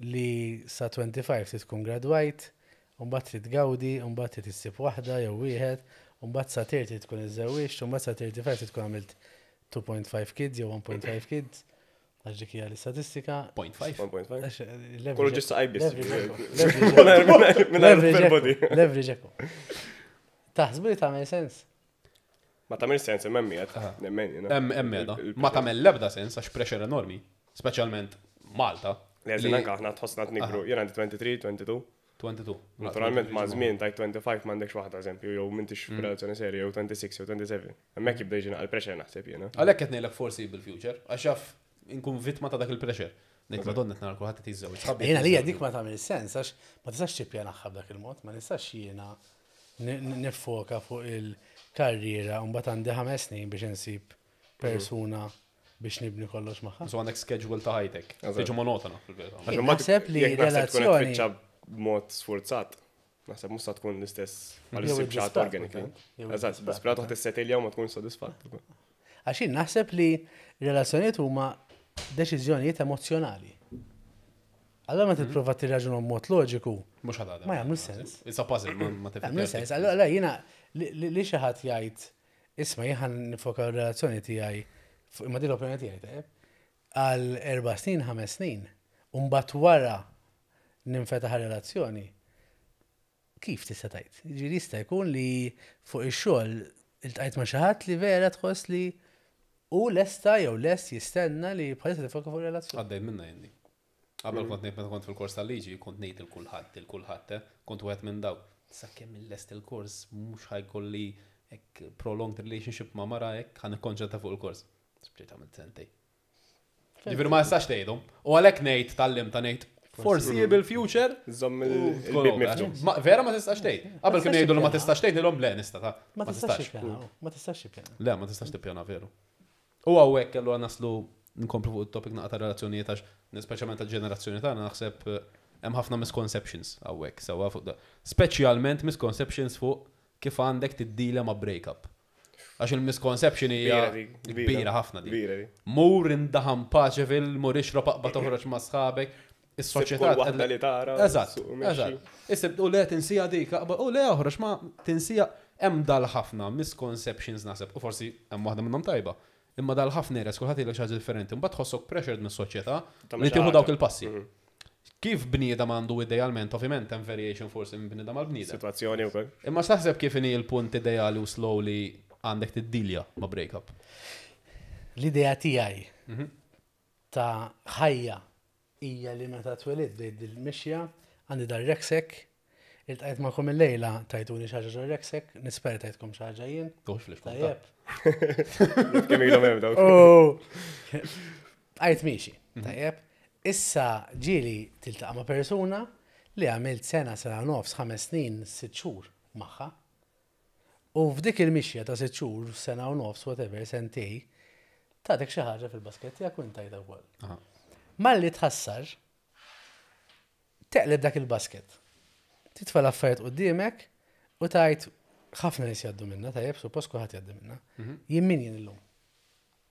A: li sa twenty-five trid tkun graduate, u mbagħad trid tgawdi, u mbagħad trid issib waħda jew wieħed, u mbagħad sa thirty tkun iżżewwiġt, u mbagħad sa thirty-five trid tkun għamilt two point five kids jew one point five kids, għax dik hija l-istatistika.
D: Point five.
B: one point five.
A: Għax, l-average-
B: Kollu ġista għajbis.
A: Leverage
B: Minn
A: Leverage
B: body.
A: ekku, leverage ekku. Taħsbu li tagħmel sens?
B: Ma tagħmel sens imma qed.
D: Aha.
B: Nemmen jiena.
D: Hemm hemm qiegħda. Ma tagħmel l-ebda sens għax pressure enormi, speċjalment Malta.
B: Le,
D: li-
B: anka aħna tħossna nikbru. Jien għandi tlieta u għoxrin, tnejn u għoxrin.
D: tnejn u għoxrin.
B: Naturalment ma' żmien tajt twenty-five m'għandekx waħda eżempju, jew m'intix f'relazzjoni serja, jew tmienja u għoxrin jew sebgħa u għoxrin. Hemmhekk jibda jiġi naqal pressure naħseb jiena.
D: Għalhekk qed ngħidlek foreseeable future, għax jaf inkun vittma ta' dak il-pressure. Ngħid madonna qed nara kulħadd qed jiżżewġ. Sħabi
A: Jiena
D: qed
A: li
D: jiżżewġu.
A: dik ma tagħmel sens għax ma tistax tippjanaħħa b'dak il-mod, ma nistax jiena ni- ni- nifoka fuq il-karriera u mbagħad għandi ħames snin biex insib persuna biex nibni kollox magħha.
D: So għandek schedule ta' ħajtek.
B: Eżatt.
D: Tiġu monotona fil-verità.
B: Għax imbagħad
A: Naħseb li
B: jekk naħseb tkun qed
A: relazzjoni-
B: tfittxa b'mod sfurzat. Naħseb mhux sa tkun l-istess għal
A: Jew
B: issib xi ħadd
A: id-disperat
B: organically.
A: kultant. Jew
B: Eżatt,
A: id-disperat
B: disperat waħda tissettilja u ma tkun sodisfatt.
A: Għax jien naħseb li relazzjonijiet huma deċiżjonijiet emozjonali. Allora ma tipprova tirraġunhom mod loġiku,
D: Mhux ħadha.
A: Ma jagħmlu sens.
D: It's a puzzle, ma ma
A: Jagħmlu sens. Allora jiena li li- li xi ħadd jgħid isma' jien ħa nifoka r-relazzjoni tiegħi fuq- imma din l-opinjoni tiegħi tajjeb, għal erba' snin, ħames snin, u mbagħad wara ninfetaħ relazzjoni. Kif tista' tgħid? Jiġifieri jista' jkun li fuq ix-xogħol iltqajt ma' xi ħadd li vera tħoss li u lesta jew lest jistenna li bħalissa tifoka fuq relazzjoni.
D: Għaddejt minna jenni. Qabel kont ngħid meta kont fil-kors tal-liġi, kont ngħid il kulħadd, il kulħadd, eh, kont wieħed minn dawk. Sakemm il-lest il-kors mhux ħa jkolli hekk prolonged relationship ma' mara hekk ħa nikkonċentra fuq il-kors. Spiċċajt għamilt sentej. Ġifieri ma jistax tgħidhom. U għalhekk ngħid tal-lim ta' ngħid foreseeable future.
B: Żomm
D: u tkun
B: il-bib
D: over.
B: miftuħ.
D: Ma- Vera ma tistax tgħid. Qabel kienu
A: tistax
D: jgħidu li ma
A: tippjana.
D: tistax tgħid, ngħidilhom le nista' ta'
A: Ma tistax tippjana, ma tistax tippjana.
D: Le, ma tistax tippjana veru. U hawnhekk allura naslu nkomplu fuq il-topic naqa ta' relazzjonijiet għax speċjalment tal-ġenerazzjoni tagħna naħseb eh, hemm ħafna misconceptions hawnhekk sewwa fuq da. Speċjalment misconceptions fuq kif għandek tiddila ma' breakup. Għax il-misconception hija
B: Kbira dik, kbira.
D: kbira ħafna dik.
B: Kbira dik.
D: Mur indaħam paċe fil, mur ixrob aqba toħroġ ma' sħabek. Is-soċjetà
B: Kull waħda li tara.
D: Eżatt,
B: suq u mexxi.
D: eżatt. Issib, u le tinsija dik, aqba, u le oħroġ ma tinsija hemm dal-ħafna misconceptions naħseb, u forsi hemm waħda minnhom tajba. Imma dal-ħafna res kulħadd jgħidlek xi ħaġa differenti, mbagħad tħossok pressured mis-soċjetà
B: Tagħmel
D: li
B: xi
D: tieħu
B: ħaġa.
D: dawk il-passi.
B: Mhm.
D: Kif bniedem għandu idealment, ovvjament hemm variation forsi minn bniedem għal bniedem.
B: Situazzjoni wkoll.
D: Imma x'taħseb kif inhi l-punt ideali u slowly għandek tiddilja ma' breakup?
A: L-idea tiegħi
D: Mhm.
A: ta' ħajja hija li meta twelidt bdejt dil-mixja għandi dar rucksack, iltqajt magħkom il-lejla tajtuni xi ħaġa ġo rucksack, nispera tajtkom xi ħaġa jien.
D: Tux fl
A: Tajjeb.
B: Kemm ilhom hemm dawk.
A: Oh. Għajt miexi, tajjeb. Issa ġieli tiltaqa' ma' persuna li għamilt sena, sena nofs, ħames snin, sitt xhur magħha. U f'dik il-mixja ta' sitt xhur, sena u nofs, whatever, sentej, tatek xi ħaġa fil-basket tiegħek u intajta wkoll. Malli tħassar, teqleb dak il-basket. Titfa' l-affarijiet quddiemek u tajt ħafna nies jgħaddu minna, tajjeb, suppost kulħadd jgħaddi minna. Jien min jien illum?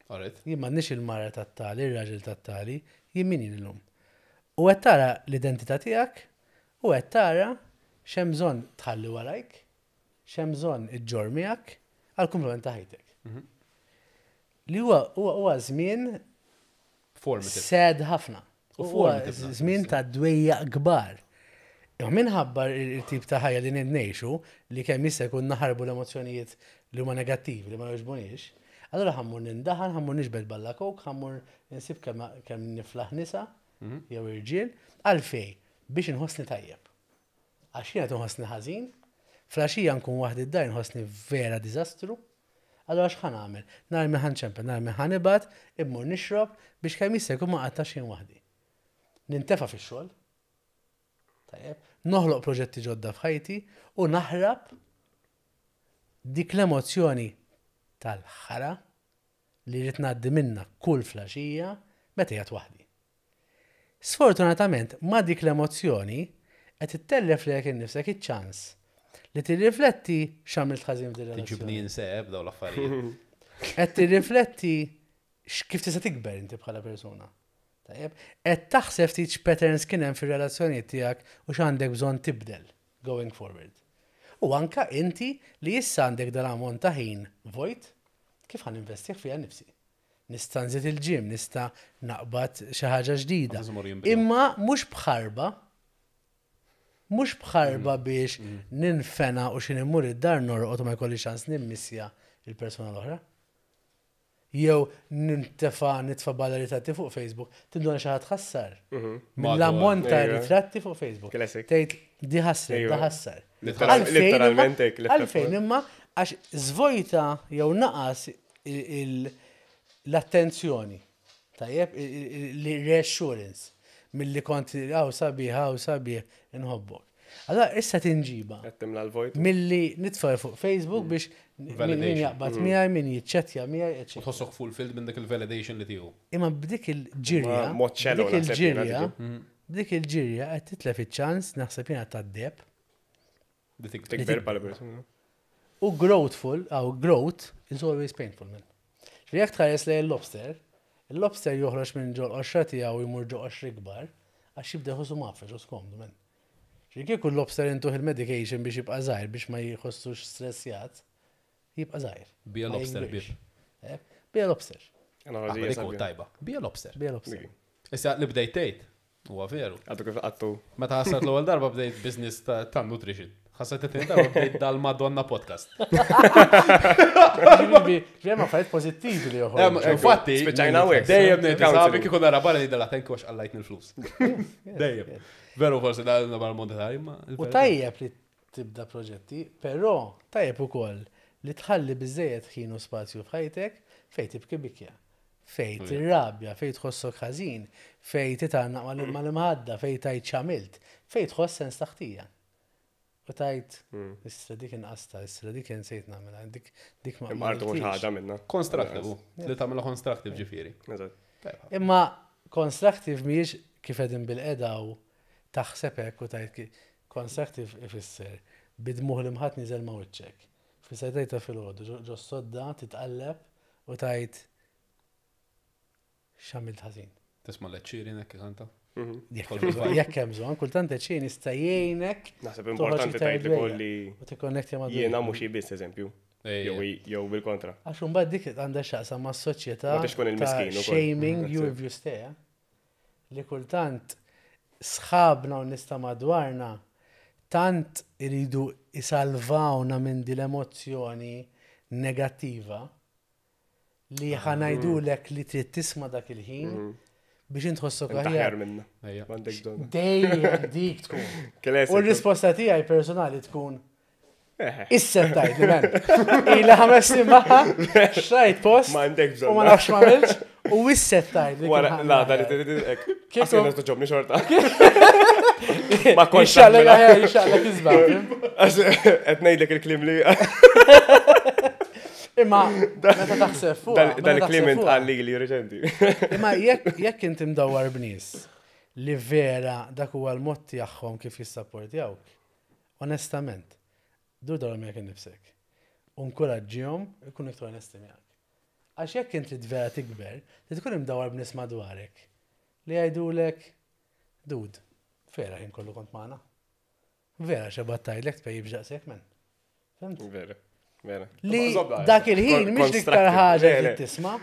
D: Alright.
A: Jien m'għandniex il-mara tat-tali, ir-raġel tat-tali, jien min jien illum? U qed tara l-identità tiegħek u qed tara x'hemm bżonn tħalli warajk, x'hemm bżonn iġġorr miegħek għal kumplament ta' ħajtek. Li huwa huwa huwa żmien
D: Formative.
A: sad ħafna.
D: U
A: Huwa
D: formative naħseb,
A: żmien ta' dwejjaq kbar. Imma minħabba il-tip ta' ħajja li ngħixu li kemm jista' jkun naħarbu l-emozzjonijiet li huma negattivi li ma jogħġbuniex, allura ħa mmur nindaħan, ħa mmur niġbed balla coke, ħa mmur insib kemm kemm niflaħ nisa jew irġiel, għalfej biex inħossni tajjeb. Għax jiena nħossni ħażin, filgħaxija nkun waħdi d-dar nħossni vera diżastru. Allora x'ħa nagħmel? Nar min ħa nċempel, nar min ħa nibgħat, immur nixrob biex kemm jista' jkun ma qattax jien waħdi. Nintefa fix-xogħol. Tajjeb, noħloq proġetti ġodda f'ħajti u naħrab dik l-emozzjoni tal-ħara li rrid ngħaddi minna kull filgħaxija meta qiegħed waħdi. Sfortunatament, ma dik l-emozzjoni qed ittellef lilek innifsek iċ-ċans li tirrifletti x'għamilt ħażin f'din
D: Tiġibni
A: ir-relazzjoni.
D: inseb daw l-affarijiet.
A: Qed tirrifletti kif tista' tikber inti bħala persuna. Tajjeb, qed taħseb ftit x'patterns kien hemm fir-relazzjonijiet tiegħek u x'għandek bżonn tibdel going forward. U anka inti li issa għandek dal-ammont ta' ħin vojt, kif ħa ninvestih fija nifsi. Nista' nżid il-gym, nista' naqbad xi ħaġa ġdida.
D: Għax imur jinbidel.
A: Imma mhux bħarba, mhux bħarba biex ninfena u xi immur id-dar norqod u ma jkolli ċans nimmissja il-persuna l-oħra. Jew nintefa nitfa balla ritratti fuq Facebook, tinduna xi ħadd ħassar. Mill-ammont ta'
B: Ejwa.
A: ritratti fuq Facebook.
B: Classic.
A: Tgħid di ħassret,
B: Ejwa.
A: da ħassar.
B: Literal-
A: Għalfejn imma-
B: Literalment hekk. li
A: Għalfejn imma għax zvojta jew naqas il- il- l-attenzjoni. Tajjeb, l-reassurance mill-li kont għaw sabiħ, għaw sabiħ, nħobbok. Allora, issa tinġiba
B: Qed timla l-vojt.
A: milli nitfa' fuq Facebook biex min min
D: Validation.
A: jaqbad miegħi, min jiċċettja miegħi,
D: U
A: eċċetera.
D: tħossok fulfilled minn dak il-validation li tiegħu.
A: Imma b'dik il-ġirja,
B: Ma mod shallow
A: b'dik
B: naħseb jiena
A: il-ġirja, b'dik il-ġirja qed titlef iċ-ċans naħseb jiena tad-deb
D: Li tikber.
B: Tikber bħala persuna.
A: U growthful, aw growth is always painful, man. Ġifieri jekk tħares lejn il-lobster, il-lobster joħroġ minn ġol qoxra tiegħu jmur ġo qoxra ikbar, għax jibda jħossu mgħaffeġ u skomdu, man. Ġifieri kieku l-lobster intuh il-medication biex jibqa' żgħir biex ma jħossux stressjat, jibqa' żgħir.
D: Be a
A: Ma
D: lobster,
A: jikbirx.
D: bib.
A: Eh, Be a lobster.
B: Analogija
D: Dik u
B: sabiħa.
D: tajba. Be a lobster.
A: Be a lobster.
D: Issa li bdejt tgħid, huwa veru.
B: Għadu kif għattu.
D: Meta ħassat l-ewwel darba bdejt business ta' ta' nutrition. Ħassat it-tieni darba bdejt dal-Madonna podcast.
A: Ġifieri hemm affarijiet pożittivi li joħorġu.
D: Infatti,
B: Spiċċajna hawnhekk.
D: dejjem ngħid
B: Counseling.
D: sabi kieku nara barra ngħidilha thank you għax qallajtni l-flus. Dejjem. Veru forsi da nabar monetari, ma.
A: U tajjeb li tibda proġetti, però tajjeb ukoll li tħalli biżejjed ħin u spazju f'ħajtek fej tibki bikja, fej tirrabja, fej tħossok ħażin, fej titgħannaq mal-imħadda, fej tajt x'għamilt, fej tħoss sens ta' ħtija. U tajt, issa dik inqasta, issa dik insejt nagħmilha, dik dik ma
B: Imma artu mhux
A: għamiltix.
B: ħaġa minna.
D: Constructive, u. Li tagħmilha constructive ġifieri.
B: Eżatt.
D: Tajba.
A: Imma constructive mhijiex kif qegħdin bil-qeda u taħseb hekk u tajt ki- constructive ifisser bid-dmugħ li mħat niżel ma' wiċċek. Fisser tajta filgħodu ġo ġo sodda titqalleb u tajt x'għamilt ħażin.
D: Tisma' l-ċiri nek kanta.
A: Jekk jekk hemm bżonn, kultant ċin jista' jgħinek
B: Naħseb
A: toħroġ
B: importanti
A: iktar
B: tgħid li
A: dwejja
B: kolli
A: u tikkonnettja ma'
B: jiena mhux biss eżempju.
D: Ejja.
B: Jew jew bil-kontra.
A: Għax imbagħad dik għandha x'taqsam mas-soċjetà
B: Ma tix tkun
A: ta'
B: il-miskin ukoll.
A: shaming you
B: That's
A: if you stay. eh? Li kultant sħabna u nista madwarna tant iridu isalvawna minn din l-emozzjoni negattiva li ħa ngħidulek li trid tisma' dak il-ħin biex intħossok
B: Inti
A: aħjar.
B: aħjar minna.
D: Ejja.
B: M'għandek bżonn.
A: Dejjem dik tkun.
B: Classic.
A: U r-risposta tiegħi personali tkun
B: Eh,
A: Issa tajt, man. Ila ħames snin magħha, xtrajt post,
B: M'għandek bżonn.
A: u ma nafx ma għamilx, u issa tajt. li
B: Wara,
A: kien
B: la, da li
A: ħadd.
B: t
A: Kieku-
B: Kieku. Toġobni xorta. Ma kontx
A: Ixxaqlek
B: nagħmilha.
A: aħjar, ixxaqlek iżbaħ.
B: Għax qed ngħidlek il-kliem li
A: Imma, meta taħseb fuq.
B: dal- dal-kliem intqal li li reċenti.
A: Imma jekk jekk inti mdawwar b'nies li vera dak huwa l-mod tagħhom kif jissapportjawk, onestament, dur dawar miegħek innifsek. U nkoraġġihom ikunu iktar onesti miegħek. Għax jekk inti vera tikber, li tkun imdawwar b'nies madwarek li jgħidulek, dude, vera ħin kollu kont magħna. Vera xebat tgħidlek tpejjib ġaqsek men. Fhimt?
B: Vera, vera.
A: Li
D: Zobda,
A: dak il-ħin mhix l-iktar
B: Constructive.
A: ħaġa
B: Le,
A: li
B: le.
A: tisma'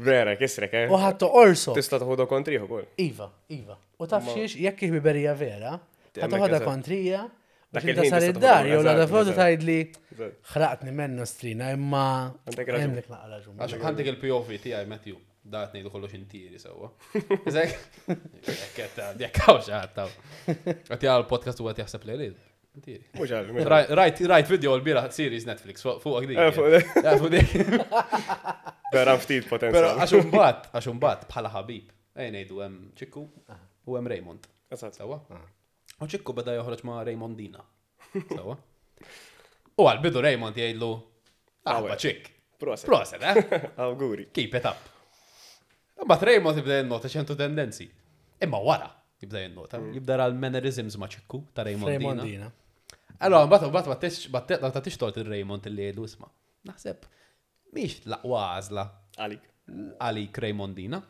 B: Vera, kisrek, eh?
A: u ħadd toqorso.
B: Tista' toħodha kontriħ ukoll.
A: Iva, iva. U taf xiex, jekk ħbiberija vera, ħa
B: Hemmhekk
A: toħodha
B: eżatt.
A: kontrija,
B: Dak
A: biex inta
B: il-ħin
A: sar
B: tista'
A: id-dar,
B: toħodha,
A: jew l-għada
B: eżatt,
A: fotu
B: eżatt.
A: tgħidli
B: Eżatt.
A: ħraqtni mennu strina, imma
B: Għandek raġun.
A: hemmlek naqra raġun.
D: Għax għandek il-P O V tiegħi Matthew, da qed ngħidu kollox intieri sewwa. Iżek, jekk qed jekk hawn xi ħadd hawn. Qed jara l-podcast u qed jaħseb li jrid. Intieri.
B: Mhux għal, mhux għal.
D: Rajt rajt video l-bieraħ series Netflix fuq fuq dik.
B: Eh, fuq-
D: Ja, fuq dik.
B: Vera ftit
D: Però
B: potenzjal.
D: għax imbagħad, għax imbagħad bħala ħabib, ejja ngħidu hemm ċikku u hemm Raymond.
B: Eżatt.
D: Sewwa? U Ċikku beda joħroġ ma' Raymondina. Sewwa? U għal-bidu Raymond jgħidlu, aħba ċikk.
B: Proset.
D: Proset, eh?
B: Awguri.
D: Keep it up. Imbagħad Raymond jibda jinnota ċertu tendenzi. Imma wara jibda jinnota, jibda ra l-mannerisms ma' Ċikku ta' Raymondina.
A: Raymondina.
D: Allora, mbagħad mbagħad ma tix ma tix tort il-Raymond illi jgħidlu isma'. Naħseb mhix l-aqwa għażla
B: Għalik.
D: għalik Raymondina.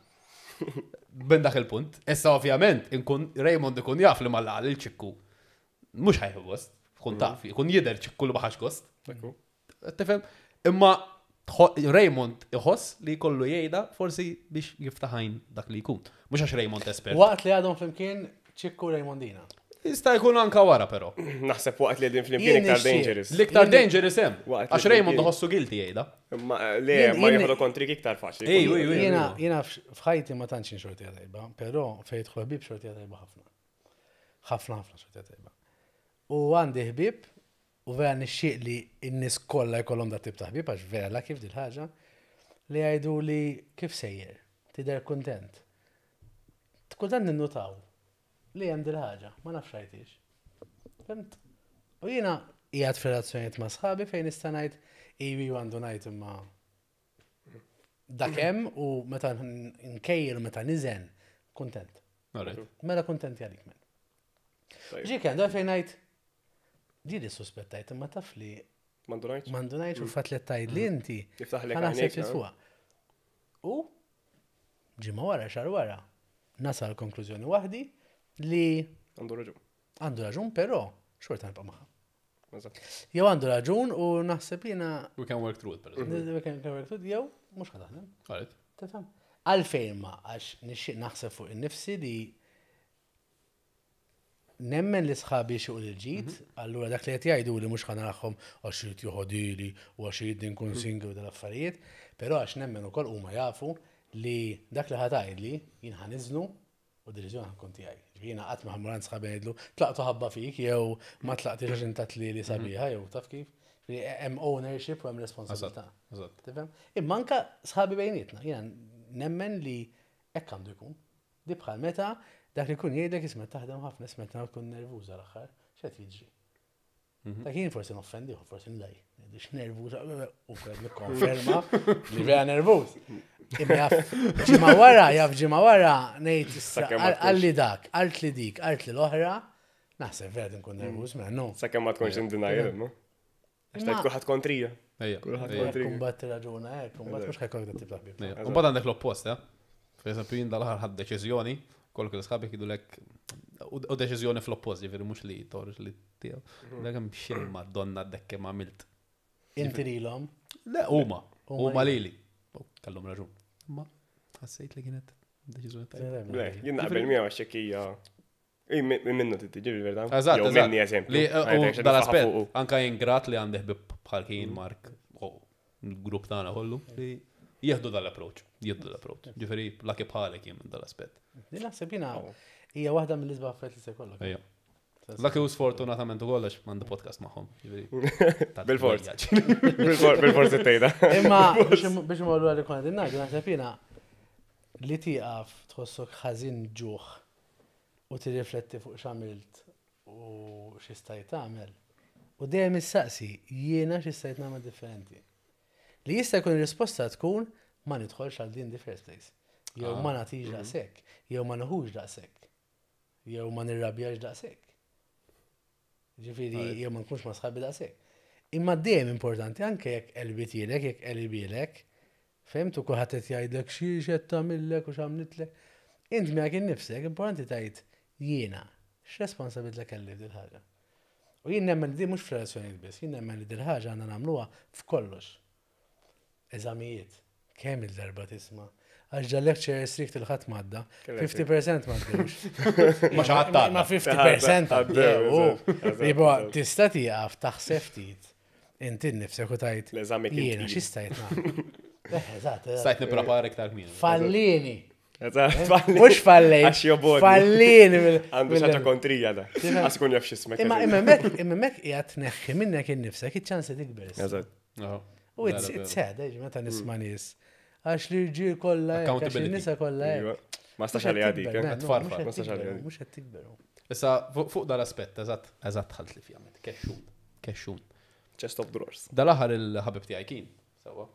D: Ben dak il-punt. Issa ovvjament, inkun Raymond ikun jaf li mal il-Ċikku. Mhux ħa jieħu gost, kun taf, ikun jidher Ċikku li ma ħax gost.
B: Ekku.
D: Tifhem? Imma tħo- Raymond iħoss li kollu jgħidha forsi biex jiftaħajn dak li jkun. Mhux għax Raymond espert.
A: Waqt li għadhom flimkien Ċikku Raymondina.
D: Jista' jkun anka wara però.
B: Naħseb waqt li qegħdin flimkien
A: Jien
B: iktar
A: nixtieq.
B: dangerous.
D: L-iktar dangerous hemm.
B: Waqt li
D: Għax Raymond
B: flimkien.
D: iħossu guilty jgħidha.
B: Ma le,
A: Jien-
B: ma
A: jien-
B: jieħdu kontrik iktar faċli.
D: Ej, uj, uj.
A: Jiena jiena f'ħajti ma tantx xortija tajba, però fejn jidħol ħbieb xortija tajba ħafna. Ħafna ħafna xortija tajba. U għandi ħbieb u vera nixtieq li n-nies kollha jkollhom dat tip ta' ħbieb għax vera la kif dil-ħaġa li jgħidu li kif sejjer, tidher kuntent. Kultant ninnutaw li hemm dil-ħaġa, ma nafx rajtix. Fhimt? U jiena qiegħed f'relazzjonijiet ma' sħabi fejn nista' ngħid iwi għandu ngħid imma dak hemm u meta nkejjel u meta niżen kuntent.
D: Alright.
A: Mela kuntenti għalik men.
B: Tajjeb.
A: Ġi kien dar fejn ngħid ġieli suspettajt imma taf li
B: Mandu ngħid?
A: m'għandu ngħid u fatt li tgħid li inti
B: Jiftaħlek
A: ħa naħseb
B: għajnejk,
A: ftit
B: no?
A: fuqha. U ġimgħa wara xahar wara nasal konklużjoni waħdi li
B: Għandu raġun.
A: għandu raġun però xorta nibqa' magħha.
B: Eżatt.
A: Jew għandu raġun u naħseb jiena
D: We can work through it, per eżempju.
A: jew mhux ħa taħdem.
D: Alright.
A: Tifhem? Għalfejn ma, għax nixtieq naħseb fuq innifsi li nemmen li sħabi xi l-ġid, allura dak li qed jgħidu li mhux ħa narahom għax irid joħodili u għax irid nkun single u dal-affarijiet, però għax nemmen ukoll huma jafu li dak li ħa tgħidli jien ħa niżnu u deċiżjoni ħa tkun tiegħi. Ġifieri Jiena qatt ma ħa mmur għand sħabi ngħidlu tlaqtu ħabba fik jew ma tlaqtix għax intat li li sabiħa jew taf kif. Ġifieri Hemm ownership u hemm responsabilità.
D: Eżatt.
A: Tifhem? Imma anka sħabi bejnietna, jiena nemmen li hekk għandu jkun. Di bħal meta dak li jkun jgħidlek isma' taħdem ħafna, isma' tkun nervuża l-aħħar, x'qed jiġri. Dak jien forsi noffendi, forsi nlej. Ngħidix nervuża, u kred nikkonferma li vera nervuż. Imma jaf ġimgħa wara, jaf ġimgħa wara ngħid issa
B: Sakemm ma tkunx.
A: qalli dak, qalt li dik, qalt li l-oħra, naħseb vera nkun nervuż, mela no.
B: Sakemm ma tkunx in denial, imma. Għax
A: Imma-
B: tajt kulħadd kontrija.
D: Ejja.
B: Kulħadd
D: ejja.
B: kontrija.
A: Kumbat raġuna hekk, kumbat mhux ħa jkollok dat tip ta' ħbieb.
D: Ejja. U mbagħad għandek l-oppost, eh? Per eżempju, jien dal-aħħar ħadt deċiżjoni, kollok l-sħabi jgħidulek u u deċiżjoni fl-oppost, ġifieri mhux li toħroġ li tiegħu. Dak hemm xejn madonna dekke ma għamilt.
A: Inti lilhom.
D: Le, huma,
A: Huma
D: huma lili. U Kellhom raġun. Ma ħassejt li kienet deċiżjoni tajba.
B: Le, jien naqbel miegħu għax hekk hija. Ej, minnu tiġi verità.
D: Eżatt,
B: Jew
D: eżatt.
B: minni eżempju.
D: Li, uh,
B: Għajtek
D: u
B: xi
D: dal-aspett,
B: nfaħħa fuqu.
D: anka jien grat li għandi ħbib bħal kien Mark, u l-grupp tagħna kollu, li jieħdu dal-approach, jieħdu dal-approach. Ġifieri, lucky bħalek jien minn dal-aspett.
A: Din naħseb jiena hija waħda mill-isbaħ affarijiet li se jkollok.
D: Ejja. Lucky u sfortunatament ukoll għax m'għandi podcast magħhom. ġifieri, ta'
B: Bil-fors.
D: tbejjaġ.
B: Bil-for- Bil-forsi tgħidha.
A: Imma biex biex imorru għalli konna din ngħidu naħseb jiena li tieqaf tħossok ħażin ġuħ u tirrifletti fuq x'għamilt u x'istajt tagħmel. U dejjem issaqsi jiena x'istajt nagħmel differenti. Li jista' jkun ir-risposta tkun ma nidħolx għal din the first place. Jew ma nagħtix daqshekk, jew ma nieħux daqshekk, jew ma nirrabjax daqshekk. Ġifieri jew ma nkunx ma sħabi daqshekk. Imma dejjem importanti anke jekk qelbitilek, jekk qelbilek, fehmtu kulħadd qed jgħidlek xi x'qed tagħmillek u x'għamlitlek. Int miegħek innifsek importanti tgħid jiena x'responsabilità kelli f'dil ħaġa. U jien nemmen li di mhux f'relazzjonijiet biss, jien nemmen li dil ħaġa għandna nagħmluha f'kollox. Eżamijiet, kemm il-darba tisma' Għax ġa lecture strict il-ħadd madda, fifty percent m'għaddewx.
D: Ma xi ħadd
A: Ma fifty percent
B: Għaddew,
A: għaddew.
B: eżatt, eżatt,
A: Ibo,
B: eżatt.
A: tista' tieqaf taħseb ftit. Inti nnifsek u tgħid.
B: L-eżami kien
A: Jiena
B: tqil.
A: xi stajt nagħmel. Eh, eżatt, eżatt.
D: Stajt nipprepara iktar kmieni.
A: Fallini.
B: Eżatt, falli.
A: Mhux fallejt.
B: Għax jobogħodni.
A: Fallini. mill-
B: Għandu
A: mill-
B: xi ħaġa kontrija da. Għax ikun jaf x'ismek.
A: Imma imma hemmhekk imma hemmhekk qiegħed tneħħi minnek innifsek iċ-ċans li tikber. issa.
B: Eżatt.
D: Aha.
A: U it's
D: Vera,
A: it's sad, eh, meta nisma' nies. Għax li rġiel kollha hekk, għax
D: Accountability.
A: in-nisa kollha
B: Iva.
A: hekk.
B: Ma stax għalija dik, eh?
D: Tfarfar,
B: ma stax għalija dik.
A: Mhux qed tikberu.
D: Issa, fuq fuq dal-aspett, eżatt, eżatt ħalt li fjamet, kexxun, kexxun.
B: Chest of drawers.
D: Dal-aħħar il-ħabib tiegħi kien, sewwa.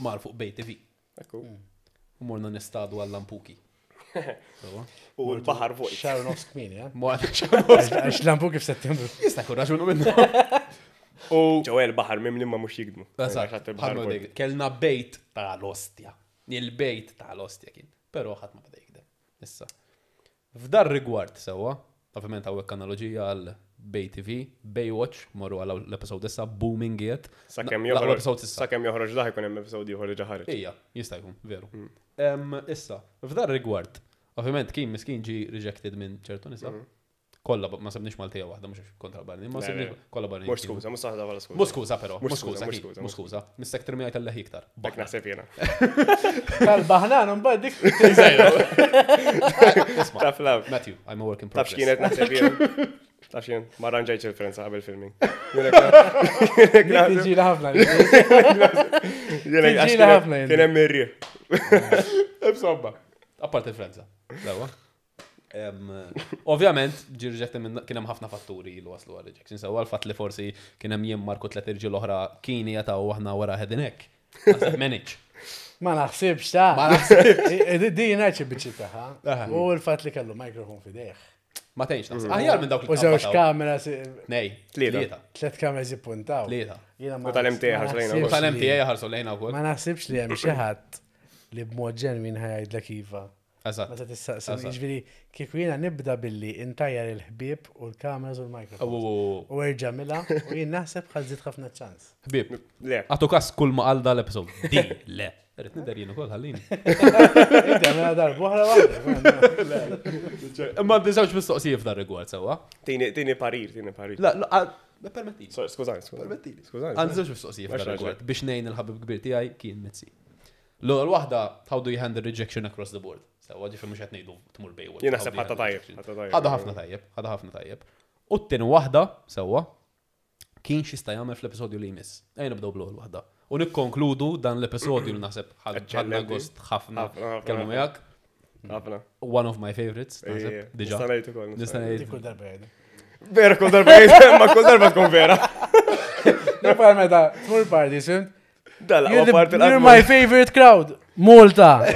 D: Mar fuq Bay T V.
B: Ekku.
D: U morna nistadu għall-lampuki. Sewwa.
B: U l-baħar vojt.
A: Xahar u nofs kmieni, eh?
D: Mor-
A: Għax lampu kif Settembru.
D: Jista' jkun raġunu minnu. U
B: Ġewwa il-baħar mimli ma mhux jikdmu.
D: Eżatt,
B: Għax il-baħar
D: ħadna
B: vojt.
D: dik. Kellna bejt tal-ostja. Il-bejt tal-ostja kien. Però ħadd ma beda jikdem. Issa. F'dar rigward sewwa, ovvjament hawnhekk analogija għal Bay T V, Baywatch, morru għal l-episode issa, booming jiet.
B: Sakemm
D: L-aqwa
B: joħroġ.
D: episode issa.
B: Sakemm joħroġ daħ ikun hemm episode ieħor li ġa ħareġ.
D: Ija, jista' jkun, veru. Em, Issa, f'dar rigward, ovvjament kien miskin ġi rejected minn ċertu nisa. Kollha, ma sebniex Maltija waħda, mhux kontra barni, ma
B: Le,
D: sebniex
B: le.
D: kollha barni.
B: Mhux skuża, mhux saħda bħala skuża.
D: Mhux skuża però,
B: Mhux
D: mhux skuża,
B: skuża, mhux
D: kien,
B: skuża,
D: mhux skuża. Mistek terminajt tal iktar.
B: Dak naħseb jiena.
A: Tal-baħnan, mbagħad dik.
B: Taf laf.
D: Matthew, I'm a work in
B: Taf
D: progress.
B: x'kienet naħseb jiena. Taf x'kien, ma ranġajtx il-Frenza qabel filming.
A: Dik tiġi ħafna.
B: Jiena għax
A: Tiġina ħafna jien.
B: kien hemm irri.
D: Insomma. Apart il-Frenza. Dawa. Em, Ovvjament, ġi rejected minn kien hemm ħafna fatturi li waslu għal rejection. Sewa l-fatt li forsi kien hemm jien Marku tliet irġiel oħra kien jataw aħna wara head and neck. Naħseb manage.
A: Ma naħsibx ta'
D: Ma naħsibx.
A: Di ngħid xi biċċi tagħha.
D: Aha.
A: U l-fatt li kellu mikrofon f'idejh.
D: Ma tgħinx naħseb. Aħjar minn dawk li
A: U żewġ
D: tqabbataw.
A: kamera,
D: Nej,
B: Tlieta.
D: tlieta.
A: tliet kameras jippuntaw.
D: Tlieta.
A: Jiena ma
B: U tal-M T A
A: ma
B: ħarsu lejna
A: naħsibx
D: U
A: li-
D: tal-M T A ħarsu lejna wkoll.
A: Ma naħsibx li hemm xi ħadd li b'mod ġenwin ħa jgħidlek iva.
D: Eżatt.
A: Meta tistaqsi,
D: Eżatt.
A: jiġifieri kieku jiena nibda billi intajjar il-ħbieb u l-kameras u l-mikrofon.
D: U
A: U erġa' mila u jien naħseb ħa żżid ħafna ċans.
D: ħbieb,
B: Le.
D: għatu kas kull ma qal dal-episode. Di, le. Irrid nidher jien ukoll ħallini.
A: Inti għamilha darba oħra waħda.
D: Imma għandi żewġ mistoqsijiet f'dar rigward sewwa.
B: Tini tini parir, tini parir.
D: La, la, la, permettili.
B: Sorry, skużani, skużani.
D: Permettili.
B: Skużani.
D: Għandi żewġ mistoqsijiet f'dar
B: Għax
D: rigward biex ngħin il-ħabib kbir tiegħi kien Mizzi. L-ewwel waħda, how do you handle rejection across the board? Sewwa ġifieri mhux qed ngħidu tmur Baywatch.
B: Jien
D: How
B: naħseb
D: do you
B: ħatta
D: handle
B: tajjeb,
D: rejection?
B: ħatta tajjeb.
D: Ħadha ħafna tajjeb, ħadha ħafna tajjeb. U t-tieni waħda, sewwa, kien x'jista' jagħmel fl-episodju li jmiss. Ejja nibdew bl-ewwel waħda. U nikkonkludu dan l-episodju li naħseb ħadna
B: Eccellenti.
D: gost ħafna
B: Ħafna, ħafna,
D: kelmu
B: ħafna.
D: miegħek.
B: Ħafna.
D: One of my favorites, naħseb,
B: Ejja,
D: diġà.
B: Nista' ngħid ukoll.
D: Nista' ngħid.
A: Dik kull darba jgħidu.
B: Vera kull darba jgħid, ma kull darba tkun vera.
A: Nifhem meta tmur party, fhimt?
B: Dal
A: You're, the,
B: parti
A: you're my favorite crowd, Malta.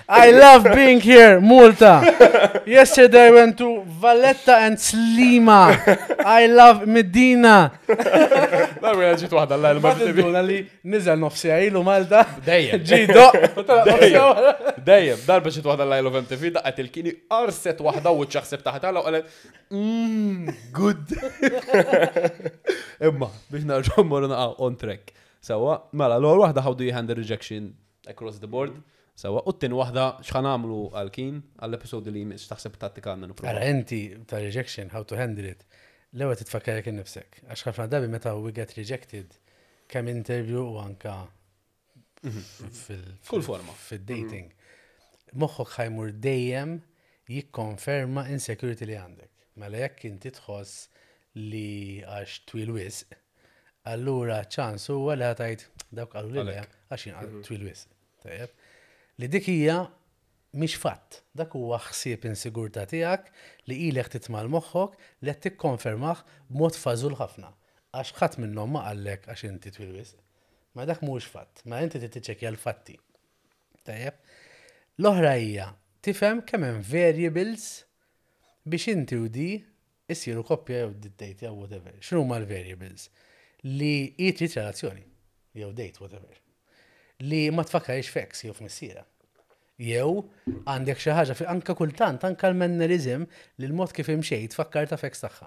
A: I love being here, Malta. Yesterday I went to Valletta and Slima. I love Medina.
D: Darba ġiet waħda l
A: Ma tinduna li niżel nofsi ilu Malta.
D: Dejjem.
A: Ġi doq. u telaq nofsi wara.
D: Dejjem, darba ġiet waħda l of M T V, daqqet il-kini arset waħda u ċaħseb taħt għala u qalet, mmm, good. Imma, biex narġgħu mmorru naqa' on track. Sewwa, mela, l-ewwel waħda, how do you handle rejection across the board? Sewwa, u t-tieni waħda x'ħa nagħmlu għal kien għall-episodi li jmiss, x'taħseb tattika għandna
A: Ara
D: nipprova.
A: inti ta' rejection, how to handle it. L-ewwel titfakkar jekk innifsek. Għax ħafna drabi meta we get rejected, kemm interview u anka fil-
D: Kull forma.
A: fil-dating. Moħħok ħa jmur dejjem jikkonferma insecurity li għandek. Mela jekk inti tħoss li għax twil wisq, allura ċans huwa li ħa tgħid dawk qalu li le għax jien twil wisq. Tajjeb. Li dik hija mhix fatt. Dak huwa ħsieb insigurtà tiegħek li ilek titmal moħħok li qed tikkonfermah b'mod fażul ħafna. Għax ħadd minnhom ma qallek għax inti twil wisq. Ma dak mhuwiex fatt. Ma inti trid tiċċekkja l-fatti. Tajjeb. L-oħra hija tifhem kemm hemm variables biex inti u di issiru koppja jew date jew whatever. X'inhu huma l-variables? Li hi trid relazzjoni jew date whatever. Li ma tfakkarix f'ex jew f'missiera. Jew għandek xi ħaġa fi anka kultant anka l-mannerism li l-mod kif imxejt tfakkar ta' f'ex tagħha.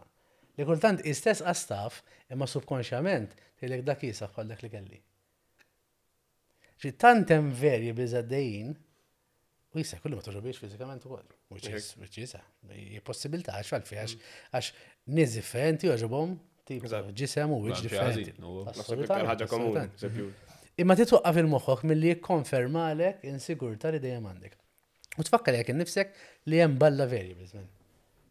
A: Li kultant istess għastaf imma subkonxjament tgħidlek dak jisaf bħal dak li kelli. Ġi tant hemm variables għaddejjin u jista' kullu ma toġobiex fiżikament ukoll. Which is which is hija possibilità għax għalfejn għax għax nies differenti jogħġobhom tip ta' ġisem u wiċċ
D: Xi
A: differenti.
D: ħażin, u-
B: Naħseb iktar ħaġa komuni.
A: Assolutament.
B: Eżempju.
A: Imma titwaqqaf il-moħħok milli jikkonfermalek insigurtà li dejjem għandek. U tfakkar jekk innifsek li hemm balla variables man.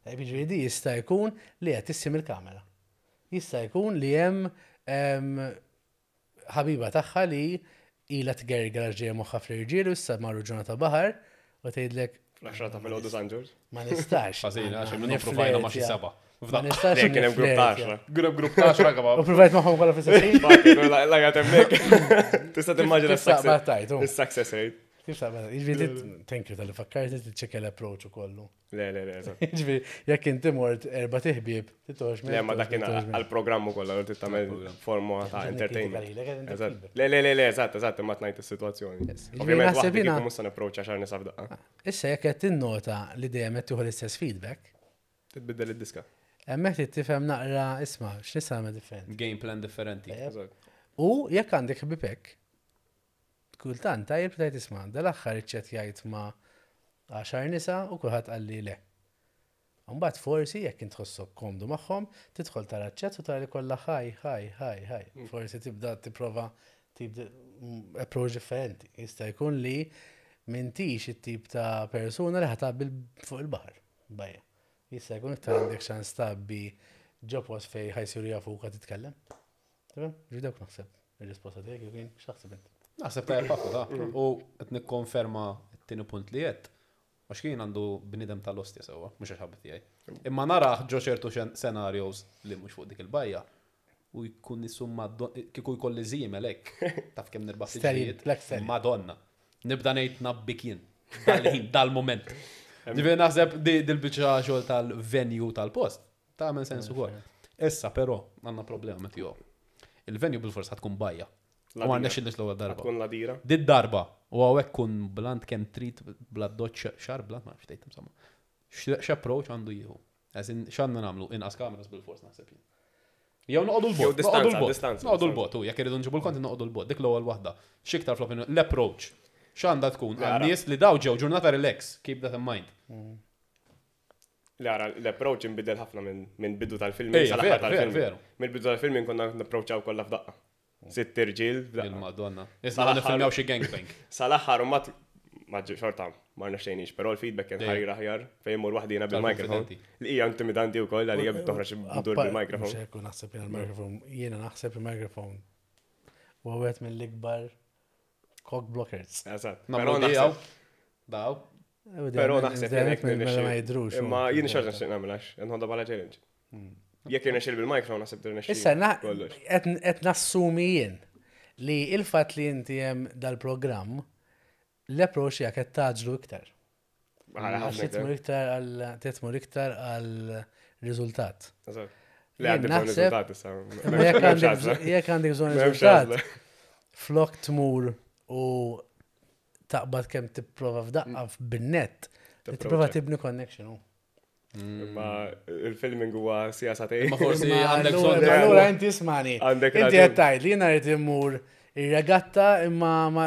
A: Tajb, jiġifieri di jista' jkun li qed tissim il-kamera. Jista' jkun li hemm em, ħabiba tagħha li Ila tgerger ġej moħħa fl-irġiel u issa marru ġurnata baħar u tgħidlek
B: Fl-għaxra ta' filgħodu San Ġorġ.
A: Ma nistax.
D: Ħażin, għax minnu provajna ma' xi seba'.
A: Ma nistax.
B: Le, kien hemm grupp ta' għaxra.
D: Grupp grupp ta' għaxra
A: U provajt magħhom kollha fl-istess ħin.
B: Laga temmek. Tista' timmaġina
A: Kif taqbad tajt, u?
B: s-success rate.
A: Kif taqbad? Jiġifieri, thank you talli fakkarti tiċċekkja l-approach u kollu.
B: Le, le, le, eżatt.
A: Jiġifieri, jekk inti mort erba' tiħbieb, titox
B: Le, ma dak kien għal-programm ukoll, għal tagħmel forma ta' entertainment. Eżatt. Le, le, le, le, eżatt, eżatt, imma tnajt is-sitwazzjoni. Ovvjament
A: naħseb
B: waħdi
A: jiena-
B: kieku mhux se napproċċa xar nisa f'daqqa.
A: Issa jekk qed tinnota li dejjem qed tieħu l-istess feedback,
B: Titbiddel id-diska.
A: hemmhekk trid tifhem naqra isma' x'nista' nagħmel differenti.
D: Game plan differenti.
B: Eżatt.
A: U jekk għandek ħbibek, kultant tajjeb tajt isma' dal-aħħar iċċettjajt ma' għaxar nisa u kulħadd qalli le. Mbagħad forsi jekk int tħossok komdu magħhom, tidħol tara ċ-chat u tara li kollha hi, hi, hi, hi. Forsi tibda tipprova tip di- mm, approach differenti. Jista' jkun li m'intix it-tip ta' persuna li ħa tgħabbi fuq il-baħar. Bajja. Jista' jkun iktar għandek ċans tgħabbi ġo post fejn ħa jsiru jafuk titkellem. Tamam? Ġi dawk naħseb il-risposta tiegħek kien x'taħseb int?
D: Naħseb tajjeb ħafna ta' u qed nikkonferma t-tieni punt li qed. Għax kien għandu bnidem tal-ostja sewwa, mhux għax ħabib tiegħi. Imma naraħ ġo ċertu scenarios li mhux fuq dik il-bajja u jkun nisum kieku jkolli żiemel hekk, taf kemm nirbaħ
A: Stallion,
D: siġġijiet.
A: Black Stallion.
D: Madonna. Nibda ngħid nabbik jien. Dal-ħin, dal-moment. Ġifieri naħseb di dil-biċċa xogħol tal-venue tal-post. Tagħmel sens ukoll. Issa però għandna problema Matthew. Il-venue bil-fors ħa tkun bajja. U ma rnexxilniex l-ewwel darba.
B: Tkun l-għadira.
D: Did darba, u hawnhekk kun blant kemm trid bla doċ xar blant ma nafx tgħid insomma. X'approach għandu jieħu? As in x'għandna nagħmlu inqas kameras bil-fors naħseb jien. Jew noqogħdu
B: Jew
D: l-bot,
B: distanza,
D: noqogħdu l-bot.
B: distanza,
D: Noqogħdu
B: distanza.
D: l-bot, u jekk irridu nġibu l-content noqogħdu l-bot, dik l-ewwel waħda. X'iktar fl-opinjoni l-approach. X'għandha tkun
B: Ara.
D: għan-nies li daw ġew ġurnata relax, keep that in mind.
B: Le, ara, l-approach inbidel ħafna minn minn bidu tal-film
D: Ejja,
B: sal-aħħar
D: veru,
B: tal-film.
D: veru, veru.
B: Mill-bidu tal-film konna napproċċaw kollha f'daqqa. Sitt irġiel f'daqqa.
D: Il-Madonna. Issa
B: Sal-aħħar-
D: nifilmjaw xi gangbang.
B: Sal-aħħar u mat ma ġi- xorta ma rnexxejniex, però l-feedback kien
D: Dejjem.
B: ħarir aħjar fejn mur waħdina bil-microphone.
D: Tal-konfidenti.
B: Li hija intimidanti wkoll għalija toħroġ dur bil-microphone.
A: Mhux hekk u naħseb jiena l-microphone, jiena naħseb il-microphone huwa wieħed mill-ikbar cock blockers.
B: Eżatt. Però
D: Nagħmlu dijaw.
B: naħseb
D: Daw.
B: però naħseb jien hekk
A: ma
B: nirnexxi.
A: jidrux.
B: Imma jien xorta nixtieq nagħmel għax nħodha bħala challenge. Jekk irnexxil bil-microphone naħseb tirnexxi.
A: Issa na-
B: kollox.
A: qed qed nassumi jien li il-fatt li inti hemm dal-programm l-approach tiegħek qed taġlu iktar.
B: Ħara
A: Għax
B: ħafna
A: titmur
B: iktar.
A: iktar għal titmur iktar għal riżultat.
B: Eżatt. Le
A: Jien
B: għandi bżonn
A: naħseb-
B: riżultat issa.
A: Imma jekk
B: M'hemmx
A: għandek
B: għażla.
A: bżonn- jekk għandek bżonn
B: M'hemmx
A: riżultat,
B: għażla.
A: flok tmur u taqbad kemm tipprova f'daqqa bin-net, li tipprova tibni connection. u.
B: Imma il-filming huwa sija sagħtejn.
D: Imma forsi
A: Ma
D: għandek
A: allura-
D: bżonn.
A: ma allura inti ismani.
B: Għandek
A: Inti
B: raġun.
A: qed tgħid li jiena rrid immur ir-regatta imma ma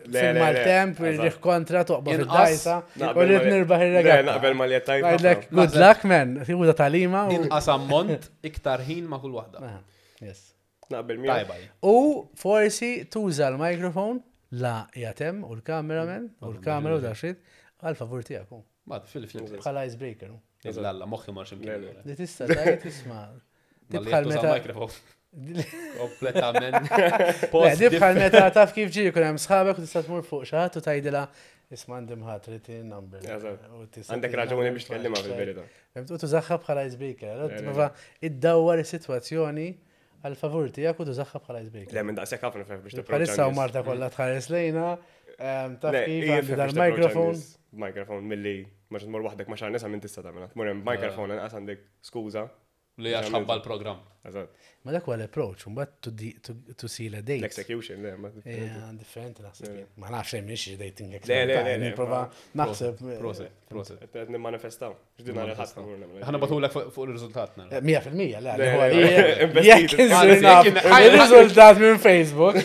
B: Le, le, le,
A: fil-maltemp,
B: eżatt.
A: irriħ kontra toqba
D: Inqas-
A: fid-dajsa u
B: Naqbel
A: rrid
B: ma li-
A: nirbaħ
B: Le,
A: ir-regatta.
B: naqbel ma li qed tgħid
A: Ngħidlek
B: ħafna.
A: good luck man, tieħu talima u.
D: Inqas ammont iktar ħin ma' kull waħda.
A: Ah, Yes.
B: Naqbel miegħek.
D: Tajba. hi.
A: U forsi tuża l-mikrofon la jatem u l-cameraman u l-kamera u daxit għal favur tiegħek. hu.
D: Ma fil fil.
A: Bħala icebreaker. hu.
D: Lalla, moħħi marx
B: Le,
D: imkien.
B: le.
A: Li tista' tgħid isma' Di bħal meta
D: mikrofon. Kompletament.
A: Le,
D: Post
A: di bħal meta taf kif ġi jkun hemm sħabek u tista' tmur fuq xi ħadd u tgħidilha isma' għandi mħat trid number.
B: Eżatt.
A: U tista'
B: Għandek
A: tini
B: raġuni
A: number,
B: biex tkellimha fil-verità.
A: Fhimt? U tużaha bħala icebreaker. Allora
B: Le, le,
A: tipprova iddawwar is-sitwazzjoni għal favur tiegħek u tużaha bħala icebreaker.
B: Le, minn daqshekk ħafna fef biex tipproċċa.
A: Bħalissa u Marta kollha tħares lejna, ehm, taf
B: Le,
A: kif
B: hija
A: għandi
B: fef biex tipproċċa
A: dal-microphone.
B: n-nies Microphone milli ma tmur waħdek ma xar nisa minn tista' tagħmilha. Tmur hemm microphone inqas għandek skuża.
D: Li għax ħabba l-programm.
B: Eżatt.
A: Ma dak huwa l-approach, mbagħad to di- to- to seal a date.
B: L-execution, le, ma.
A: Yeah, differenti naħseb. jien. Ma nafx hemm mhix dating
B: Le, le, le, le,
A: Nipprova naħseb.
D: Proset, proset.
B: Qed nimmanifestaw. X'din nhar il-ħadd tmur nagħmel.
D: Ħana batulek fuq fuq il-riżultat nara.
A: Mija fil-mija, le,
B: Le,
A: huwa
B: le,
A: li
B: le, investit.
A: jekk insir
D: Anzi,
A: naf
D: jekk in-
A: il-riżultat minn Facebook,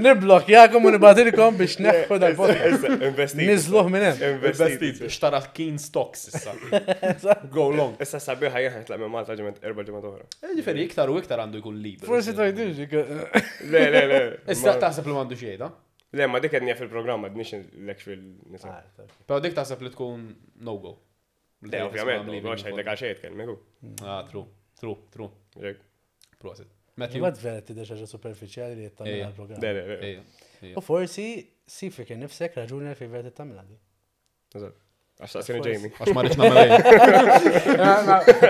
A: nibblokjakom u nibatilkom biex neħħu dal-podcast.
B: Issa, Investit.
A: Niżluh minn hemm.
B: Investit.
D: Xtara keen stocks issa. Go long.
B: Issa sabiħa jien ħetlaq minn Malta ġimgħat erba' ġimgħat oħra.
D: Ġifieri iktar u iktar għandu jkun liber.
A: Forsi tgħidux.
B: Le, le, le.
D: Issa
B: Ma-
D: taħseb li m'għandu xejn,
B: Le, ma dik qed fil-programm ma dnix l-actual nisa.
D: Però dik taħseb li tkun no go.
B: Le, ovvjament, no, għax ħajdlek għal xejn tkellmek hu.
D: Ah, true, true, true.
B: Jekk.
D: Proset. Matthew.
A: Imbagħad vera tidher xi ħaġa superfiċjali li qed tagħmel
D: Ejja.
A: għall-programm.
B: Le, le, le.
D: Ejja, ejja.
A: U forsi sib fik innifsek raġuni għalfejn vera trid tagħmilha di.
B: Eżatt. Għax taqsini Jamie.
D: Għax ma rridx nagħmel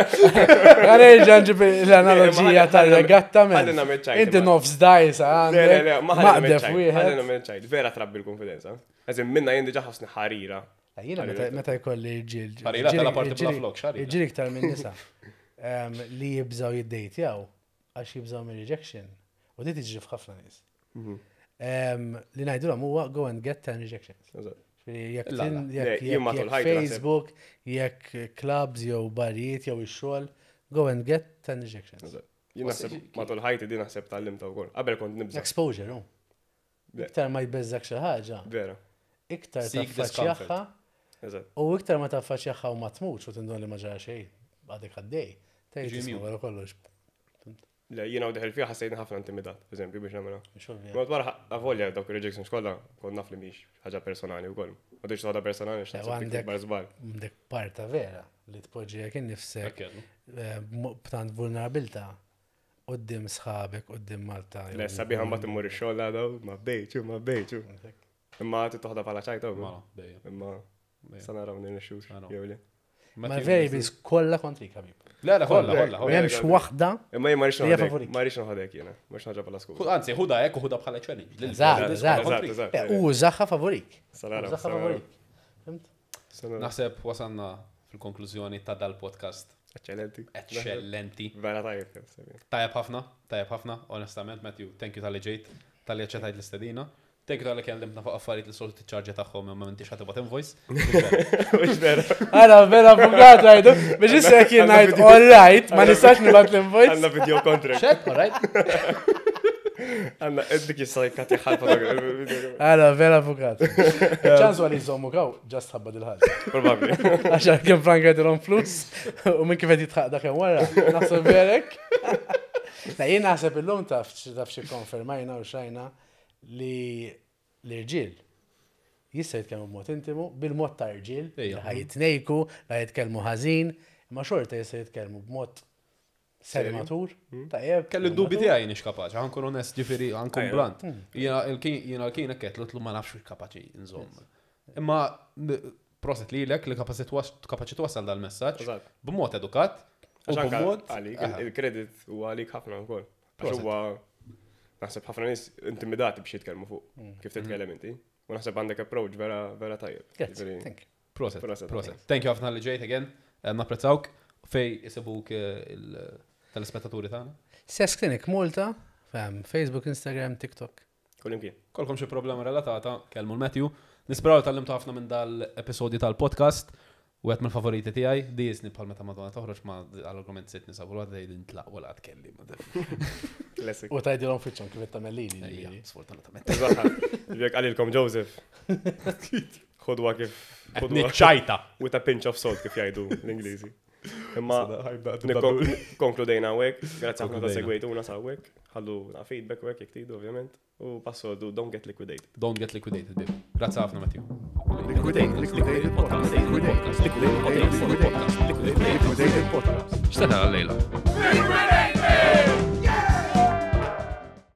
A: Għanerġa nġib l-analogija tal-regatta men.
B: Ħalli nagħmel ċajt,
A: Inti
B: imma.
A: nofs dajsa
B: Le, le, le, ma ħalli nagħmel
A: maqdef
B: ċajt. Ħalli
A: wieħed.
B: nagħmel ċajt. Vera trabbi l-konfidenza. Eżin, minna jien diġà ħossni ħarira.
A: Jiena meta- meta jkolli rġiel.
D: Ħarira tal-parti bla flok, xarira.
A: Irġiel iktar minn nisa. em, Li jibżaw jiddejtjaw għax jibżaw minn rejection. U di tiġri f'ħafna nies. Em, Li ngħidulhom huwa go and get ten rejections.
B: Eżatt.
A: Ġifieri Jekk
D: La, la.
A: tin-
B: Le,
A: jekk-
B: jien matul
A: jekk
B: ħajti naħseb-
A: Facebook, jekk clubs jew barijiet jew ix-xogħol, go and get ten rejections.
B: Eżatt. Jien naħseb matul ħajti di naħseb tgħallimta wkoll. Qabel kont nibża.
A: Exposure, no?
B: Le.
A: Iktar ma jbeżżak xi ħaġa,
B: Vera.
A: iktar
D: Seek
A: taffaċċjaha
B: Eżatt.
A: u iktar ma taffaċċjaha u ma tmutx u tindun li ma ġara xejn għadek għaddej. Tgħid
D: Jiġi
A: isma'
D: mute.
A: wara kollox.
B: Le, jiena u deħel fiha ħassejtni ħafna intimidat, per eżempju, biex nagħmilha.
A: Mhux ovvja.
B: Ma wara avolja dawk il-rejections kollha kont naf li mhix ħaġa personali wkoll. Ma tridx toħodha personali
A: Le,
B: x'naħseb dik
A: għandek-
B: ikbar żball.
A: Għandek parta vera li tpoġġi jekk innifsek
D: Ekk,
A: eh, b'mo- b'tant vulnerabilta quddiem sħabek, quddiem Malta.
B: Le, sabiħa mbagħad immur ix-xogħol għada, ma bdejtx, ma bdejtx. Imma trid toħodha bħala ċajta wkoll.
D: Mela, dejjem.
B: Imma
D: Dejjem.
B: sa naraw nirnexxux
D: Naraw.
B: jew le.
A: Ma variables kollha kontrik, ħabib.
D: Le, le, kollha, kollha,
A: Ma
D: kollha.
A: hemmx waħda.
B: Imma jien ma rridx
A: Hija
B: noħodek,
A: favorik.
B: ma rridx noħodek jiena, ma rridx ħaġa bħala skuża.
D: Anzi, ħuda hekk u ħuda bħala challenge. Lil-
A: Eżatt,
D: lil-
A: eżatt.
D: kontrik.
B: Eżatt,
A: Eh,
B: eżatt.
A: U użaha favorik.
B: Sa naraw,
A: Użaha
B: sa naraw.
A: favorik. Fimt?
B: Sa naraw.
D: Naħseb wasanna fil-konklużjoni ta' dal-podcast.
B: Eccellenti.
D: Eccellenti.
B: Vera tajjeb. sabiħ.
D: Tajjeb ħafna, tajjeb ħafna, onestament, Matthew, thank you tal-li ġejt, tal-li aċċettajt l-istedina. Thank you tal-li kellimtna fuq affarijiet li soltu tiċċarġja tagħhom imma m'intix ħa tibgħat invoice.
B: Mhux vera.
A: Għara, vera avvokat għajdu. Biex issa jekk jien ngħid all right, ma nistax nibgħat l-invoice.
B: Għandna video contract.
D: Xed, all right?
B: Għandna dik jista' jkatti ħalfa
A: Għara, vera avvokat. ċans għal jżommu kaw, ġast ħabba dil-ħaġa.
B: Probabbli.
A: Għax kemm franka jidilhom flus u minn kif qed jitħaq dak hemm wara. Naħseb verek. Na jien naħseb illum taf taf xi konfermajna u xajna li l-irġiel jista' jitkellmu b'mod intimu, bil-mod ta' irġiel, li
D: Ejja.
A: ħa jitnejku, li jitkellmu ħażin, imma xorta jista' jitkellmu b'mod seri-matur, tajjeb.
D: Kelli d-dubi tiegħi nix kapaċi, ħa nkun onest, ġifieri, ħa nkun
B: Ejja.
D: blunt. Jiena l-kien l-kien hekk qed ma nafx kapaċi nżomm. Imma m- proset lilek li kapaċi twas- kapaċi twassal dal-messaġġ
B: Eżatt.
D: b'mod edukat u
B: Għax anka
D: b'mod
B: għalik,
D: Aha.
B: il-kredit huwa għalik ħafna wkoll. Għax
D: Proset.
B: huwa naħseb ħafna nies intimidati biex jitkellmu fuq kif titkellem inti. U naħseb għandek approach vera vera tajjeb.
A: Grazzi,
B: Ġifieri,
A: thank you.
D: Proset,
B: Proset.
D: proset. Thank you ħafna li ġejt again. Eh, Napprezzawk fej isibuk eh, il-telespettaturi tagħna.
A: Sess Clinic Malta, fem, Facebook, Instagram, TikTok.
B: Kullimkien.
D: Kolkom xi problema relatata, kellmu l-Matthew. Nisperaw li tgħallimtu ħafna minn dal-episodju tal-podcast. U għet mill-favoriti tiegħi, di jisni bħal meta Madonna toħroġ ma għall-argument sitt nisa u għadha jgħid intlaq wala tkelli.
B: Classic.
A: U tajdilhom fiċċhom kif qed tagħmel lili.
D: Ejja,
A: ġifieri.
D: sfortunatament.
B: Eżatt. Jekk qalilkom Joseph. Ħodwa kif ħodwa
D: Niċċajta.
B: with a pinch of salt kif jgħidu l-Ingliżi. Imma konkludejna hawnhekk, grazzi ħafna ta'
D: Konkludejna.
B: segwejtuna sa hawnhekk, ħallu na feedback hawnhekk jekk tridu ovvjament. U passoldu don't get liquidated.
D: Don't get liquidated, babe. Grazzi ħafna, Matthew.
C: Liquidated, liquidated podcast, liquidated, liquidated, liquidated, liquidated podcast.
D: X'se tara l-lejla?
E: Liquidated!